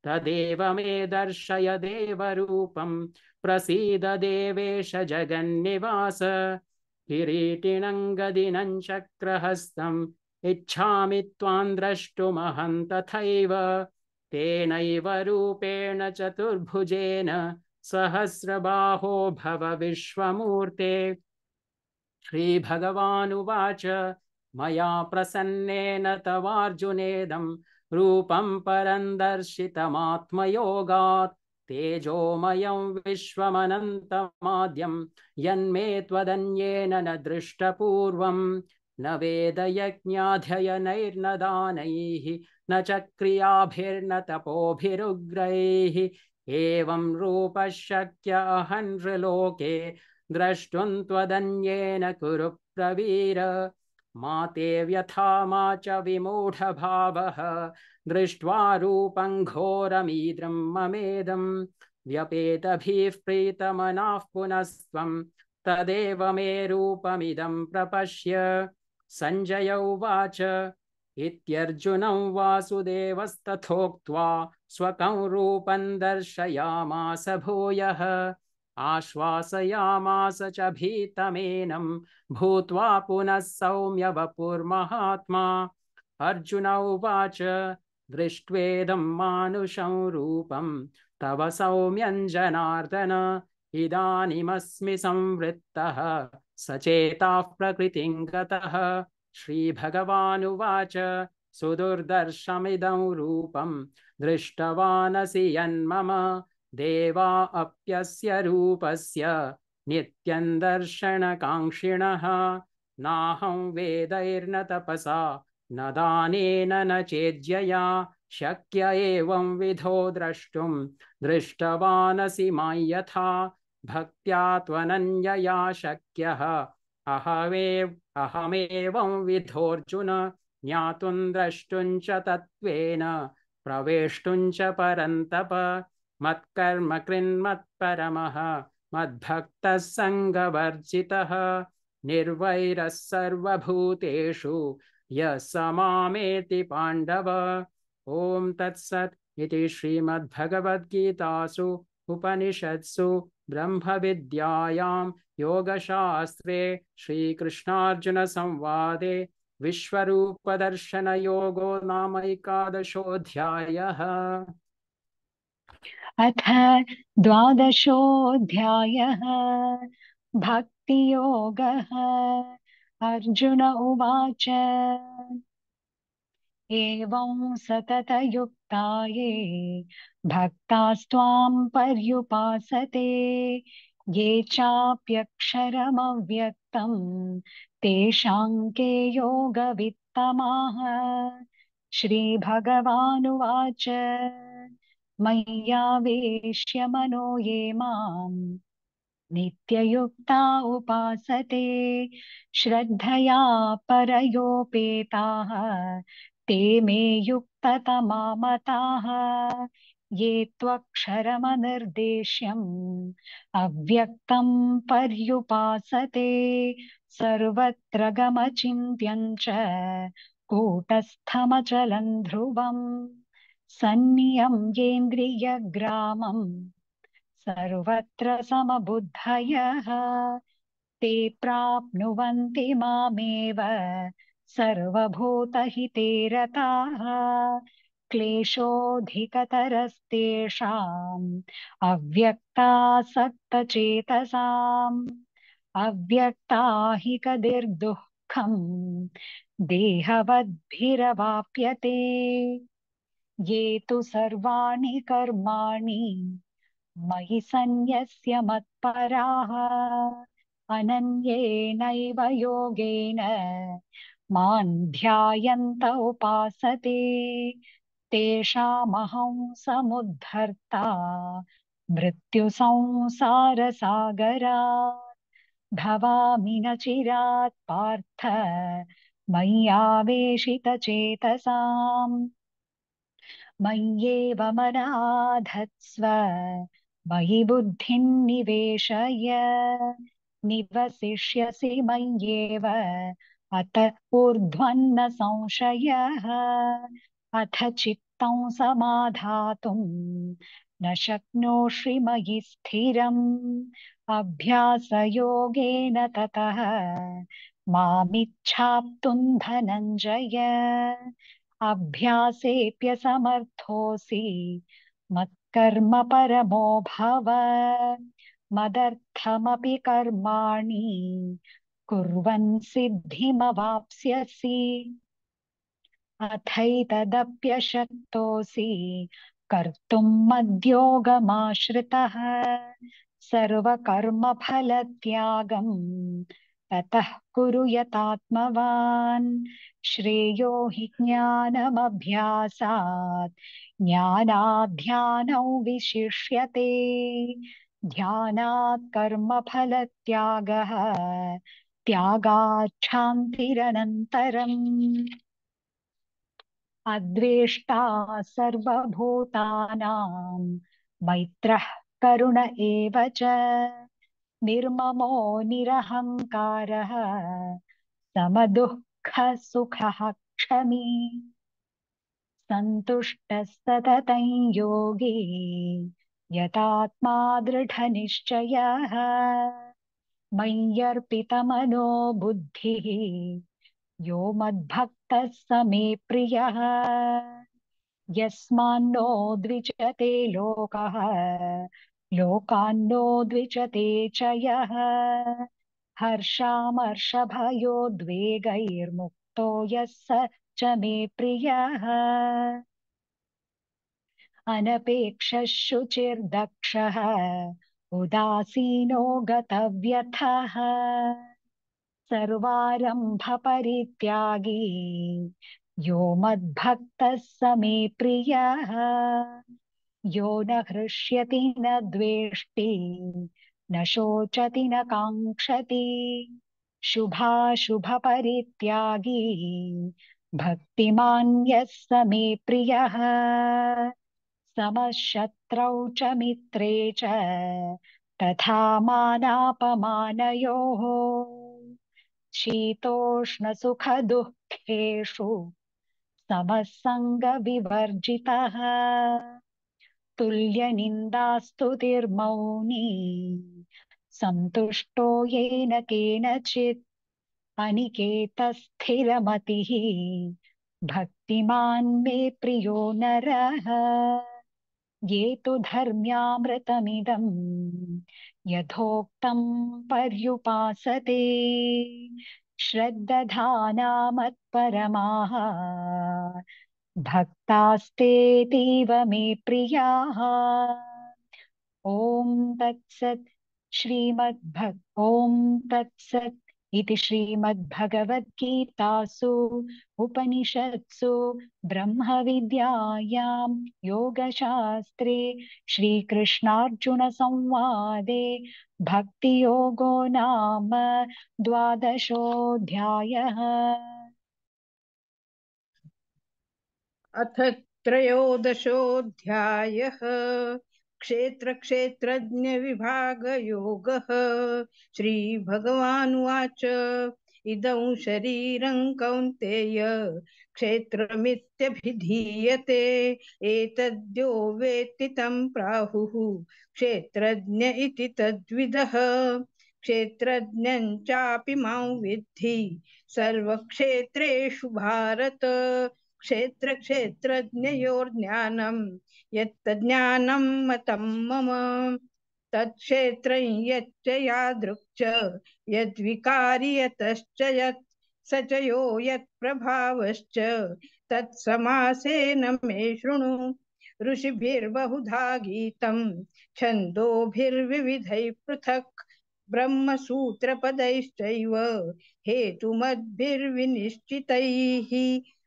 तदेव मे दर्शय देवरूपं प्रसीद देवेश जगन्निवास किरीटिनं गदिनं चक्रहस्तम् इच्छामि त्वां द्रष्टुमहं तथैव तेनैव रूपेण चतुर्भुजेन सहस्रबाहो भव विश्वमूर्ते श्रीभगवानुवाच मया प्रसन्नेन तवार्जुनेदं रूपं परं दर्शितमात्मयोगात् तेजोमयं विश्वमनन्तमाद्यं यन्मे त्वदन्येन न दृष्टपूर्वं न वेदयज्ञाध्ययनैर्न दानैः न च क्रियाभिर्न तपोभिरुग्रैः एवं रूपः शक्य अहं नृलोके द्रष्टुं त्वदन्येन कुरु प्रवीर मा ते व्यथा मा च विमूढभावः दृष्ट्वा रूपं घोरमीद्रं ममेदं व्यपेतभिः प्रीतमनाः पुनस्त्वं तदेव मे रूपमिदं प्रपश्य सञ्जय उवाच इत्यर्जुनं वासुदेवस्तथोक्त्वा स्वकं रूपं दर्शयामास भूयः आश्वासयामास च भीतमेनं भूत्वा पुनः सौम्य वपुर्महात्मा अर्जुन उवाच दृष्ट्वेदं मानुषं रूपं तव सौम्यं जनार्दन इदानीमस्मि संवृत्तः सचेताः प्रकृतिं गतः श्रीभगवानुवाच सुदुर्दर्शमिदं रूपं दृष्टवानसि यन्मम देवा अप्यस्य रूपस्य नित्यं दर्शनकाङ्क्षिणः नाहं वेदैर्न तपसा न दानेन न चेज्यया शक्य एवं विधो द्रष्टुं दृष्टवानसि मां यथा भक्त्या त्वनन्यया शक्यः अहमेवं विधोऽर्जुन ज्ञातुं द्रष्टुं च तत्त्वेन प्रवेष्टुं च परन्तप मत्कर्म कृन्मत्परमः मद्भक्तः सङ्गवर्जितः निर्वैरः सर्वभूतेषु यः स मामेति पाण्डव। ॐ तत्सत् इति श्रीमद्भगवद्गीतासु उपनिषत्सु ब्रह्मविद्यायां योगशास्त्रे श्रीकृष्णार्जुनसंवादे विश्वरूपदर्शनयोगो नाम 11 अथ 12 भक्तियोगः। अर्जुन उवाच एवं सततयुक्ता ये भक्तास्त्वां पर्युपासते ये चाप्यक्षरमव्यक्तं तेषां के योगवित्तमाः। श्रीभगवानुवाच मय्यावेश्य मनो ये माम् नित्ययुक्ता उपासते श्रद्धया परयोपेताः ते मे युक्ततमा मताः। ये त्वक्षरमनिर्देश्यम् अव्यक्तं पर्युपासते सर्वत्र गमचिन्त्यं च कूटस्थमचलं ध्रुवम् सन्नियम्येन्द्रियग्रामम् सर्वत्र समबुद्धयः ते प्राप्नुवन्ति मामेव सर्वभूतहिते रताः। क्लेशोऽधिकतरस्तेषाम् अव्यक्तासक्तचेतसाम् अव्यक्ता हि कदिर्दुःखम् देहवद्भिरवाप्यते। ये तु सर्वाणि कर्माणि मयि सन्न्यस्य मत्पराः अनन्येनैव योगेन मां ध्यायन्त उपासते तेषामहं समुद्धर्ता मृत्युसंसारसागरात् भवामि न चिरात् पार्थ मय्यावेशितचेतसाम् मय्येव मनाधत्स्व मयि बुद्धिं निवेशय निवसिष्यसि मय्येव अत ऊर्ध्वन्न संशयः। अथ चित्तं समाधातुं न शक्नोषि मयि स्थिरम् अभ्यासयोगेन ततः मामिच्छाप्तुं धनञ्जय अभ्यासेऽप्यसमर्थोऽसि मत्कर्म परमो भव मदर्थमपि कर्माणि कुर्वन् सिद्धिमवाप्स्यसि। अथैतदप्यशक्तोऽसि कर्तुं मद्योगमाश्रितः सर्वकर्मफलत्यागं ततः कुरु यतात्मवान् श्रेयो हि ज्ञानमभ्यासात् ज्ञानाध्यानौ विशिष्यते ध्यानात् कर्मफलत्यागः त्यागात् क्षान्तिरनन्तरम्। अद्वेष्टा सर्वभूतानां मैत्रः करुण एव च निर्ममो निरहङ्कारः समदुःखः सुखः क्षमी सन्तुष्टः सततं योगी यतात्मा दृढनिश्चयः मय्यर्पितमनो बुद्धिः यो मद्भक्तः स मे प्रियः यस्मान्नो द्विजते लोकः लोकान्नो द्विजते च यः हर्षामर्षभयोद्वेगैर्मुक्तो यः स च मे प्रियः अनपेक्षः शुचिर्दक्षः उदासीनो गतव्यथः सर्वारंभ परित्यागी यो मद्भक्तः स मे प्रियः यो न हृष्यति न द्वेष्टि न शोचति न काङ्क्षति शुभाशुभ परित्यागी भक्तिमान् यः स मे प्रियः समशत्रौ च मित्रे च तथा मानापमानयोः शीतोष्णसुखदुःखेषु समः सङ्गविवर्जितः तुल्यनिन्दास्तुतिर्मौनी सन्तुष्टो येन केनचित् अनिकेतस्थिरमतिः भक्तिमान् मे प्रियो नरः ये तु धर्म्यामृतमिदं यथोक्तं पर्युपासते श्रद्दधाना मत्परमाः भक्तास्तेतीव मे प्रियाः ॐ तत्सत् ॐ तत्सत् इति श्रीमद्भगवद्गीतासु उपनिषत्सु ब्रह्मविद्यायां योगशास्त्रे श्रीकृष्णार्जुनसंवादे भक्तियोगो नाम 12ोऽध्यायः। अथ त्रयोदशोऽध्यायः क्षेत्रक्षेत्रज्ञविभागयोगः। श्रीभगवानुवाच इदं शरीरं कौन्तेय क्षेत्रमित्यभिधीयते एतद्यो वेत्ति तं प्राहुः क्षेत्रज्ञ इति तद्विदः। क्षेत्रज्ञं चापि मां विद्धि सर्वक्षेत्रेषु भारत। क्षेत्रक्षेत्रज्ञयोर्ज्ञानं यत्तज्ज्ञानं मतं मम तत्क्षेत्रं यच्च यादृक् च यद्विकारि यतश्च यत् स च यो यत्प्रभावश्च तत्समासेन मे शृणु। ऋषिभिर्बहुधा गीतं छन्दोभिर्विविधैः पृथक् ब्रह्मसूत्रपदैश्चैव हेतुमद्भिर्विनिश्चितैः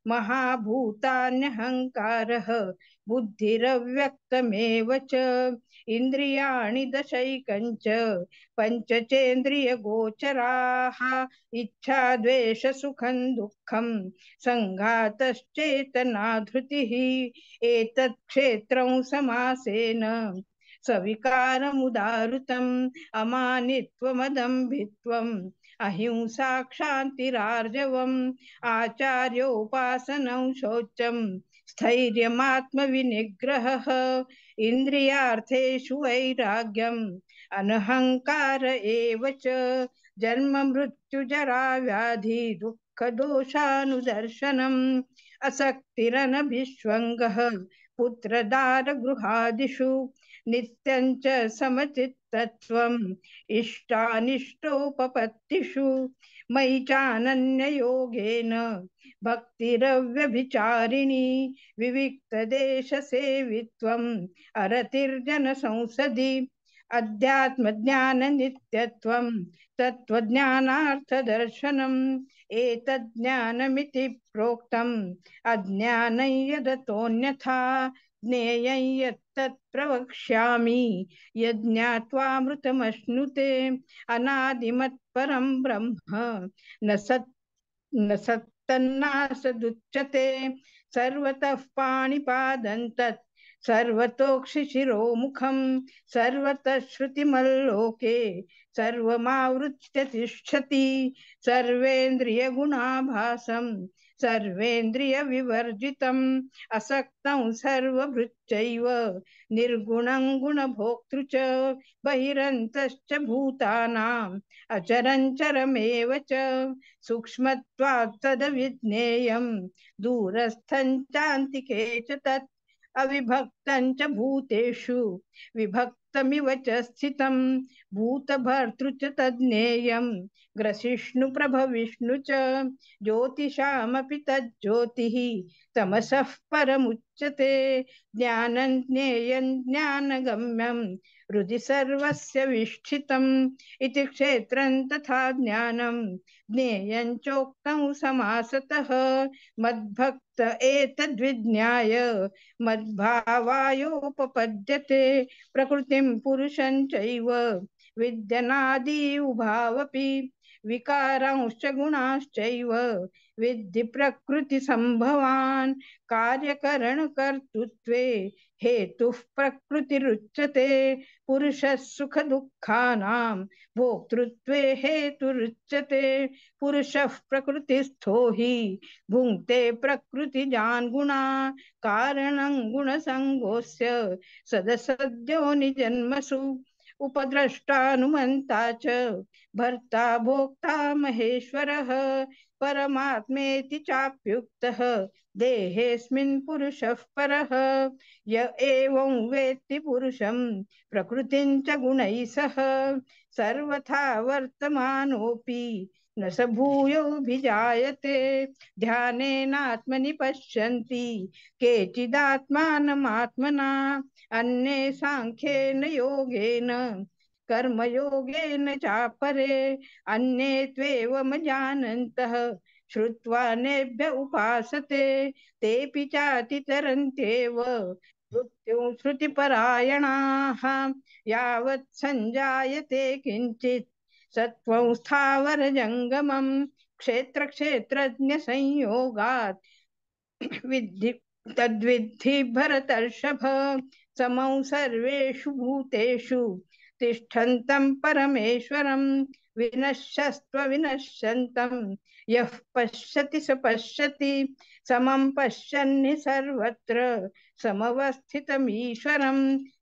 महाभूतान्यहङ्कारः बुद्धिरव्यक्तमेव च इन्द्रियाणि दशैकञ्च पञ्चचेन्द्रियगोचराः इच्छा द्वेष सुखं दुःखं सङ्घातश्चेतना धृतिः। एतत् क्षेत्रं समासेन सविकारमुदाहृतम् अमानित्वमदम्भित्वम् अहिंसा क्षान्तिरार्जवम् आचार्योपासनं शौचं स्थैर्यमात्मविनिग्रहः इन्द्रियार्थेषु वैराग्यम् अनहङ्कार एव च जन्म मृत्युजरा व्याधि दुःखदोषानुदर्शनम् असक्तिरनभिष्वङ्गः पुत्रदारगृहादिषु नित्यं च समचित्तत्वम् इष्टानिष्टोपपत्तिषु मयि चानन्ययोगेन भक्तिरव्यभिचारिणी विविक्तदेशसेवित्वम् अरतिर्जनसंसदि अध्यात्मज्ञाननित्यत्वं तत्त्वज्ञानार्थदर्शनम् एतज्ज्ञानमिति प्रोक्तम् अज्ञानं यदतोऽन्यथा ज्ञेयं यत्तत् प्रवक्ष्यामि यज्ञात्वामृतमश्नुते अनादिमत्परं ब्रह्म न सत्तन्नासदुच्यते सर्वतः पाणिपादं तत् सर्वतोक्षिशिरोमुखं सर्वतः श्रुतिमल्लोके सर्वमावृत्य तिष्ठति सर्वेन्द्रियगुणाभासं सर्वेन्द्रियविवर्जितम् असक्तं सर्वभृच्चैव निर्गुणं गुणभोक्तृ च बहिरन्तश्च भूतानाम् अचरञ्चरमेव च सूक्ष्मत्वात् तदविज्ञेयं दूरस्थं चान्तिके च तत् अविभक्तं च भूतेषु विभक्त व्यक्तमिव च स्थितं भूतभर्तृ च तज्ज्ञेयं ग्रसिष्णुप्रभविष्णु च ज्योतिषामपि तज्ज्योतिः तमसः परमुच्यते ज्ञानं ज्ञेयं ज्ञानगम्यं हृदि सर्वस्य विष्ठितम् इति क्षेत्रं तथा ज्ञानं ज्ञेयं चोक्तं समासतः मद्भक्त एतद्विज्ञाय मद्भावायोपपद्यते प्रकृतिं पुरुषं चैव विद्यनादि उभावपि विकारांश्च गुणाश्चैव विद्धि प्रकृतिसम्भवान् कार्यकरणकर्तृत्वे हेतुः प्रकृतिरुच्यते पुरुषः सुखदुःखानां भोक्तृत्वे हेतुरुच्यते पुरुषः प्रकृतिस्थो हि भुङ्क्ते प्रकृतिजान् गुणा कारणं गुणसङ्गोऽस्य सदसद्यो निजन्मसु उपद्रष्टानुमन्ता च भर्ता भोक्ता महेश्वरः परमात्मेति चाप्युक्तः देहेऽस्मिन् पुरुषः परः य एवं वेत्ति पुरुषं प्रकृतिं च गुणैः सह सर्वथा वर्तमानोऽपि न स भूयोऽभिजायते ध्यानेनात्मनि पश्यन्ति केचिदात्मानमात्मना अन्ये साङ्ख्येन योगेन कर्मयोगेन चापरे अन्ये त्वेवमजानन्तः श्रुत्वा नेभ्य उपासते तेऽपि चातितरन्त्येव मृत्युं श्रुतिपरायणाः यावत् सञ्जायते किञ्चित् सत्त्वं स्थावरजङ्गमं क्षेत्रक्षेत्रज्ञसंयोगात् विद्धि तद्विद्धि भरतर्षभ समौ सर्वेषु भूतेषु तिष्ठन्तं परमेश्वरं विनश्यस्त्वविनश्यन्तं यः पश्यति स पश्यति समं पश्यन्नि सर्वत्र समवस्थितमीश्वरं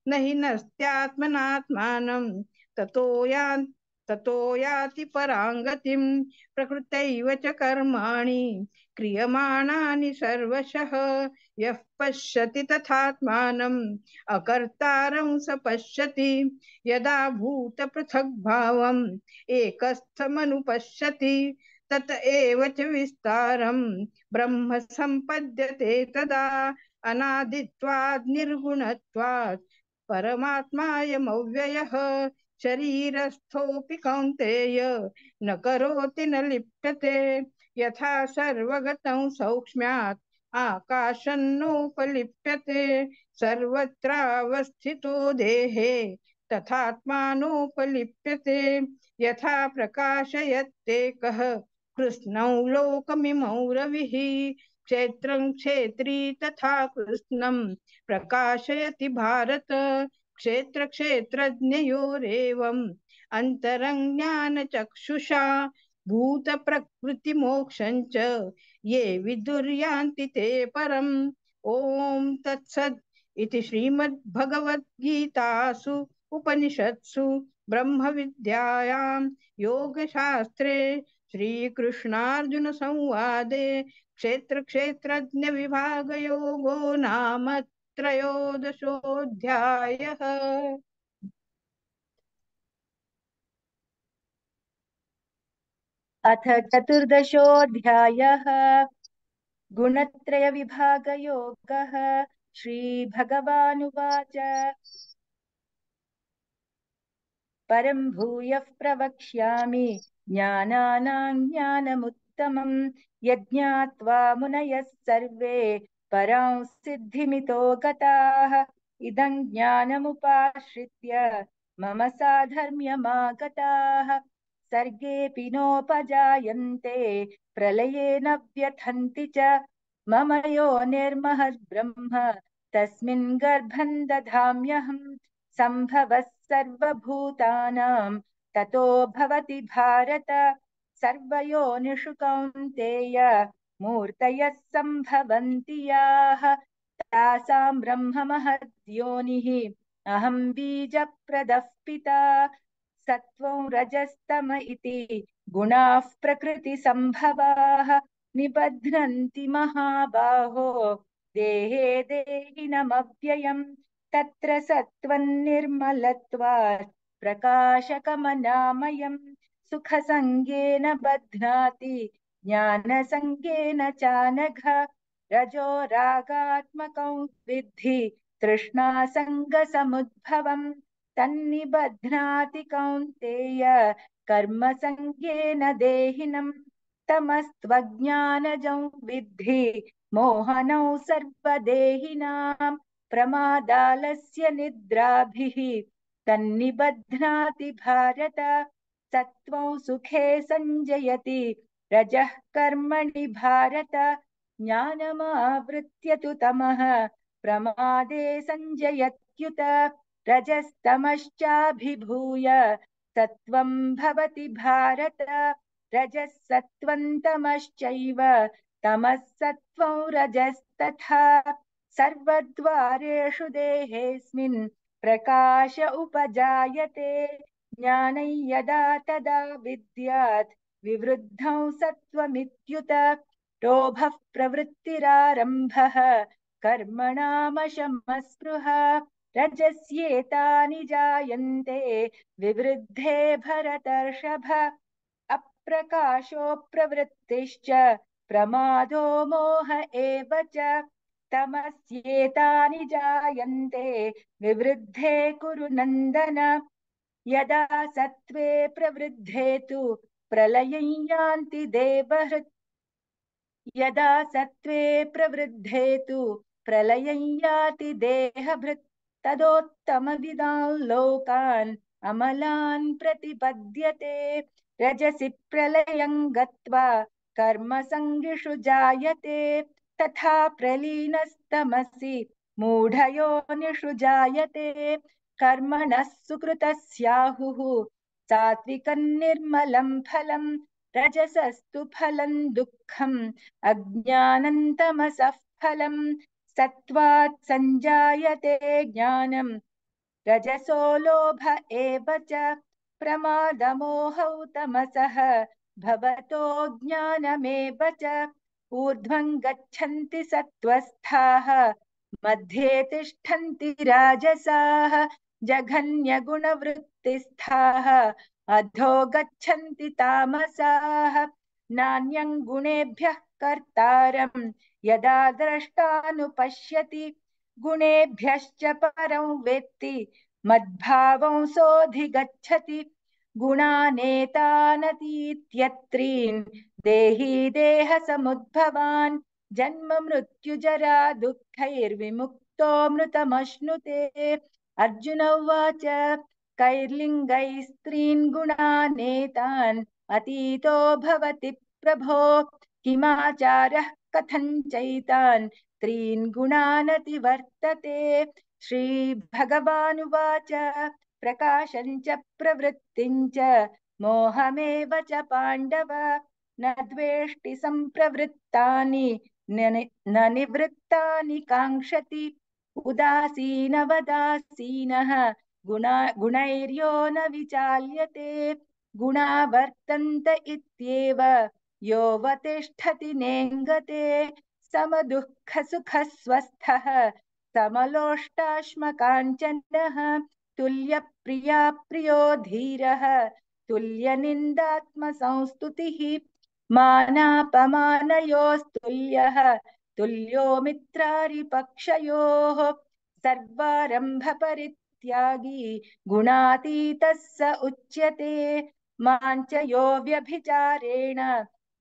न हि नस्त्यात्मनात्मानं ततो याति पराङ्गतिं प्रकृतैव च कर्माणि क्रियमाणानि सर्वशः यः पश्यति तथात्मानम् अकर्तारं स पश्यति यदा भूतपृथग्भावम् एकस्थमनुपश्यति तत एव च विस्तारं ब्रह्म सम्पद्यते तदा अनादित्वात् निर्गुणत्वात् परमात्मायमव्ययः शरीरस्थोऽपि कौन्तेय न करोति न लिप्यते यथा सर्वगतं सौक्ष्म्यात् आकाशन्नोपलिप्यते सर्वत्रावस्थितो देहे तथात्मानोपलिप्यते यथा प्रकाशयत्येकः कृष्णौ लोकमिमौ रविः क्षेत्रं क्षेत्री तथा कृष्णं प्रकाशयति भारत क्षेत्र क्षेत्रज्ञयोरेवम् अन्तरज्ञानचक्षुषा भूत प्रकृति मोक्षं च ये विदुर्यान्ति ते परम् ओम तत्सत् इति श्रीमद्भगवद्गीतासु उपनिषत्सु ब्रह्म विद्यायां योगशास्त्रे श्रीकृष्णार्जुन संवादे क्षेत्र क्षेत्रज्ञ विभाग योगो नाम त्रयोदशोऽध्यायः। अथ चतुर्दशोऽध्यायः गुणत्रयविभागयोगः। श्रीभगवानुवाच परं भूयः प्रवक्ष्यामि ज्ञानानां ज्ञानमुत्तमं यज्ञात्वा मुनयः सर्वे परां सिद्धिमितो गताः इदं ज्ञानमुपाश्रित्य मम साधर्म्यमागताः सर्गेऽपि नोपजायन्ते प्रलये न व्यथन्ति च मम योनिर्महद्ब्रह्म तस्मिन् गर्भं दधाम्यहम् सम्भवः सर्वभूतानां ततो भवति भारत सर्वयोनिषु कौन्तेय मूर्तयः सम्भवन्ति याः तासां ब्रह्म महद्योनिः अहं बीजप्रदः पिता सत्त्वं रजस्तम इति गुणाः प्रकृतिसम्भवाः निबध्नन्ति महाबाहो देहे देहिनमव्ययम् तत्र सत्त्वं निर्मलत्वात् प्रकाशकमनामयम् सुखसङ्गेन बध्नाति ज्ञानसङ्गेन चानघ रजो रागात्मकं विद्धि तृष्णासङ्गसमुद्भवम् तन्निबध्नाति कौन्तेय कर्मसङ्गेन देहिनम् तमस्त्वज्ञानजं विद्धि मोहनौ सर्वदेहिनां प्रमादालस्य निद्राभिः तन्निबध्नाति भारत सत्त्वं सुखे संजयति रजः कर्मणि भारत ज्ञानमावृत्य तु तमः प्रमादे संजयत्युत रजस्तमश्चाभिभूय सत्त्वं भवति भारत रजः सत्त्वं तमश्चैव तमः सत्त्वं रजस्तथा सर्वद्वारेषु देहेऽस्मिन् प्रकाश उपजायते ज्ञानं यदा तदा विद्यात् विवृद्धं सत्त्वमित्युत लोभः प्रवृत्तिरारम्भः कर्मणामशमस्पृहा रजस्येतानि जायन्ते विवृद्धे भरतर्षभ अप्रकाशो प्रवृत्तिश्च प्रमादो मोह एव च तमस्येतानि जायन्ते विवृद्धे कुरु नन्दन यदा सत्त्वे प्रवृद्धे तु प्रलयं यान्ति देवहृत् यदा सत्त्वे प्रवृद्धे तु प्रलयं याति देहभृत् तदोत्तमविदान् लोकान् अमलान् प्रतिपद्यते रजसि प्रलयं गत्वा कर्मसङ्गिषु जायते तथा प्रलीनस्तमसि मूढयोनिषु जायते कर्मणः सुकृतस्याहुः सात्विकं निर्मलं फलं रजसस्तु फलं दुःखम् अज्ञानं तमसः फलं सत्त्वात् संजायते ज्ञानं रजसो लोभ एव च प्रमादमोहौ तमसः भवतो ज्ञानमेव च ऊर्ध्वं गच्छन्ति सत्त्वस्थाः मध्ये तिष्ठन्ति राजसाः जघन्यगुणवृत्तिस्थाः अधो गच्छन्ति तामसाः नान्यं गुणेभ्यः कर्तारं यदा द्रष्टानुपश्यति गुणेभ्यश्च परं वेत्ति मद्भावं सोऽधिगच्छति गुणानेतानतीत्यत्रीन् देही देहसमुद्भवान् जन्म मृत्युजरा दुःखैर्विमुक्तो मृतमश्नुते अर्जुन उवाच कैर्लिङ्गैस्त्रीन् गुणानेतान् अतीतो भवति प्रभो किमाचारः कथं चैतान् त्रीन् गुणानतिवर्तते श्रीभगवानुवाच प्रकाशं च प्रवृत्तिं च मोहमेव च पाण्डव न द्वेष्टि सम्प्रवृत्तानि न निवृत्तानि काङ्क्षति उदासीनवदासीनः गुणैर्यो न विचाल्यते गुणा वर्तन्त इत्येव योऽवतिष्ठति नेङ्गते समदुःखसुखस्वस्थः समलोष्टाश्मकाञ्चनः तुल्यप्रिया प्रियो धीरः तुल्यनिन्दात्मसंस्तुतिः मानापमानयोस्तुल्यः तुल्यो मित्रारिपक्षयोः सर्वारम्भपरित्यागी गुणातीतः स उच्यते माञ्च यो व्यभिचारेण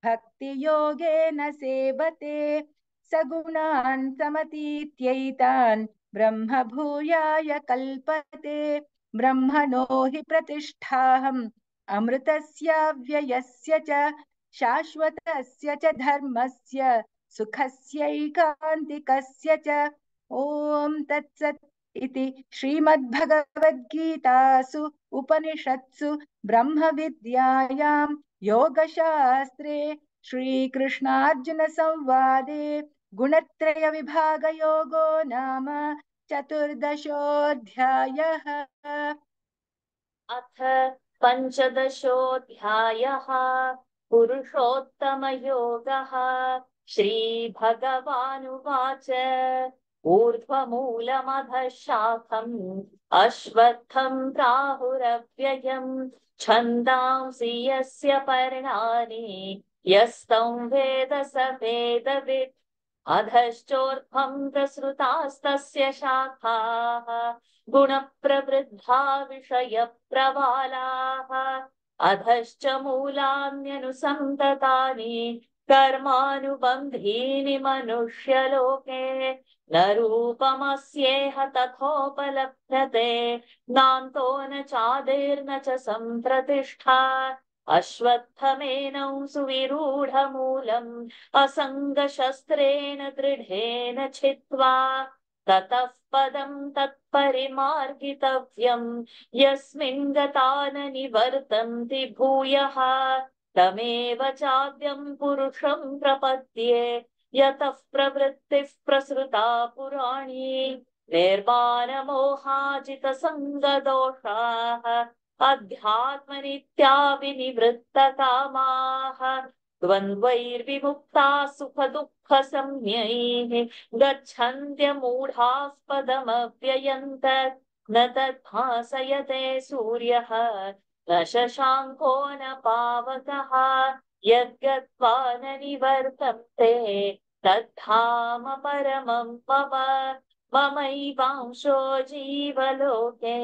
भक्तियोगेन सेवते स गुणान् समतीत्यैतान् ब्रह्म भूयाय कल्पते ब्रह्मणो हि प्रतिष्ठाहम् अमृतस्याव्ययस्य च शाश्वतस्य च धर्मस्य सुखस्यैकान्तिकस्य च ॐ तत्सत् इति श्रीमद्भगवद्गीतासु उपनिषत्सु ब्रह्मविद्यायां योगशास्त्रे श्रीकृष्णार्जुनसंवादे गुणत्रयविभागयोगो नाम चतुर्दशोऽध्यायः। अथ पञ्चदशोऽध्यायः पुरुषोत्तमयोगः। श्रीभगवानुवाच ऊर्ध्वमूलमधः शाखम् अश्वत्थं प्राहुरव्ययम् छन्दांसि यस्य पर्णानि यस्तं वेद स वेदवित् अधश्चोर्ध्वं प्रसृतास्तस्य शाखाः गुणप्रवृद्धा विषयप्रवालाः अधश्च मूलान्यनुसन्ततानि कर्मानुबन्धीनि मनुष्यलोके न रूपमस्येह तथोपलभ्यते नान्तो न चादिर्न च सम्प्रतिष्ठा अश्वत्थमेनं सुविरूढमूलम् असङ्गशस्त्रेण दृढेन छित्त्वा ततः पदं तत्परिमार्गितव्यम् यस्मिन् गता न निवर्तन्ति भूयः तमेव चाद्यं पुरुषं प्रपद्ये यतः प्रवृत्तिः प्रसृता पुराणी निर्माणमोहाजितसङ्गदोषाः अध्यात्मनित्या विनिवृत्तकामाः द्वन्द्वैर्विमुक्ताः सुखदुःखसंज्ञैः गच्छन्त्यमूढाः पदमव्ययम् तत् न तद्भासयते सूर्यः न शशाङ्को न पावकः यद्गत्वा न निवर्तन्ते तद्धाम परमं मम ममैवांशो जीवलोके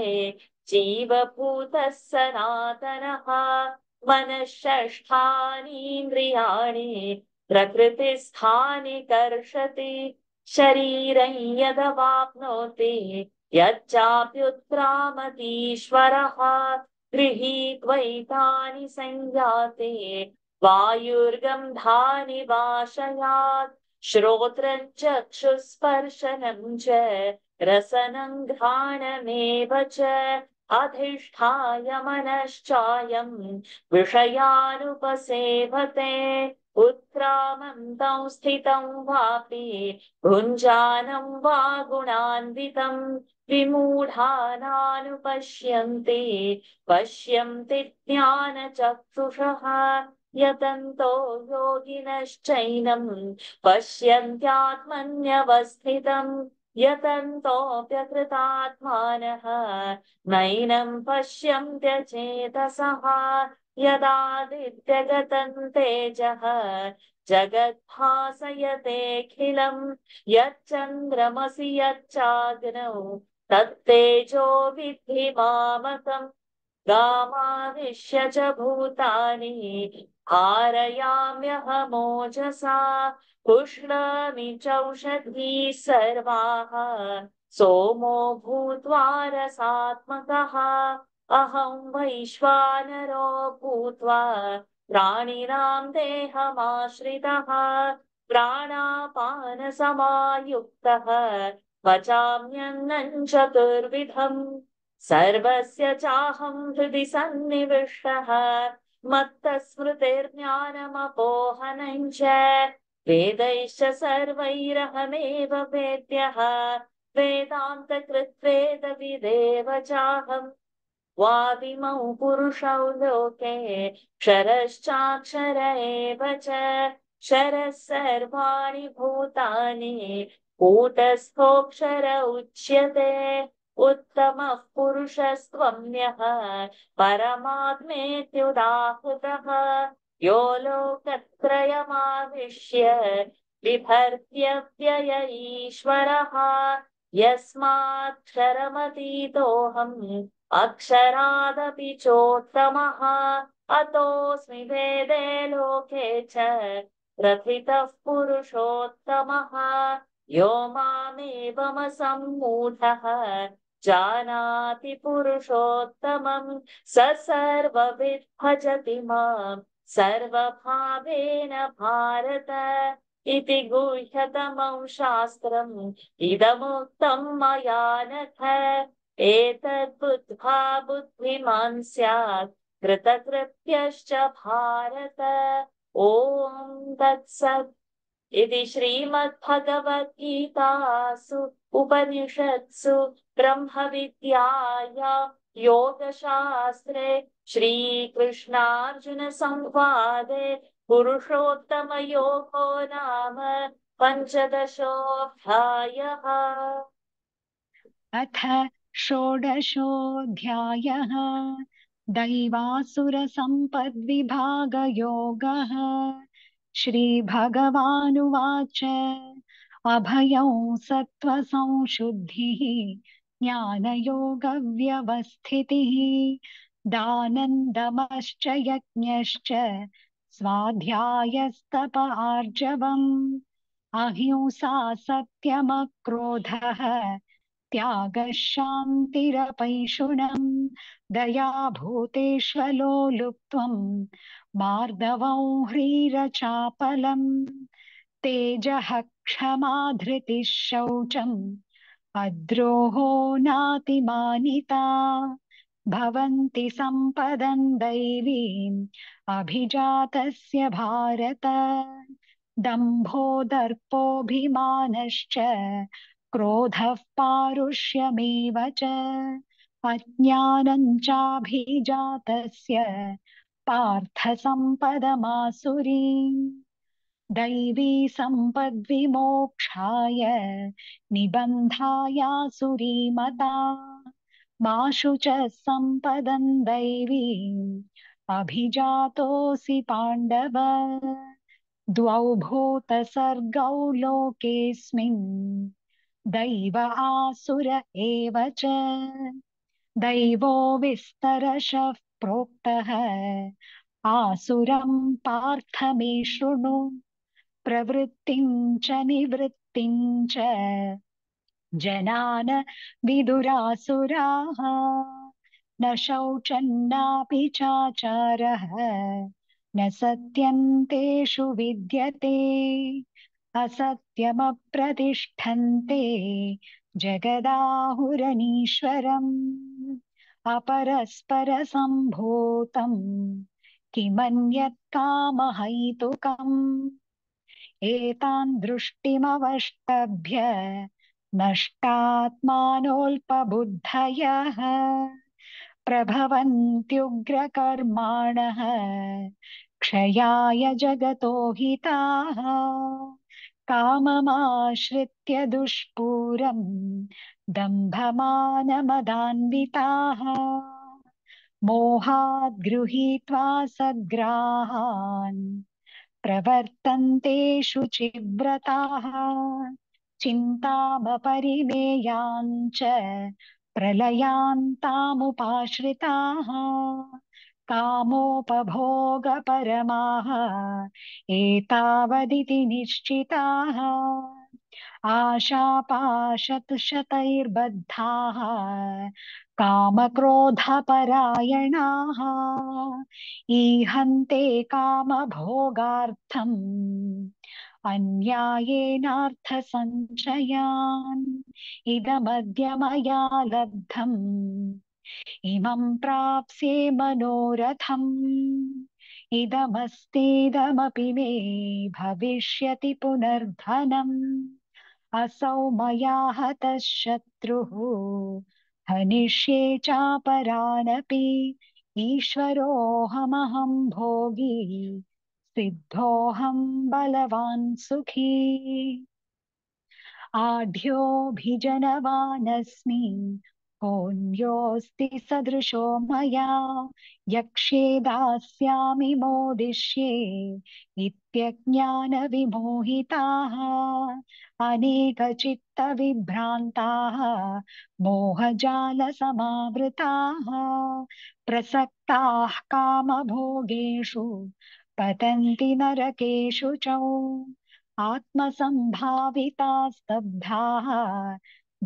जीवभूतः सनातनः मनःषष्ठानीन्द्रियाणि प्रकृतिस्थानि कर्षति शरीरं यदवाप्नोति यच्चाप्युत्क्रामतीश्वरः गृहीत्वैतानि संयाति वायुर्गन्धानि वाशयात् श्रोत्रं चक्षुस्पर्शनं च रसनं घ्राणमेव च अधिष्ठाय मनश्चायं विषयानुपसेवते उत्क्रामन्तं स्थितं वापि भुञ्जानं वा गुणान्वितं विमूढानानुपश्यन्ति पश्यन्ति ज्ञानचक्षुषः यतन्तो योगिनश्चैनं पश्यन्त्यात्मन्यवस्थितम् यतन्तोऽप्यकृतात्मानः नैनं पश्यन्त्यचेतसः यदादित्यगतं तेजः जगद्भासयतेऽखिलम् यच्चन्द्रमसि यच्चाग्नौ तत्तेजो विद्धि मामकम् गामाविश्य च भूतानि धारयाम्यहमोजसा पुष्णामि चौषधीः सर्वाः सोमो भूत्वा रसात्मकः अहं वैश्वानरो भूत्वा प्राणिनां देहमाश्रितः प्राणापानसमायुक्तः पचाम्यन्नं चतुर्विधम् सर्वस्य चाहं हृदि सन्निविष्टः मत्तस्मृतिर्ज्ञानमपोहनं च वेदैश्च सर्वैरहमेव वेद्यः वेदान्तकृत्वेदविदेव चाहम् वादिमौ पुरुषौ लोके क्षरश्चाक्षर एव च क्षरः सर्वाणि भूतानि कूटस्थोऽक्षर उच्यते उत्तमः पुरुषस्त्वन्यः परमात्मेत्युदाहृतः यो लोकत्रयमाविश्य बिभर्त्यव्यय ईश्वरः यस्माक्षरमतीतोऽहम् अक्षरादपि चोत्तमः अतोऽस्मि वेदे लोके च प्रथितः पुरुषोत्तमः यो मामेवमसम्मूढः जानाति पुरुषोत्तमं स सर्वविद् भजति मां सर्वभावेन भारत इति गुह्यतमं शास्त्रम् इदमुक्तं मया नघ एतद्बुद्ध्वा बुद्धिमान् स्यात् कृतकृत्यश्च भारत ॐ तत्सत् इति श्रीमद्भगवद्गीतासु उपनिषत्सु ब्रह्मविद्याया योगशास्त्रे श्रीकृष्णार्जुनसंवादे पुरुषोत्तमयोगो नाम पञ्चदशोऽध्यायः अथ षोडशोऽध्यायः दैवासुरसम्पद्विभागयोगः श्रीभगवानुवाच अभयं सत्त्वसंशुद्धिः ज्ञानयोगव्यवस्थितिः दानन्दमश्च यज्ञश्च स्वाध्यायस्तप आर्जवम् अहिंसा सत्यमक्रोधः त्यागः शान्तिरपैशुनम् दया भूतेष्वलो लुप्त्वम् मार्दवं ह्रीरचापलम् तेजः क्षमा धृतिः शौचम् अद्रोहो नातिमानिता भवन्ति सम्पदं दैवीम् अभिजातस्य भारत दम्भो दर्पोऽभिमानश्च क्रोधः पारुष्यमेव च अज्ञानं चाभिजातस्य पार्थ सम्पदमासुरीम् दैवी सम्पद्विमोक्षाय निबन्धायासुरीमता माशु च सम्पदं दैवीम् अभिजातोऽसि पाण्डव द्वौ भूतसर्गौ लोकेऽस्मिन् दैव आसुर एव च दैवो विस्तरशः प्रोक्तः आसुरं पार्थ मे शृणु प्रवृत्तिं च निवृत्तिं च जनान विदुरासुराः न शौचन्नापि चाचारः न सत्यन्तेषु विद्यते असत्यमप्रतिष्ठन्ते जगदाहुरनीश्वरम् अपरस्परसम्भूतम् किमन्यत् कामहैतुकम् एतान् दृष्टिमवष्टभ्य नष्टात्मानोऽल्पबुद्धयः प्रभवन्त्युग्रकर्माणः क्षयाय जगतो हिताः काममाश्रित्य दुष्पूरम् दम्भमानमदान्विताः मोहाद् गृहीत्वा सद्ग्राहान् प्रवर्तन्ते शुचिव्रताः चिन्तामपरिमेयाञ्च प्रलयान्तामुपाश्रिताः कामोपभोगपरमाः एतावदिति निश्चिताः आशापाशतशतैर्बद्धाः कामक्रोधपरायणाः ईहन्ते कामभोगार्थम् अन्यायेनार्थसञ्चयान् इदमद्य मया लब्धम् इमं प्राप्स्ये मनोरथम् इदमस्तीदमपि मे भविष्यति पुनर्धनम् असौ मया हतः शत्रुः हनिष्ये चापरानपि ईश्वरोऽहमहं भोगी सिद्धोऽहं बलवान् सुखी आढ्योऽभिजनवानस्मि कोऽन्योऽस्ति सदृशो मया यक्ष्ये दास्यामि मोदिष्ये इत्यज्ञानविमोहिताः अनेकचित्तविभ्रान्ताः मोहजालसमावृताः प्रसक्ताः कामभोगेषु पतन्ति नरकेषु च आत्मसम्भाविता स्तब्धाः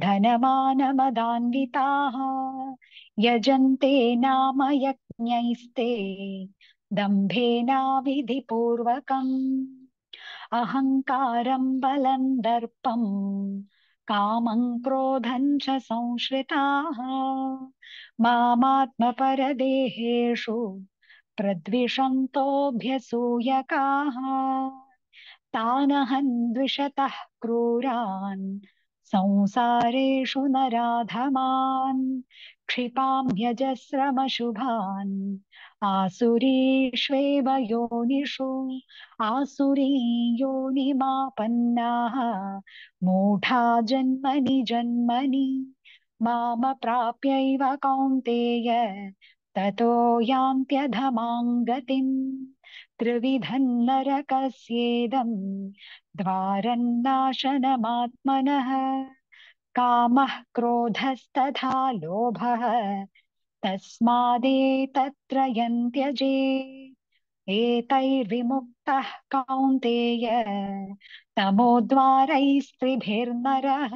धनमानमदान्विताः यजन्ते नाम यज्ञैस्ते दम्भेनाविधिपूर्वकम् अहङ्कारं बलं दर्पं कामं क्रोधं च संश्रिताः मामात्मपरदेहेषु प्रद्विषन्तोऽभ्यसूयकाः तानहं द्विषतः क्रूरान् संसारेषु नराधमान् क्षिपाम्यजस्रमशुभान् आसुरीष्वेव योनिषु आसुरी योनिमापन्नाः मूढा जन्मनि जन्मनि मामप्राप्यैव कौन्तेय ततो यान्त्यधमां गतिम् त्रिविधं नरकस्येदं द्वारन्नाशनमात्मनः कामः क्रोधस्तथा लोभः तस्मादेतत्त्रयं त्यजेत् एतैर्विमुक्तः कौन्तेय तमोद्वारैस्त्रिभिर्नरः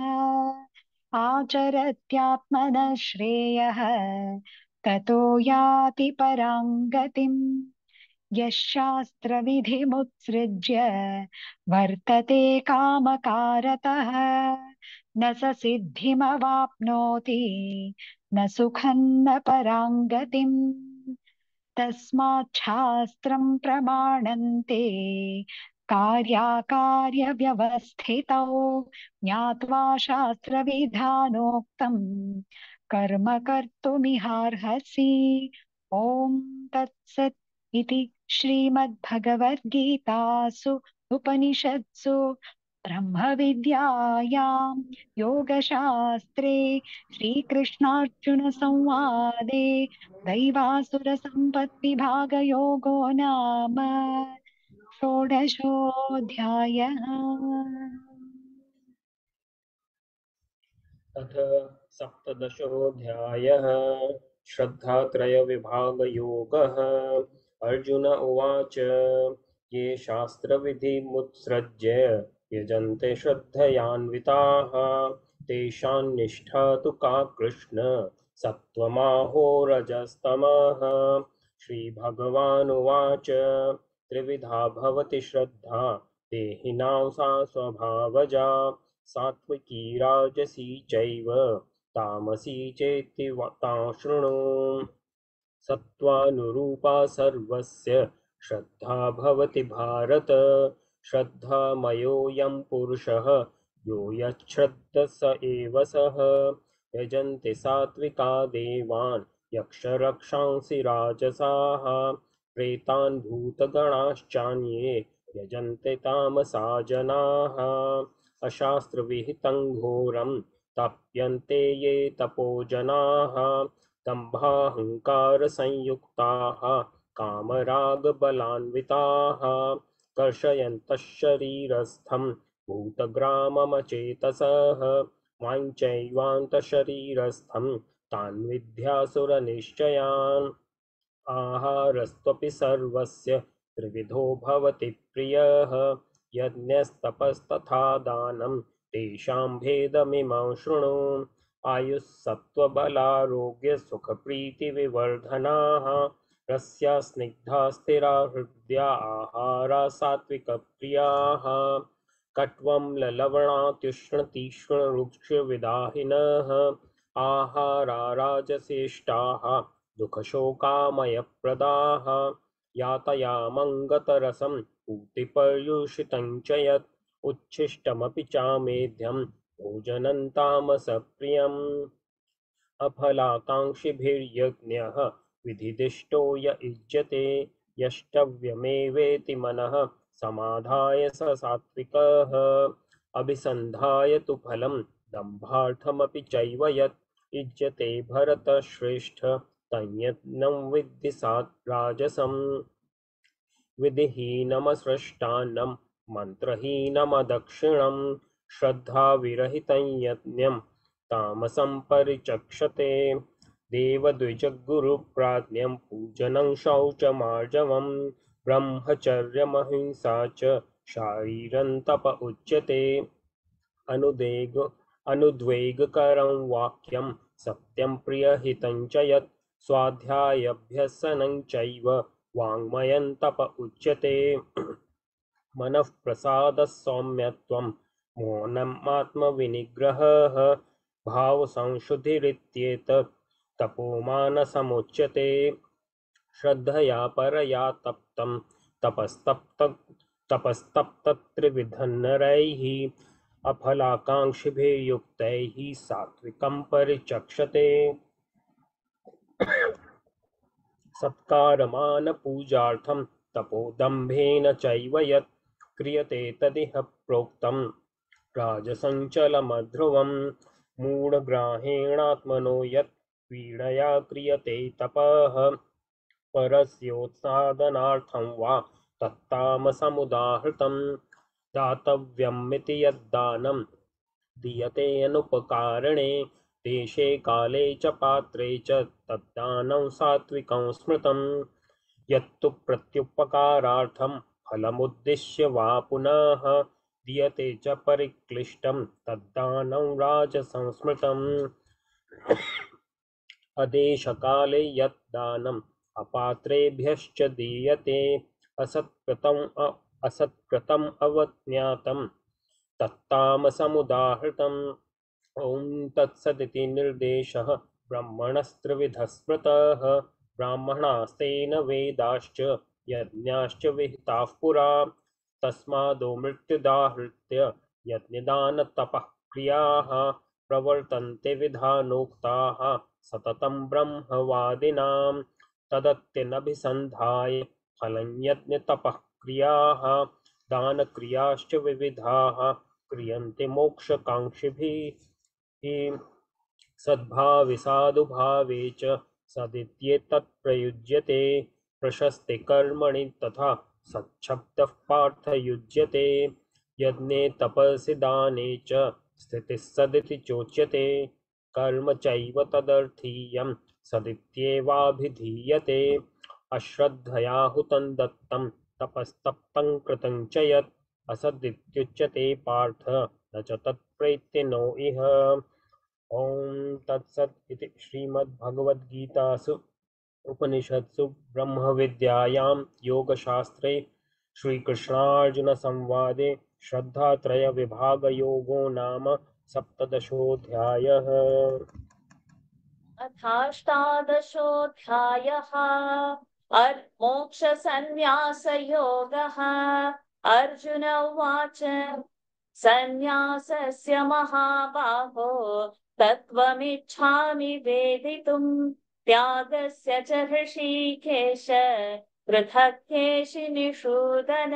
आचरत्यात्मनः श्रेयः ततो याति परां गतिम् यः शास्त्रविधिमुत्सृज्य वर्तते कामकारतः न स सिद्धिमवाप्नोति न सुखं न परां गतिम् तस्माच्छास्त्रं प्रमाणन्ते कार्याकार्यव्यवस्थितौ ज्ञात्वा शास्त्रविधानोक्तं कर्म कर्तुमिहार्हसि ॐ तत्सत् इति श्रीमद्भगवद्गीतासु उपनिषत्सु ब्रह्मविद्यायां योगशास्त्रे श्रीकृष्णार्जुनसंवादे दैवासुरसम्पद्विभागयोगो नाम षोडशोऽध्यायः। अथ सप्तदशोऽध्यायः श्रद्धात्रयविभागयोगः। अर्जुन उवाच ये शास्त्रविधिमुत्सृज्य यजन्ते श्रद्धयान्विताः तेषां निष्ठा तु का कृष्ण सत्त्वमाहो रजस्तमः। श्रीभगवानुवाच त्रिविधा भवति श्रद्धा देहिनां सा स्वभावजा सात्विकी राजसी चैव तामसी चेति तां शृणु। सत्त्वानुरूपा सर्वस्य श्रद्धा भवति भारत श्रद्धामयोऽयं पुरुषः यो यच्छ्रद्धः स एव सः। यजन्ति सात्विका देवान् यक्षरक्षांसि राजसाः प्रेतान् भूतगणाश्चान्ये यजन्ते तामसा जनाः। अशास्त्रविहितं घोरं तप्यन्ते ये तपो जनाः दम्भाहंकारसंयुक्ताः कामरागबलान्विताः कर्षयन्तः शरीरस्थं भूतग्राममचेतसः वाञ्छैवान्तशरीरस्थं तान् विद्यासुरनिश्चयान्। आहारस्त्वपि सर्वस्य त्रिविधो भवति प्रियः यज्ञस्तपस्तथा दानं तेषां भेदमिमं शृणु। आयुः सत्त्वबलारोग्यसुखप्रीतिविवर्धनाः रस्या स्निग्धा स्थिरा हृद्या आहारा सात्विकप्रियाः कट्वं ललवणात्युष्णतीक्ष्णरुक्षविदाहिनः आहारा राजसेष्टाः दुःखशोकामयप्रदाः यातयामङ्गतरसं पूतिपर्युषितं च यत् उच्छिष्टमपि चामेध्यं भोजनं तामसप्रियम्। अफलाकाङ्क्षिभिर्यज्ञः विधिदिष्टो य युज्यते यष्टव्यमेवेति मनः समाधाय स सात्विकः। अभिसन्धाय तु फलं दम्भार्थमपि चैव यत् युज्यते भरतश्रेष्ठ तन्यज्ञं विद्धि राजसम्। विधिहीनमसृष्टान्नं मन्त्रहीनमदक्षिणं श्रद्धाविरहितं यज्ञं तामसं परिचक्षते। देवद्विजगुरुप्राज्ञं पूजनं शौचमार्जवं ब्रह्मचर्यमहिंसा च शारीरं तप उच्यते। अनुद्वेगकरं वाक्यं सत्यं प्रियहितं च यत् स्वाध्यायाभ्यसनं चैव वाङ्मयं तप उच्यते। मनः प्रसादः सौम्यत्वं मौनमात्मविनिग्रहः भावसंशुद्धिरित्येतत् तपोमानसमुच्यते। श्रद्धया परया तप्तं तपस्तप्तत्रिविधन्नरैः सत्कारमानपूजार्थं तपोदम्भेन चैव यत् क्रियते तदिह प्रोक्तं राजसञ्चलमध्रुवं मूढग्राहेणात्मनो यत् पीडया क्रियते तपः परस्योत्सादनार्थं वा तत्तामसमुदाहृतं दातव्यमिति यद्दानं दीयते अनुपकारणे देशे काले च पात्रे च तद्दानं सात्विकं स्मृतं यत्तु प्रत्युपकारार्थं फलमुद्दिश्य वा पुनः दीयते च परिक्लिष्टं तद्दानं राजसंस्मृतम् अदेशकाले यत् दानम् अपात्रेभ्यश्च दीयते असत्कृतम् अवज्ञातं तत्तामसमुदाहृतम् ॐ तत्सदिति निर्देशः ब्रह्मणस्त्रिविधः स्मृतः ब्राह्मणास्तेन वेदाश्च यज्ञाश्च विहिताः पुरा तस्मादो मृत्युदाहृत्य यज्ञदानतपः क्रियाः प्रवर्तन्ते विधानोक्ताः सततं ब्रह्मवादिनां तदत्यनभिसन्धाय फलं यज्ञतपः क्रियाः दानक्रियाश्च विविधाः क्रियन्ते मोक्षकाङ्क्षिभिः सद्भावे साधुभावे च सदित्येतत् प्रयुज्यते प्रशस्ते कर्मणि तथा सच्छब्दः पार्थयुज्यते यज्ञे तपसि दाने च स्थितिः सदिति चोच्यते कर्म चैव तदर्थीयं सदित्येवाभिधीयते अश्रद्धया हुतं दत्तं तपस्तप्तं कृतं च यत् असदित्युच्यते पार्थ न च तत्प्रेत्यनो इह ॐ तत्सत् इति श्रीमद्भगवद्गीतासु उपनिषत्सु ब्रह्मविद्यायां योगशास्त्रे श्रीकृष्णार्जुनसंवादे श्रद्धात्रयविभागयोगो नाम सप्तदशोऽध्यायः। अथाष्टादशोऽध्यायः मोक्षसन्न्यासयोगः। अर्जुन उवाच सन्न्यासस्य महाबाहो तत्त्वमिच्छामि वेदितुम् त्यागस्य च ऋषिकेश पृथक् केशिनिषूदन।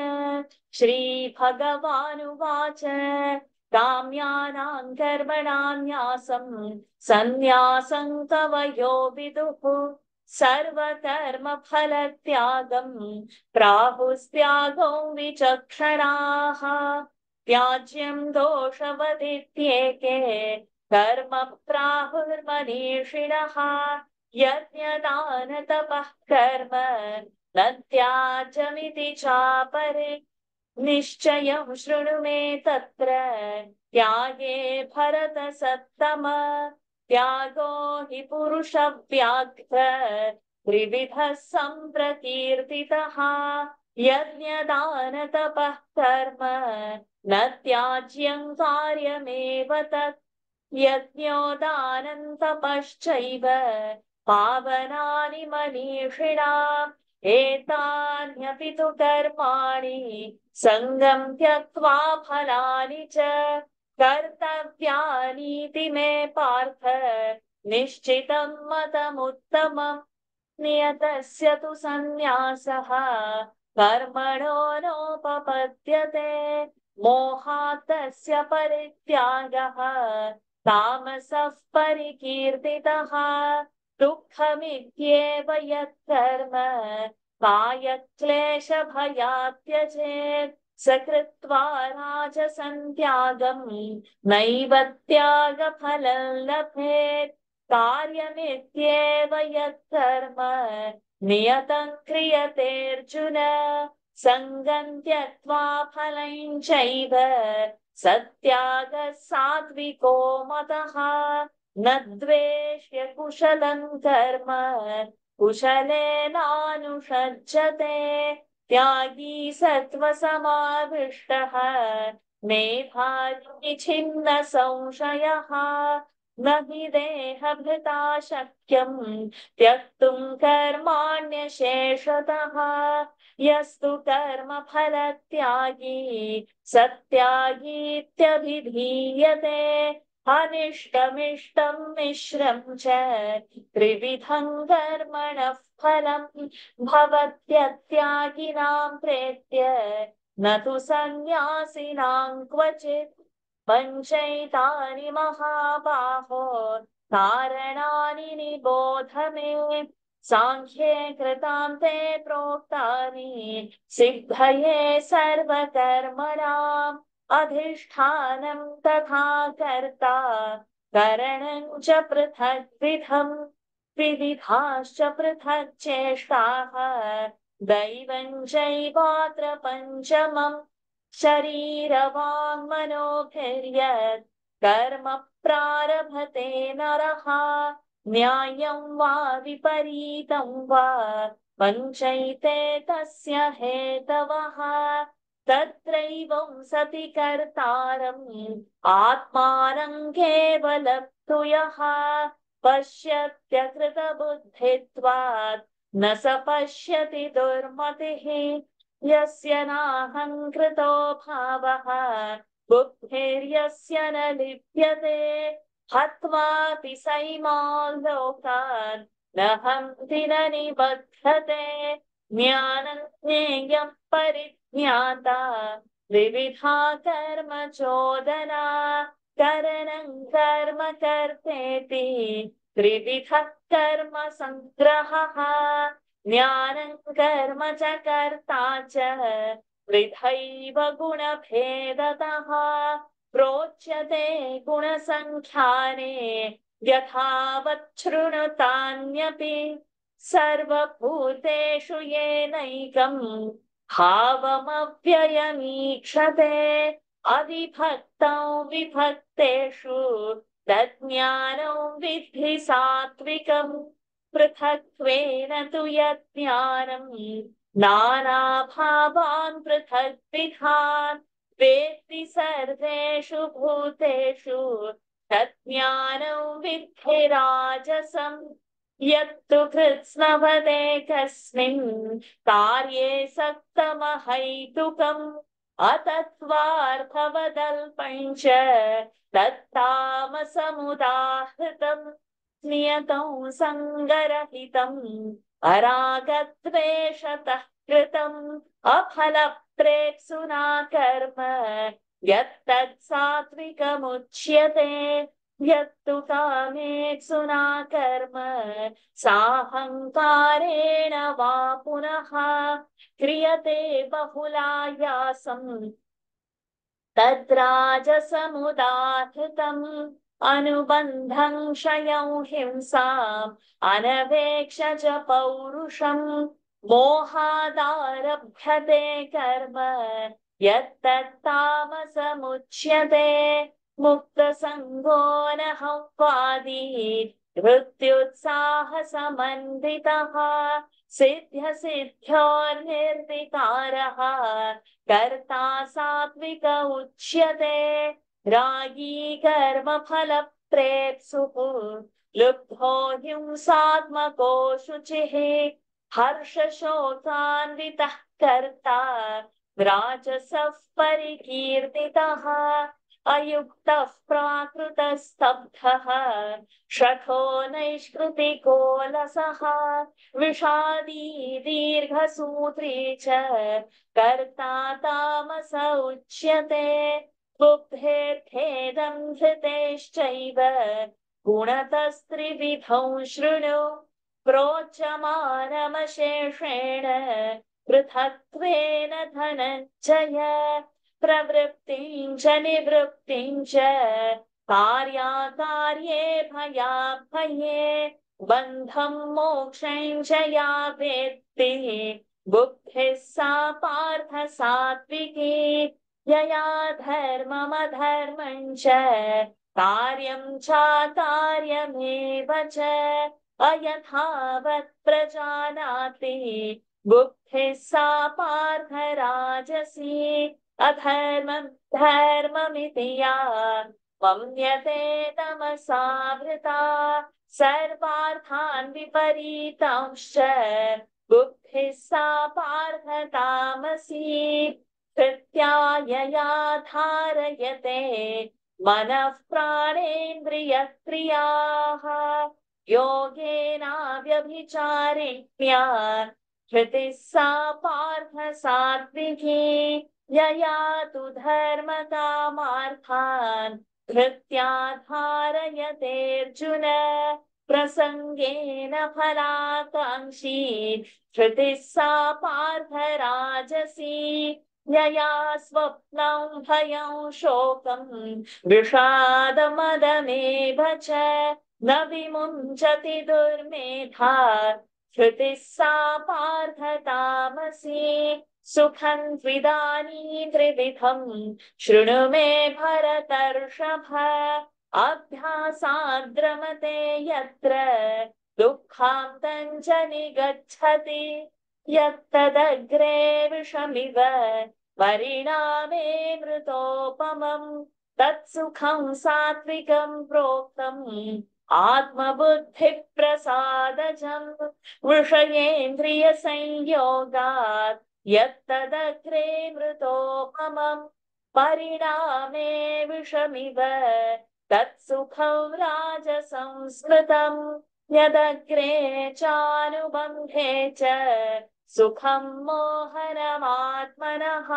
श्रीभगवानुवाच काम्यानां कर्मणां न्यासं सन्न्यासं कवयो विदुः सर्वकर्मफलत्यागं प्राहुस्त्यागो विचक्षणाः। त्याज्यं दोषवदित्येके कर्म प्राहुर्मनीषिणः यज्ञदानतपः कर्म न त्याज्यमिति चापरे। निश्चयं शृणु मे तत्र त्यागे भरतसत्तम। त्यागो हि पुरुषव्याघ्र त्रिविधः सम्प्रकीर्तितः यज्ञदानतपः कर्म न त्याज्यं कार्यमेव तत्। यज्ञो दानं तपश्चैव पावनानि मनीषिणाम् एतान्यपि तु कर्माणि सङ्गं त्यक्त्वा फलानि च कर्तव्यानीति मे पार्थ निश्चितं मतमुत्तमम्। नियतस्य तु सन्न्यासः कर्मणो नोपपद्यते मोहात् तस्य परित्यागः तामसः परिकीर्तितः। दुःखमित्येव यत्कर्म कायक्लेशभयात् त्यजेत् स कृत्वा राजसं त्यागं नैव त्यागफलं लभेत्। कार्यमित्येव यत्कर्म नियतं क्रियतेऽर्जुन सङ्गं त्यक्त्वा फलं चैव सत्यागः सात्विको मतः। न द्वेष्य कुशलं कर्म कुशलेनानुषज्यते त्यागी सत्त्वसमाविष्टः मेधावी छिन्न संशयः। न हि देहभृता शक्यं त्यक्तुं कर्माण्यशेषतः यस्तु कर्मफलत्यागी सत्यागीत्यभिधीयते। अनिष्टमिष्टं मिश्रं च त्रिविधं कर्मणः फलं भवत्यत्यागिनां प्रेत्य न तु सन्न्यासिनां क्वचित् पञ्चैतानि महाबाहो कारणानि निबोध मे सांख्ये कृतां ते प्रोक्तानि सिद्धये सर्वकर्मणाम् अधिष्ठानं तथा कर्ता करणं च पृथग्विधम् विविधाश्च पृथक् चेष्टाः दैवं चैवात्र पञ्चमम् शरीरवाङ्मनोभिर्यत् कर्म प्रारभते नरः न्यायं वा विपरीतं वा पञ्चैते तस्य हेतवः तत्रैवं सति कर्तारम् आत्मानं केवलप्तु यः पश्यत्यकृतबुद्धित्वात् न स पश्यति दुर्मतिः यस्य नाहङ्कृतो भावः बुद्धिर्यस्य न लिप्यते हत्वापि सैमान् लोकान् न हन्ति न निबध्यते ज्ञानं ज्ञेयं परिज्ञाता विविधा कर्म चोदना करणं कर्म कर्तेति त्रिविधः कर्म संग्रहः ज्ञानं कर्म च कर्ता च वृथैव गुणभेदतः प्रोच्यते गुणसङ्ख्याने यथावत् शृणुतान्यपि सर्वभूतेषु येनैकं भावमव्ययमीक्षते अविभक्तौ विभक्तेषु तज्ज्ञानं विद्धि सात्विकम् पृथक्त्वेन तु यज्ञानं नानाभावान् पृथग्विधान् वेत्ति सर्वेषु भूतेषु तज्ज्ञानं विद्धि राजसम् यत्तु कृत्स्नवदे कस्मिन् कार्ये सक्तमहैतुकम् अतत्त्वार्थवदल्पं च तत्तामसमुदाहृतम् नियतं सङ्गरहितम् अरागद्वेषतः कृतम् अफलप्रेप्सुना कर्म यत्तत् सात्विकमुच्यते यत्तु कामेप्सुना कर्म साहङ्कारेण वा पुनः क्रियते बहुलायासम् तद्राजसमुदाहृतम् अनुबन्धं क्षयं हिंसाम् अनवेक्ष च पौरुषम् मोहादारभ्यते कर्म यत्तत्तामसमुच्यते मुक्तसङ्गो न हंवादी मृत्युत्साहसमन्वितः सिद्ध्यसिद्ध्योर्निर्विकारः कर्ता सात्विक उच्यते रागी कर्मफलप्रेप्सुः लुब्धो हिंसात्मको शुचिः हर्षशोकान्वितः कर्ता राजसः परिकीर्तितः अयुक्तः प्राकृतस्तब्धः शठो नैष्कृतिको लसः विषादी दीर्घसूत्री च कर्ता तामस उच्यते बुद्धेर्थेदं धृतेश्चैव गुणतस्त्रिविधौ शृणु प्रोच्यमानमशेषेण पृथक्त्वेन धनञ्जय प्रवृत्तिं च निवृत्तिं च कार्याकार्ये भयाभये बन्धं मोक्षं च या वेत्ति बुद्धिः सा पार्थ सात्विकी यया धर्ममधर्मं च कार्यं चाकार्यमेव च अयथावत् प्रजानाति बुद्धिः सा पार्थ राजसी अधर्मं धर्ममिति या मन्यते तमसावृता सर्वार्थान् विपरीतांश्च बुद्धिः सा पार्थ तामसी कृत्यायया धारयते मनः प्राणेन्द्रियक्रियाः योगेनाव्यभिचारिण्या धृतिः सा पार्थ सात्विकी यया तु धर्मकामार्थान् धृत्या धारयतेऽर्जुन प्रसङ्गेन फलाकाङ्क्षी धृतिः सा पार्थ राजसी यया स्वप्नं भयं शोकं विषादमदमेव च न विमुञ्चति दुर्मेधा धृतिः सा पार्थ तामसी सुखं त्विदानीं त्रिविधं शृणु मे भरतर्षभ अभ्यासाद्रमते यत्र दुःखान्तं च निगच्छति यत्तदग्रे विषमिव परिणामे मृतोपमम् तत्सुखं सात्विकं प्रोक्तम् आत्मबुद्धिप्रसादजम् विषयेन्द्रियसंयोगात् यत्तदग्रे मृतोपमम् परिणामे विषमिव तत्सुखं राजसंस्मृतम् यदग्रे चानुबन्धे च सुखं मोहनमात्मनः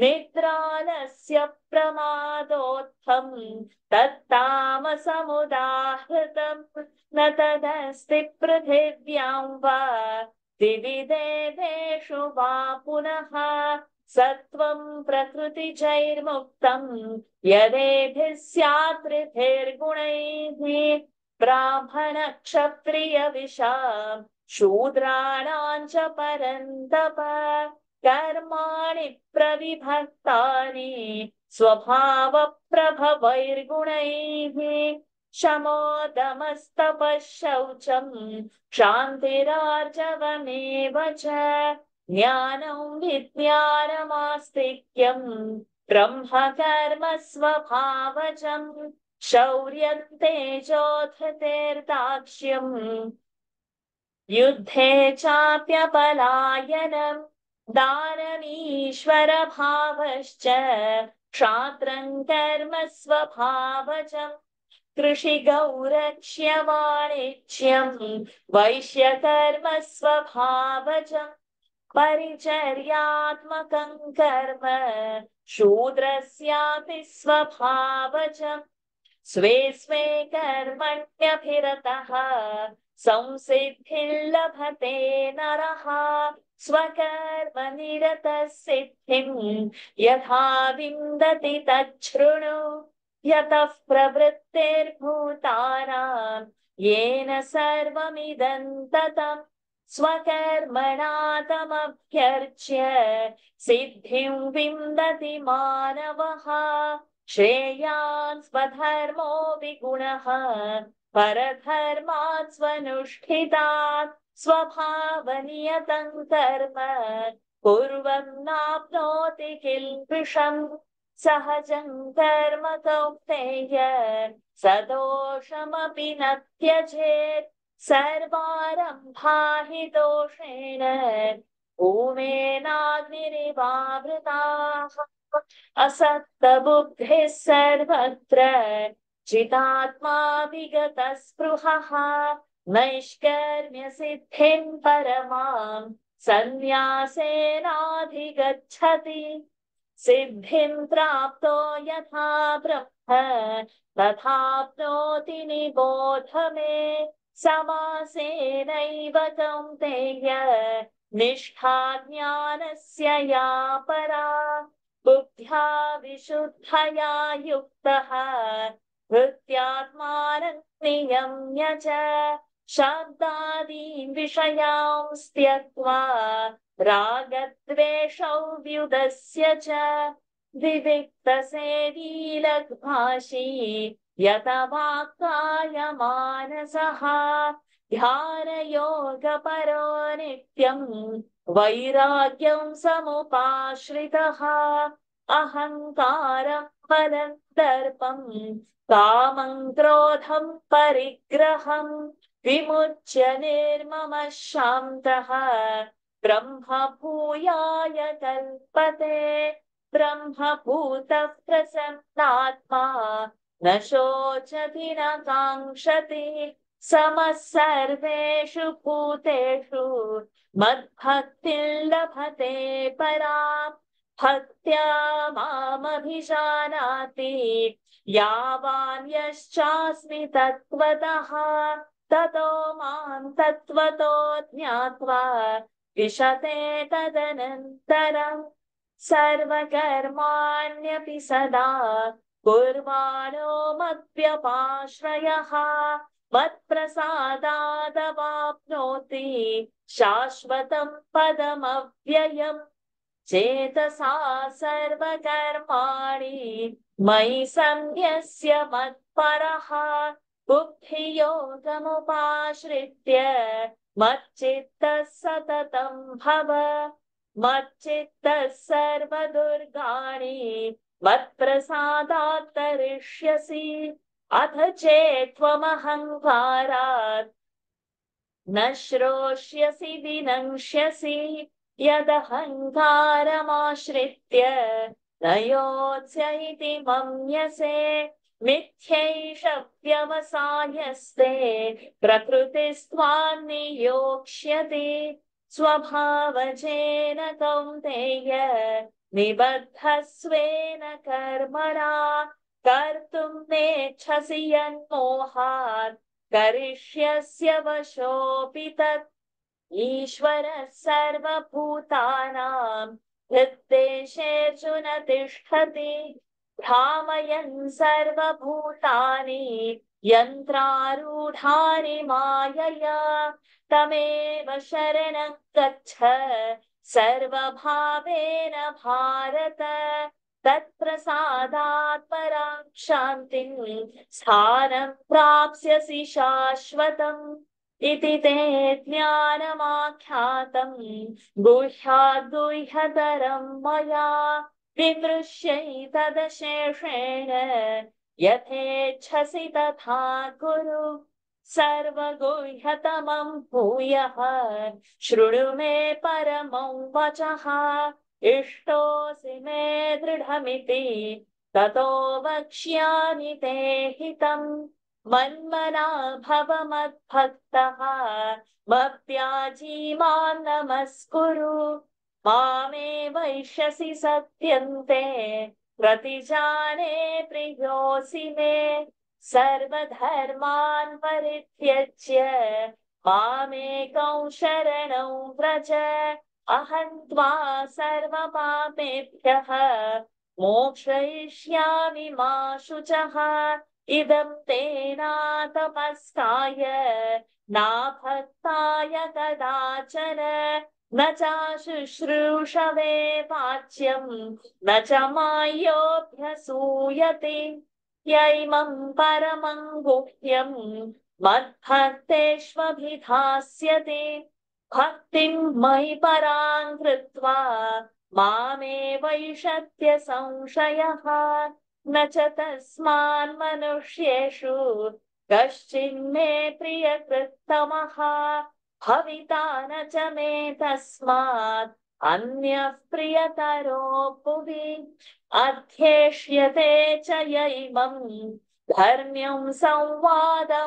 निद्रालस्य प्रमादोत्थं तत्तामसमुदाहृतम् न तदस्ति पृथिव्यां वा दिवि देवेषु वा पुनः सत्वं प्रकृतिजैर्मुक्तं यदेभिः स्यात् त्रिभिर्गुणैः ब्राह्मणक्षत्रियविशां शूद्राणां च परन्तप कर्माणि प्रविभक्तानि स्वभावप्रभवैर्गुणैः शमोदमस्तपः शौचं क्षान्तिरार्जवमेव च ज्ञानं विज्ञानमास्तिक्यं ब्रह्मकर्म स्वभावजम् शौर्यं तेजोधृतेर्दाक्ष्यं युद्धे चाप्यपलायनं दानमीश्वरभावश्च क्षात्रं कर्म स्वभावजम् कृषिगौरक्ष्यवाणिज्यं वैश्यकर्म स्वभावजम् परिचर्यात्मकं कर्म शूद्रस्यापि स्वभावजम् स्वे स्वे कर्मण्यभिरतः संसिद्धिं लभते नरः स्वकर्मनिरतः सिद्धिं यथा विन्दति तच्छृणु यतः प्रवृत्तिर्भूतानां येन सर्वमिदं ततं स्वकर्मणा तमभ्यर्च्य सिद्धिं विन्दति मानवः श्रेयान् स्वधर्मो विगुणः परधर्मात् स्वनुष्ठितात् स्वभावनियतं कर्म कुर्वन्नाप्नोति किल्बिषम् सहजं कर्म कौन्तेय सदोषमपि न त्यजेत् सर्वारम्भा हि दोषेण भूमेनाग्निरिवावृताः असक्तबुद्धिः सर्वत्र चिदात्मा विगतस्पृहः नैष्कर्म्य सिद्धिं परमां सन्न्यासेनाधिगच्छति सिद्धिं प्राप्तो यथा ब्रह्म तथाप्नोति निबोध मे समासेनैव कौन्तेय निष्ठा ज्ञानस्य या परा बुद्ध्या विशुद्धया युक्तः हृत्यात्मानं नियम्य च शब्दादीन् विषयांस् त्यक्त्वा रागद्वेषौ व्युदस्य च विविक्तसेवी लग्भाषी यतवाक्कायमानसः ध्यानयोगपरो नित्यं वैराग्यं समुपाश्रितः अहङ्कारं फलं दर्पं कामं क्रोधं परिग्रहं विमुच्य निर्ममः शान्तः ब्रह्मभूयाय कल्पते ब्रह्मभूतः प्रसन्नात्मा न शोचति न काङ्क्षति समः सर्वेषु भूतेषु मद्भक्तिं लभते पराम् भक्त्या मामभिजानाति यावान् यश्चास्मि तत्त्वतः ततो मां तत्त्वतो ज्ञात्वा विशते तदनन्तरम् सर्वकर्माण्यपि सदा कुर्वाणो मद्व्यपाश्रयः मत्प्रसादादवाप्नोति शाश्वतं पदमव्ययम् चेतसा सर्वकर्माणि मयि सन्न्यस्य मत्परः बुद्धियोगमुपाश्रित्य मच्चित्तः सततं भव मच्चित्तः सर्वदुर्गाणि मत्प्रसादात् तरिष्यसि अथ चेत्त्वमहङ्कारात् न श्रोष्यसि विनङ्क्ष्यसि यदहङ्कारमाश्रित्य न योत्स्य इति मन्यसे मिथ्यैष व्यवसायस्ते प्रकृतिस्त्वां नियोक्ष्यति स्वभावजेन कौन्तेय निबद्धस्वेन कर्मणा कर्तुं नेच्छसि यन्मोहात् करिष्यस्य वशोऽपि तत् ईश्वरः सर्वभूतानां हृद्देशेऽर्जुन तिष्ठति भ्रामयन् सर्वभूतानि यन्त्रारूढानि मायया तमेव शरणं गच्छ सर्वभावेन भारत तत्प्रसादात् परां शान्तिं स्थानं प्राप्स्यसि शाश्वतम् इति ते ज्ञानमाख्यातं गुह्याद्गुह्यतरं मया विमृश्यैतदशेषेण यथेच्छसि तथा कुरु सर्वगुह्यतमं भूयः शृणु मे परमं वचः इष्टोऽसि मे दृढमिति ततो वक्ष्यामि ते हितम् मन्मना भव मद्भक्तः मद्याजी मां नमस्कुरु मामे वैष्यसि सत्यन्ते प्रतिजाने प्रियोऽसि मे सर्वधर्मान् परित्यज्य मामेकं शरणं व्रज अहं त्वा सर्वपापेभ्यः मोक्षयिष्यामि मा शुचः इदं तेनातपस्काय नाभक्ताय कदाचन न चाशुश्रूषवे वाच्यं न च मायोऽभ्यसूयते य इमं परमं गुह्यं मद्भक्तेष्वभिधास्यते भक्तिं मयि परां कृत्वा मामे वैषत्य संशयः न च तस्मान् मनुष्येषु कश्चिन्मे प्रियकृत्तमः भविता न च मे तस्मात् अन्यः प्रियतरो भुवि अध्येष्यते च य इमं धर्म्यं संवादमावयोः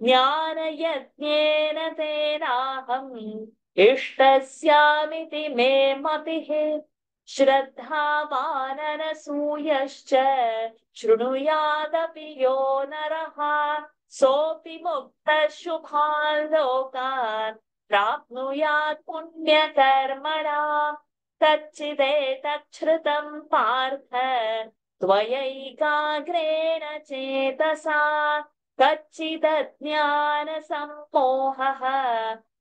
ज्ञानयज्ञेन तेनाहम् इष्टस्यामिति मे मतिः श्रद्धावाननसूयश्च शृणुयादपि यो नरः सोऽपि मुक्तः शुभान् लोकान् प्राप्नुयात् पुण्यकर्मणा कच्चिदेतच्छ्रुतं पार्थ त्वयैकाग्रेण चेतसा कच्चिदज्ञानसम्मोहः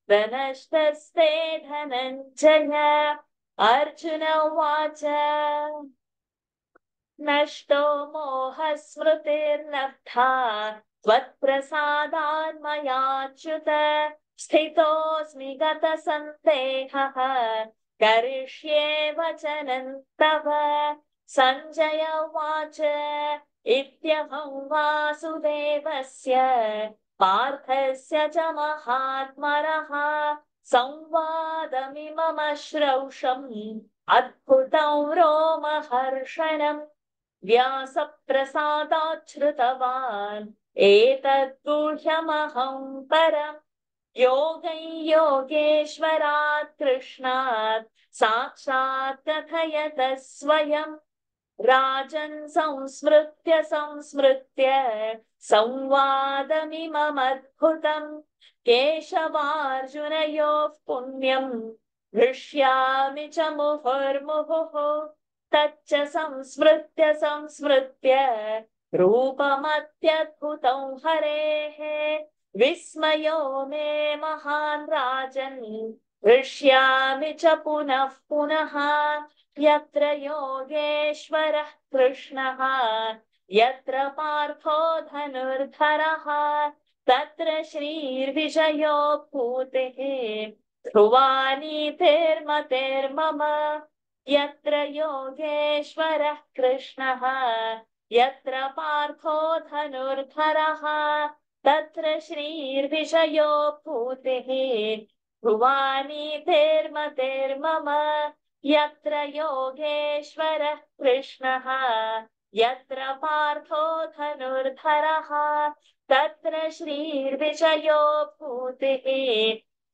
प्रनष्टस्ते धनञ्जय अर्जुन उवाच नष्टो मोहस्मृतिर्लब्धा त्वत्प्रसादान् मयाच्युत स्थितोऽस्मि गतसन्देहः करिष्ये वचनं तव सञ्जय उवाच इत्यहं वासुदेवस्य पार्थस्य च महात्मनः संवादमिममश्रौषम् अद्भुतं रोमहर्षणम् व्यासप्रसादाच्छ्रुतवान् एतद्गुह्यमहं परम् योगैयोगेश्वरात् कृष्णात् साक्षात् कथयत स्वयम् राजन् संस्मृत्य संस्मृत्य संवादमिममद्भुतम् केशवार्जुनयोः पुण्यम् हृष्यामि च मुहुर्मुहुः तच्च संस्मृत्य संस्मृत्य रूपमत्यद्भुतं हरेः विस्मयो मे महान् राजन् हृष्यामि च पुनः पुनः यत्र योगेश्वरः कृष्णः यत्र पार्थो धनुर्धरः तत्र श्रीर्विजयो भूतिः ध्रुवानीतिर्मतिर्मम यत्र योगेश्वरः कृष्णः यत्र पार्थो धनुर्धरः तत्र श्रीर्विजयो भूतिः ध्रुवानीतिर्मतिर्मम यत्र योगेश्वरः कृष्णः यत्र पार्थो धनुर्धरः तत्र श्रीर्विजयो भूतिः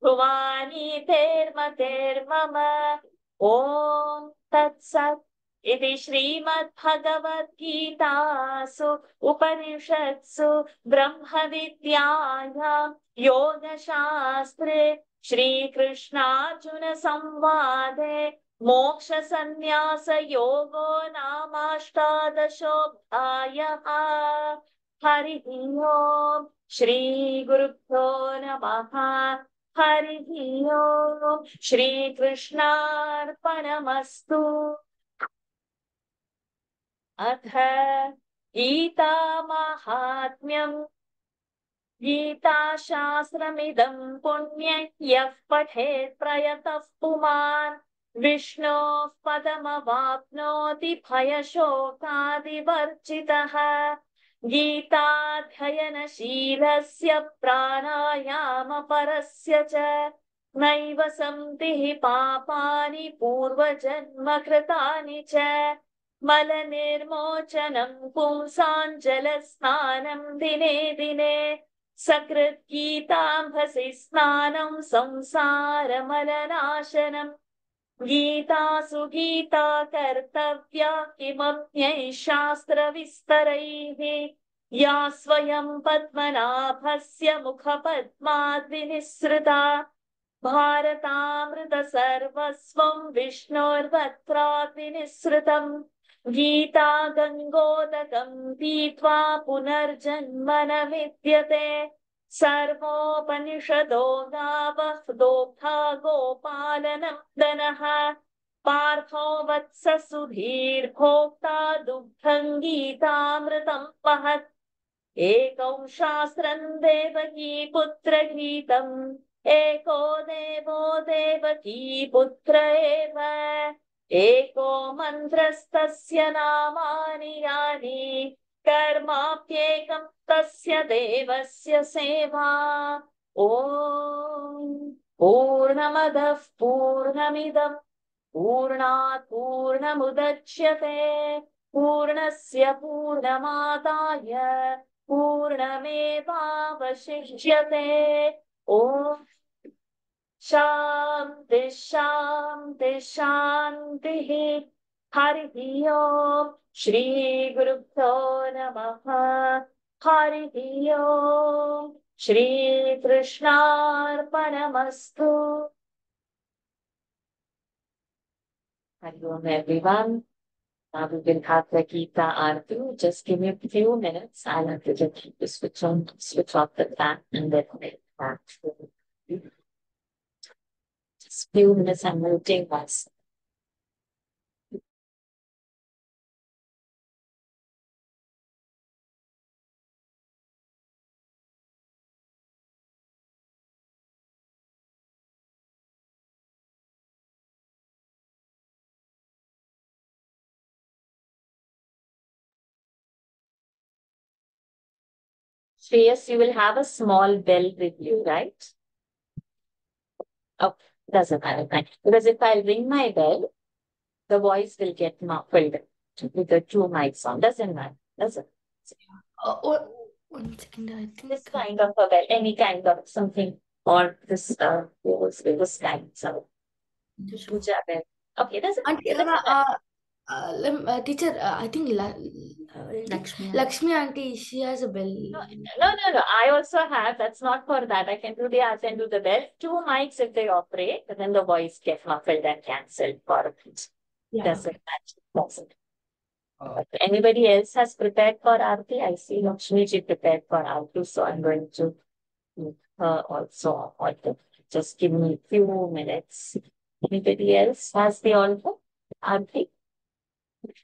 ध्रुवानीतिर्मतिर्मम ॐ तत्सत् इति श्रीमद्भगवद्गीतासु उपनिषत्सु ब्रह्मविद्यायां योगशास्त्रे श्रीकृष्णार्जुन संवादे मोक्षसन्न्यासयोगो नामाष्टादशोऽध्यायः हरिः ओम् श्रीगुरुभ्यो नमः हरिः ओम् श्रीकृष्णार्पणमस्तु अथ गीतामाहात्म्यम् गीताशास्त्रमिदं पुण्यं यः पठेत् प्रयतः पुमान् विष्णोः पदमवाप्नोति भयशोकादिवर्जितः गीताध्ययनशीलस्य प्राणायामपरस्य च नैव सन्ति पापानि पूर्वजन्मकृतानि च मलनिर्मोचनं पुंसाञ्जलस्नानं दिने दिने सकृद्गीताम्भसि स्नानं संसारमलनाशनम् गीतासु गीता कर्तव्या किमप्यै शास्त्रविस्तरैः या स्वयं पद्मनाभस्य मुखपद्माद्विनिःसृता भारतामृतसर्वस्वं विष्णोर्वक्त्राद्विनिःसृतम् गीता गङ्गोदकं पीत्वा पुनर्जन्म न विद्यते सर्वोपनिषदो गावः दोग्धा गोपालनन्दनः पार्थो वत्ससुधीर्भोक्ता दुग्धं गीतामृतं महत् एकौ शास्त्रं देवकी पुत्रगीतम् एको देवो देवकी पुत्र एव एको मन्त्रस्तस्य नामानि यानि कर्माप्येकं तस्य देवस्य सेवा ॐ पूर्णमदः पूर्णमिदं पूर्णात् पूर्णमुदच्यते पूर्णस्य पूर्णमादाय पूर्णमेवावशिष्यते ॐ शान्ति शान्ति शान्तिः हरिः ओम् श्रीगुरुभ्यो नमः हरिः ओम् श्रीकृष्णार्पणमस्तु Hari Om everyone. Now we will have the Gita Arti. Just give me a few minutes. I'll have to just switch off the fan and then make that. Just few minutes I'm muting myself. Shreyas, you will have a small bell with you, right? Oh, doesn't matter. Fine. Because if I ring my bell, the voice will get muffled with the two mics on. Doesn't matter. Doesn't. One second, I think This kind of a bell, any kind of something, or this this kind. So, puja bell. Okay, doesn't matter. teacher, I think Lakshmi auntie, she has a bell. No. I also have. That's not for that. I can do the arts and do the bell. Two mics if they operate, but then the voice gets muffled and cancelled for it. Doesn't match. Doesn't. But anybody else has prepared for Aarti? I see Lakshmi ji prepared for Aarti, so I'm going to meet her also. Just give me a few minutes. Anybody else has the altar? Aarti?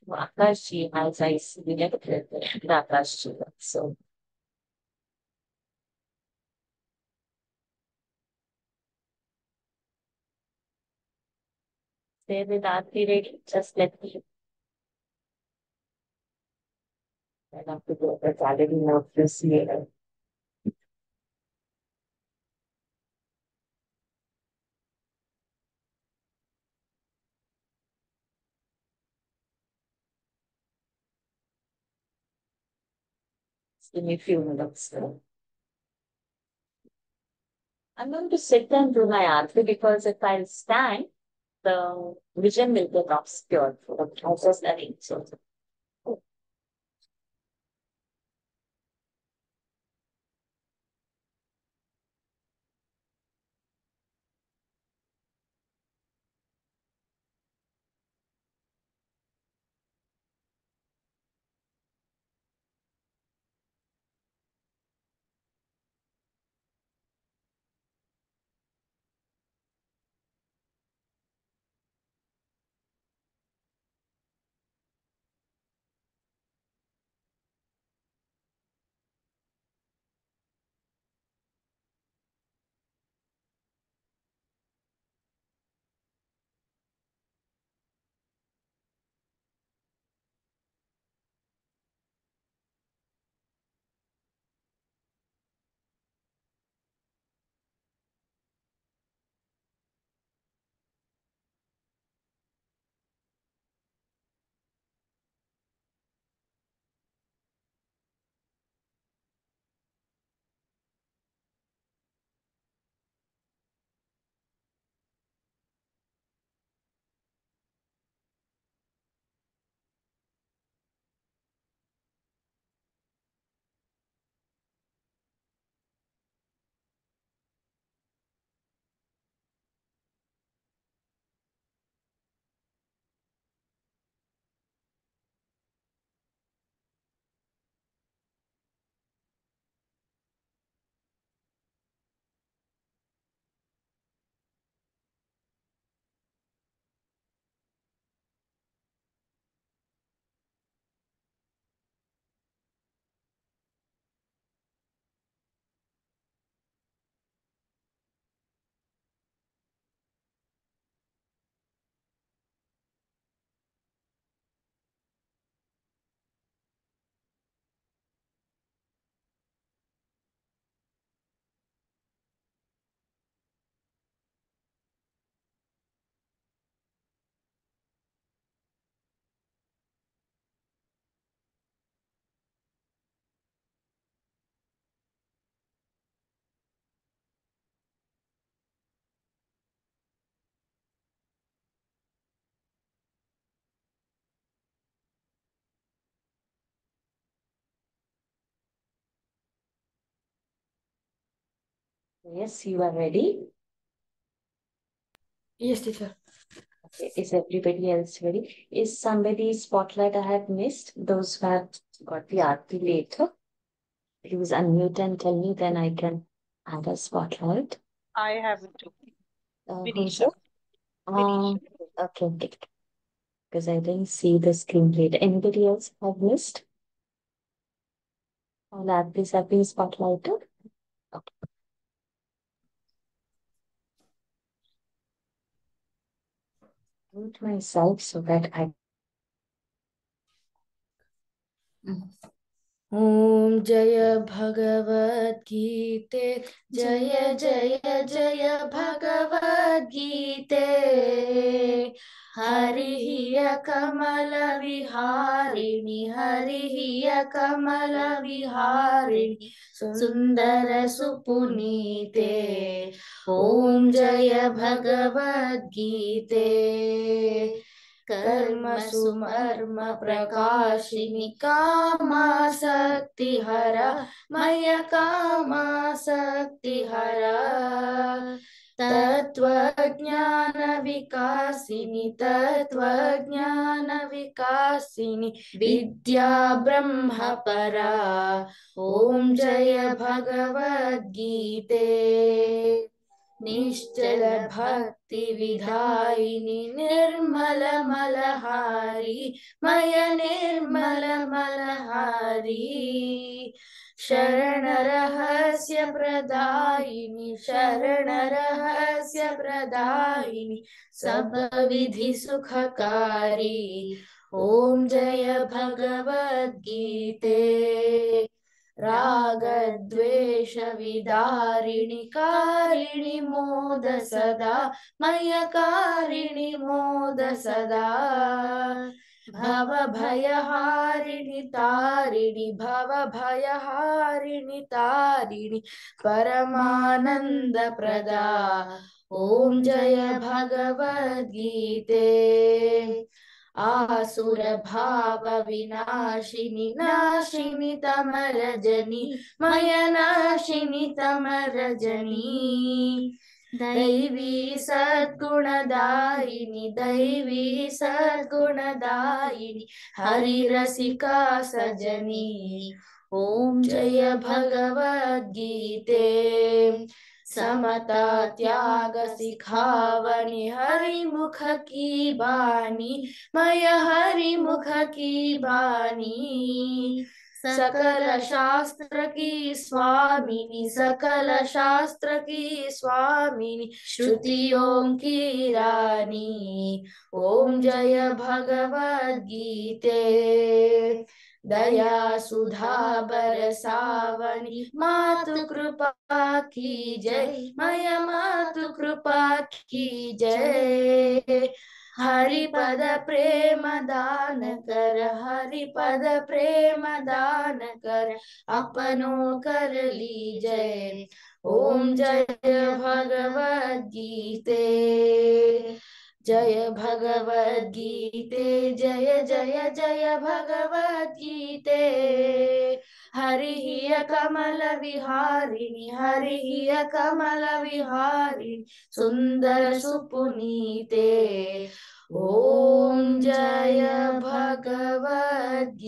Akash ji has, I see, we never prepared Akash ji. So. Stay with Aarti ready. Just let me. I have to go. It's already note this later. Give me a few minutes. I'm going to sit and do my Aarti because if I stand, the vision will get obscured. I'm just studying. So. Yes, you are ready. Yes, teacher. Okay. Is everybody else ready? Is somebody's spotlight I have missed? Those who have got the Aarti later. Please unmute and tell me, then I can add a spotlight. I have it too. Who's it? Okay. Because I didn't see the screen later. Anybody else have missed? All Aartis have been spotlighted. Okay. Mute myself so that I. ॐ जय भगवद्गीते जय जय जय भगवद्गीते हरिः कमलविहारिणि हरिः कमलविहारिणि सुन्दर सुपुनीते ॐ जय भगवद्गीते कर्म सुमर्म प्रकाशिनि कामासक्तिहर मय कामासक्तिहर तत्त्वज्ञान विकासिनि विद्या ब्रह्म परा ॐ जय भगवद्गीते निश्चल भक्ति विधायिनि निर्मल मलहारी मय निर्मल मलहारी शरण रहस्य प्रदायिनि सब विधि सुखकारी ॐ जय भगवद्गीते रागद्वेष विदारिणि कारिणि मोद सदा मय कारिणि मोद सदा भवभयहारिणि तारिणि परमानंद प्रदा ॐ जय भगवद्गीते आसुर भाव विनाशिनि नाशिनि तमरजनी मय नाशिनि तमरजनी दैवी सद्गुणदायिनि हरिरसिका सजनी ॐ जय भगवद्गीते समता त्याग सिखावनी हरिमुख की बानी मय हरिमुख की बानी सकल शास्त्र की स्वामिनी श्रुतियों की रानी ॐ जय भगवद्गीते दया सुधा बरसावनी मातु कृपा की जय मय मातु कृपा की जय हरिपद प्रेम दान कर अपनो कर लीजय ॐ जय भगवद्गीते जय भगवद्गीते जय जय जय भगवद्गीते हरिः कमल विहारिणि सुंदर सुपुनीते ॐ जय भगवद्गीते।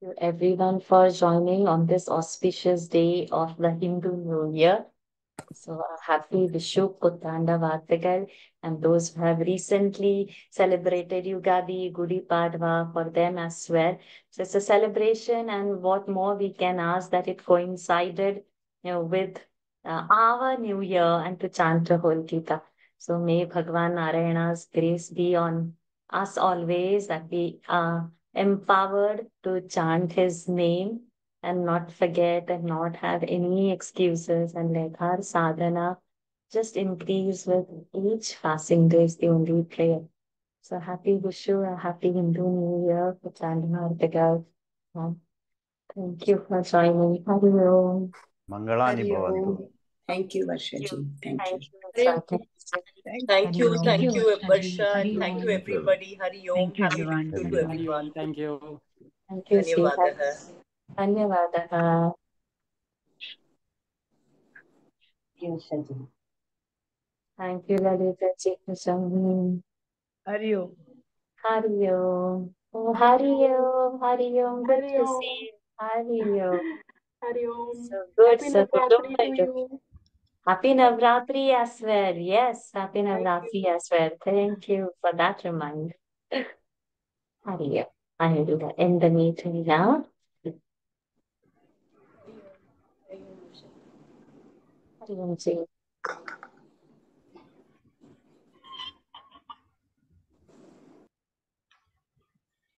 To everyone for joining on this auspicious day of the Hindu New Year. So a happy Vishu Puttanda Vartagal, and those who have recently celebrated Yugadi, Gudi Padwa, for them as well. So it's a celebration, and what more we can ask that it coincided, with our New Year and to chant the whole Gita. So may Bhagwan Narayana's grace be on us always, that we are empowered to chant his name and not forget and not have any excuses, and let our sadhana just increase with each passing day is the only prayer. So happy Vishu, a happy Hindu New Year for Chandana Artigal. Thank you for joining. Hari Om. Mangalani Bhavantu. Thank you, Varshaji. Thank you. Thank you, Varshaji. Hari Thank you, Om. everybody. Hari Om. Thank you, Happy everyone. to Hari Om. everyone. Thank you. Thank you, Dhanyavadaha. Dhanyavadaha. Thank you, Lalita ji. Hari Om. Hari Om. Oh, Hari Om. Hari Om. Good to see you. Hari Om. Hari Om. So good. Happy So good. Navratri to you. Happy Navratri as well. Yes, Happy Navratri as well. Thank you for that reminder. Hari Om. I will do that in the meeting now. Hari Om ji.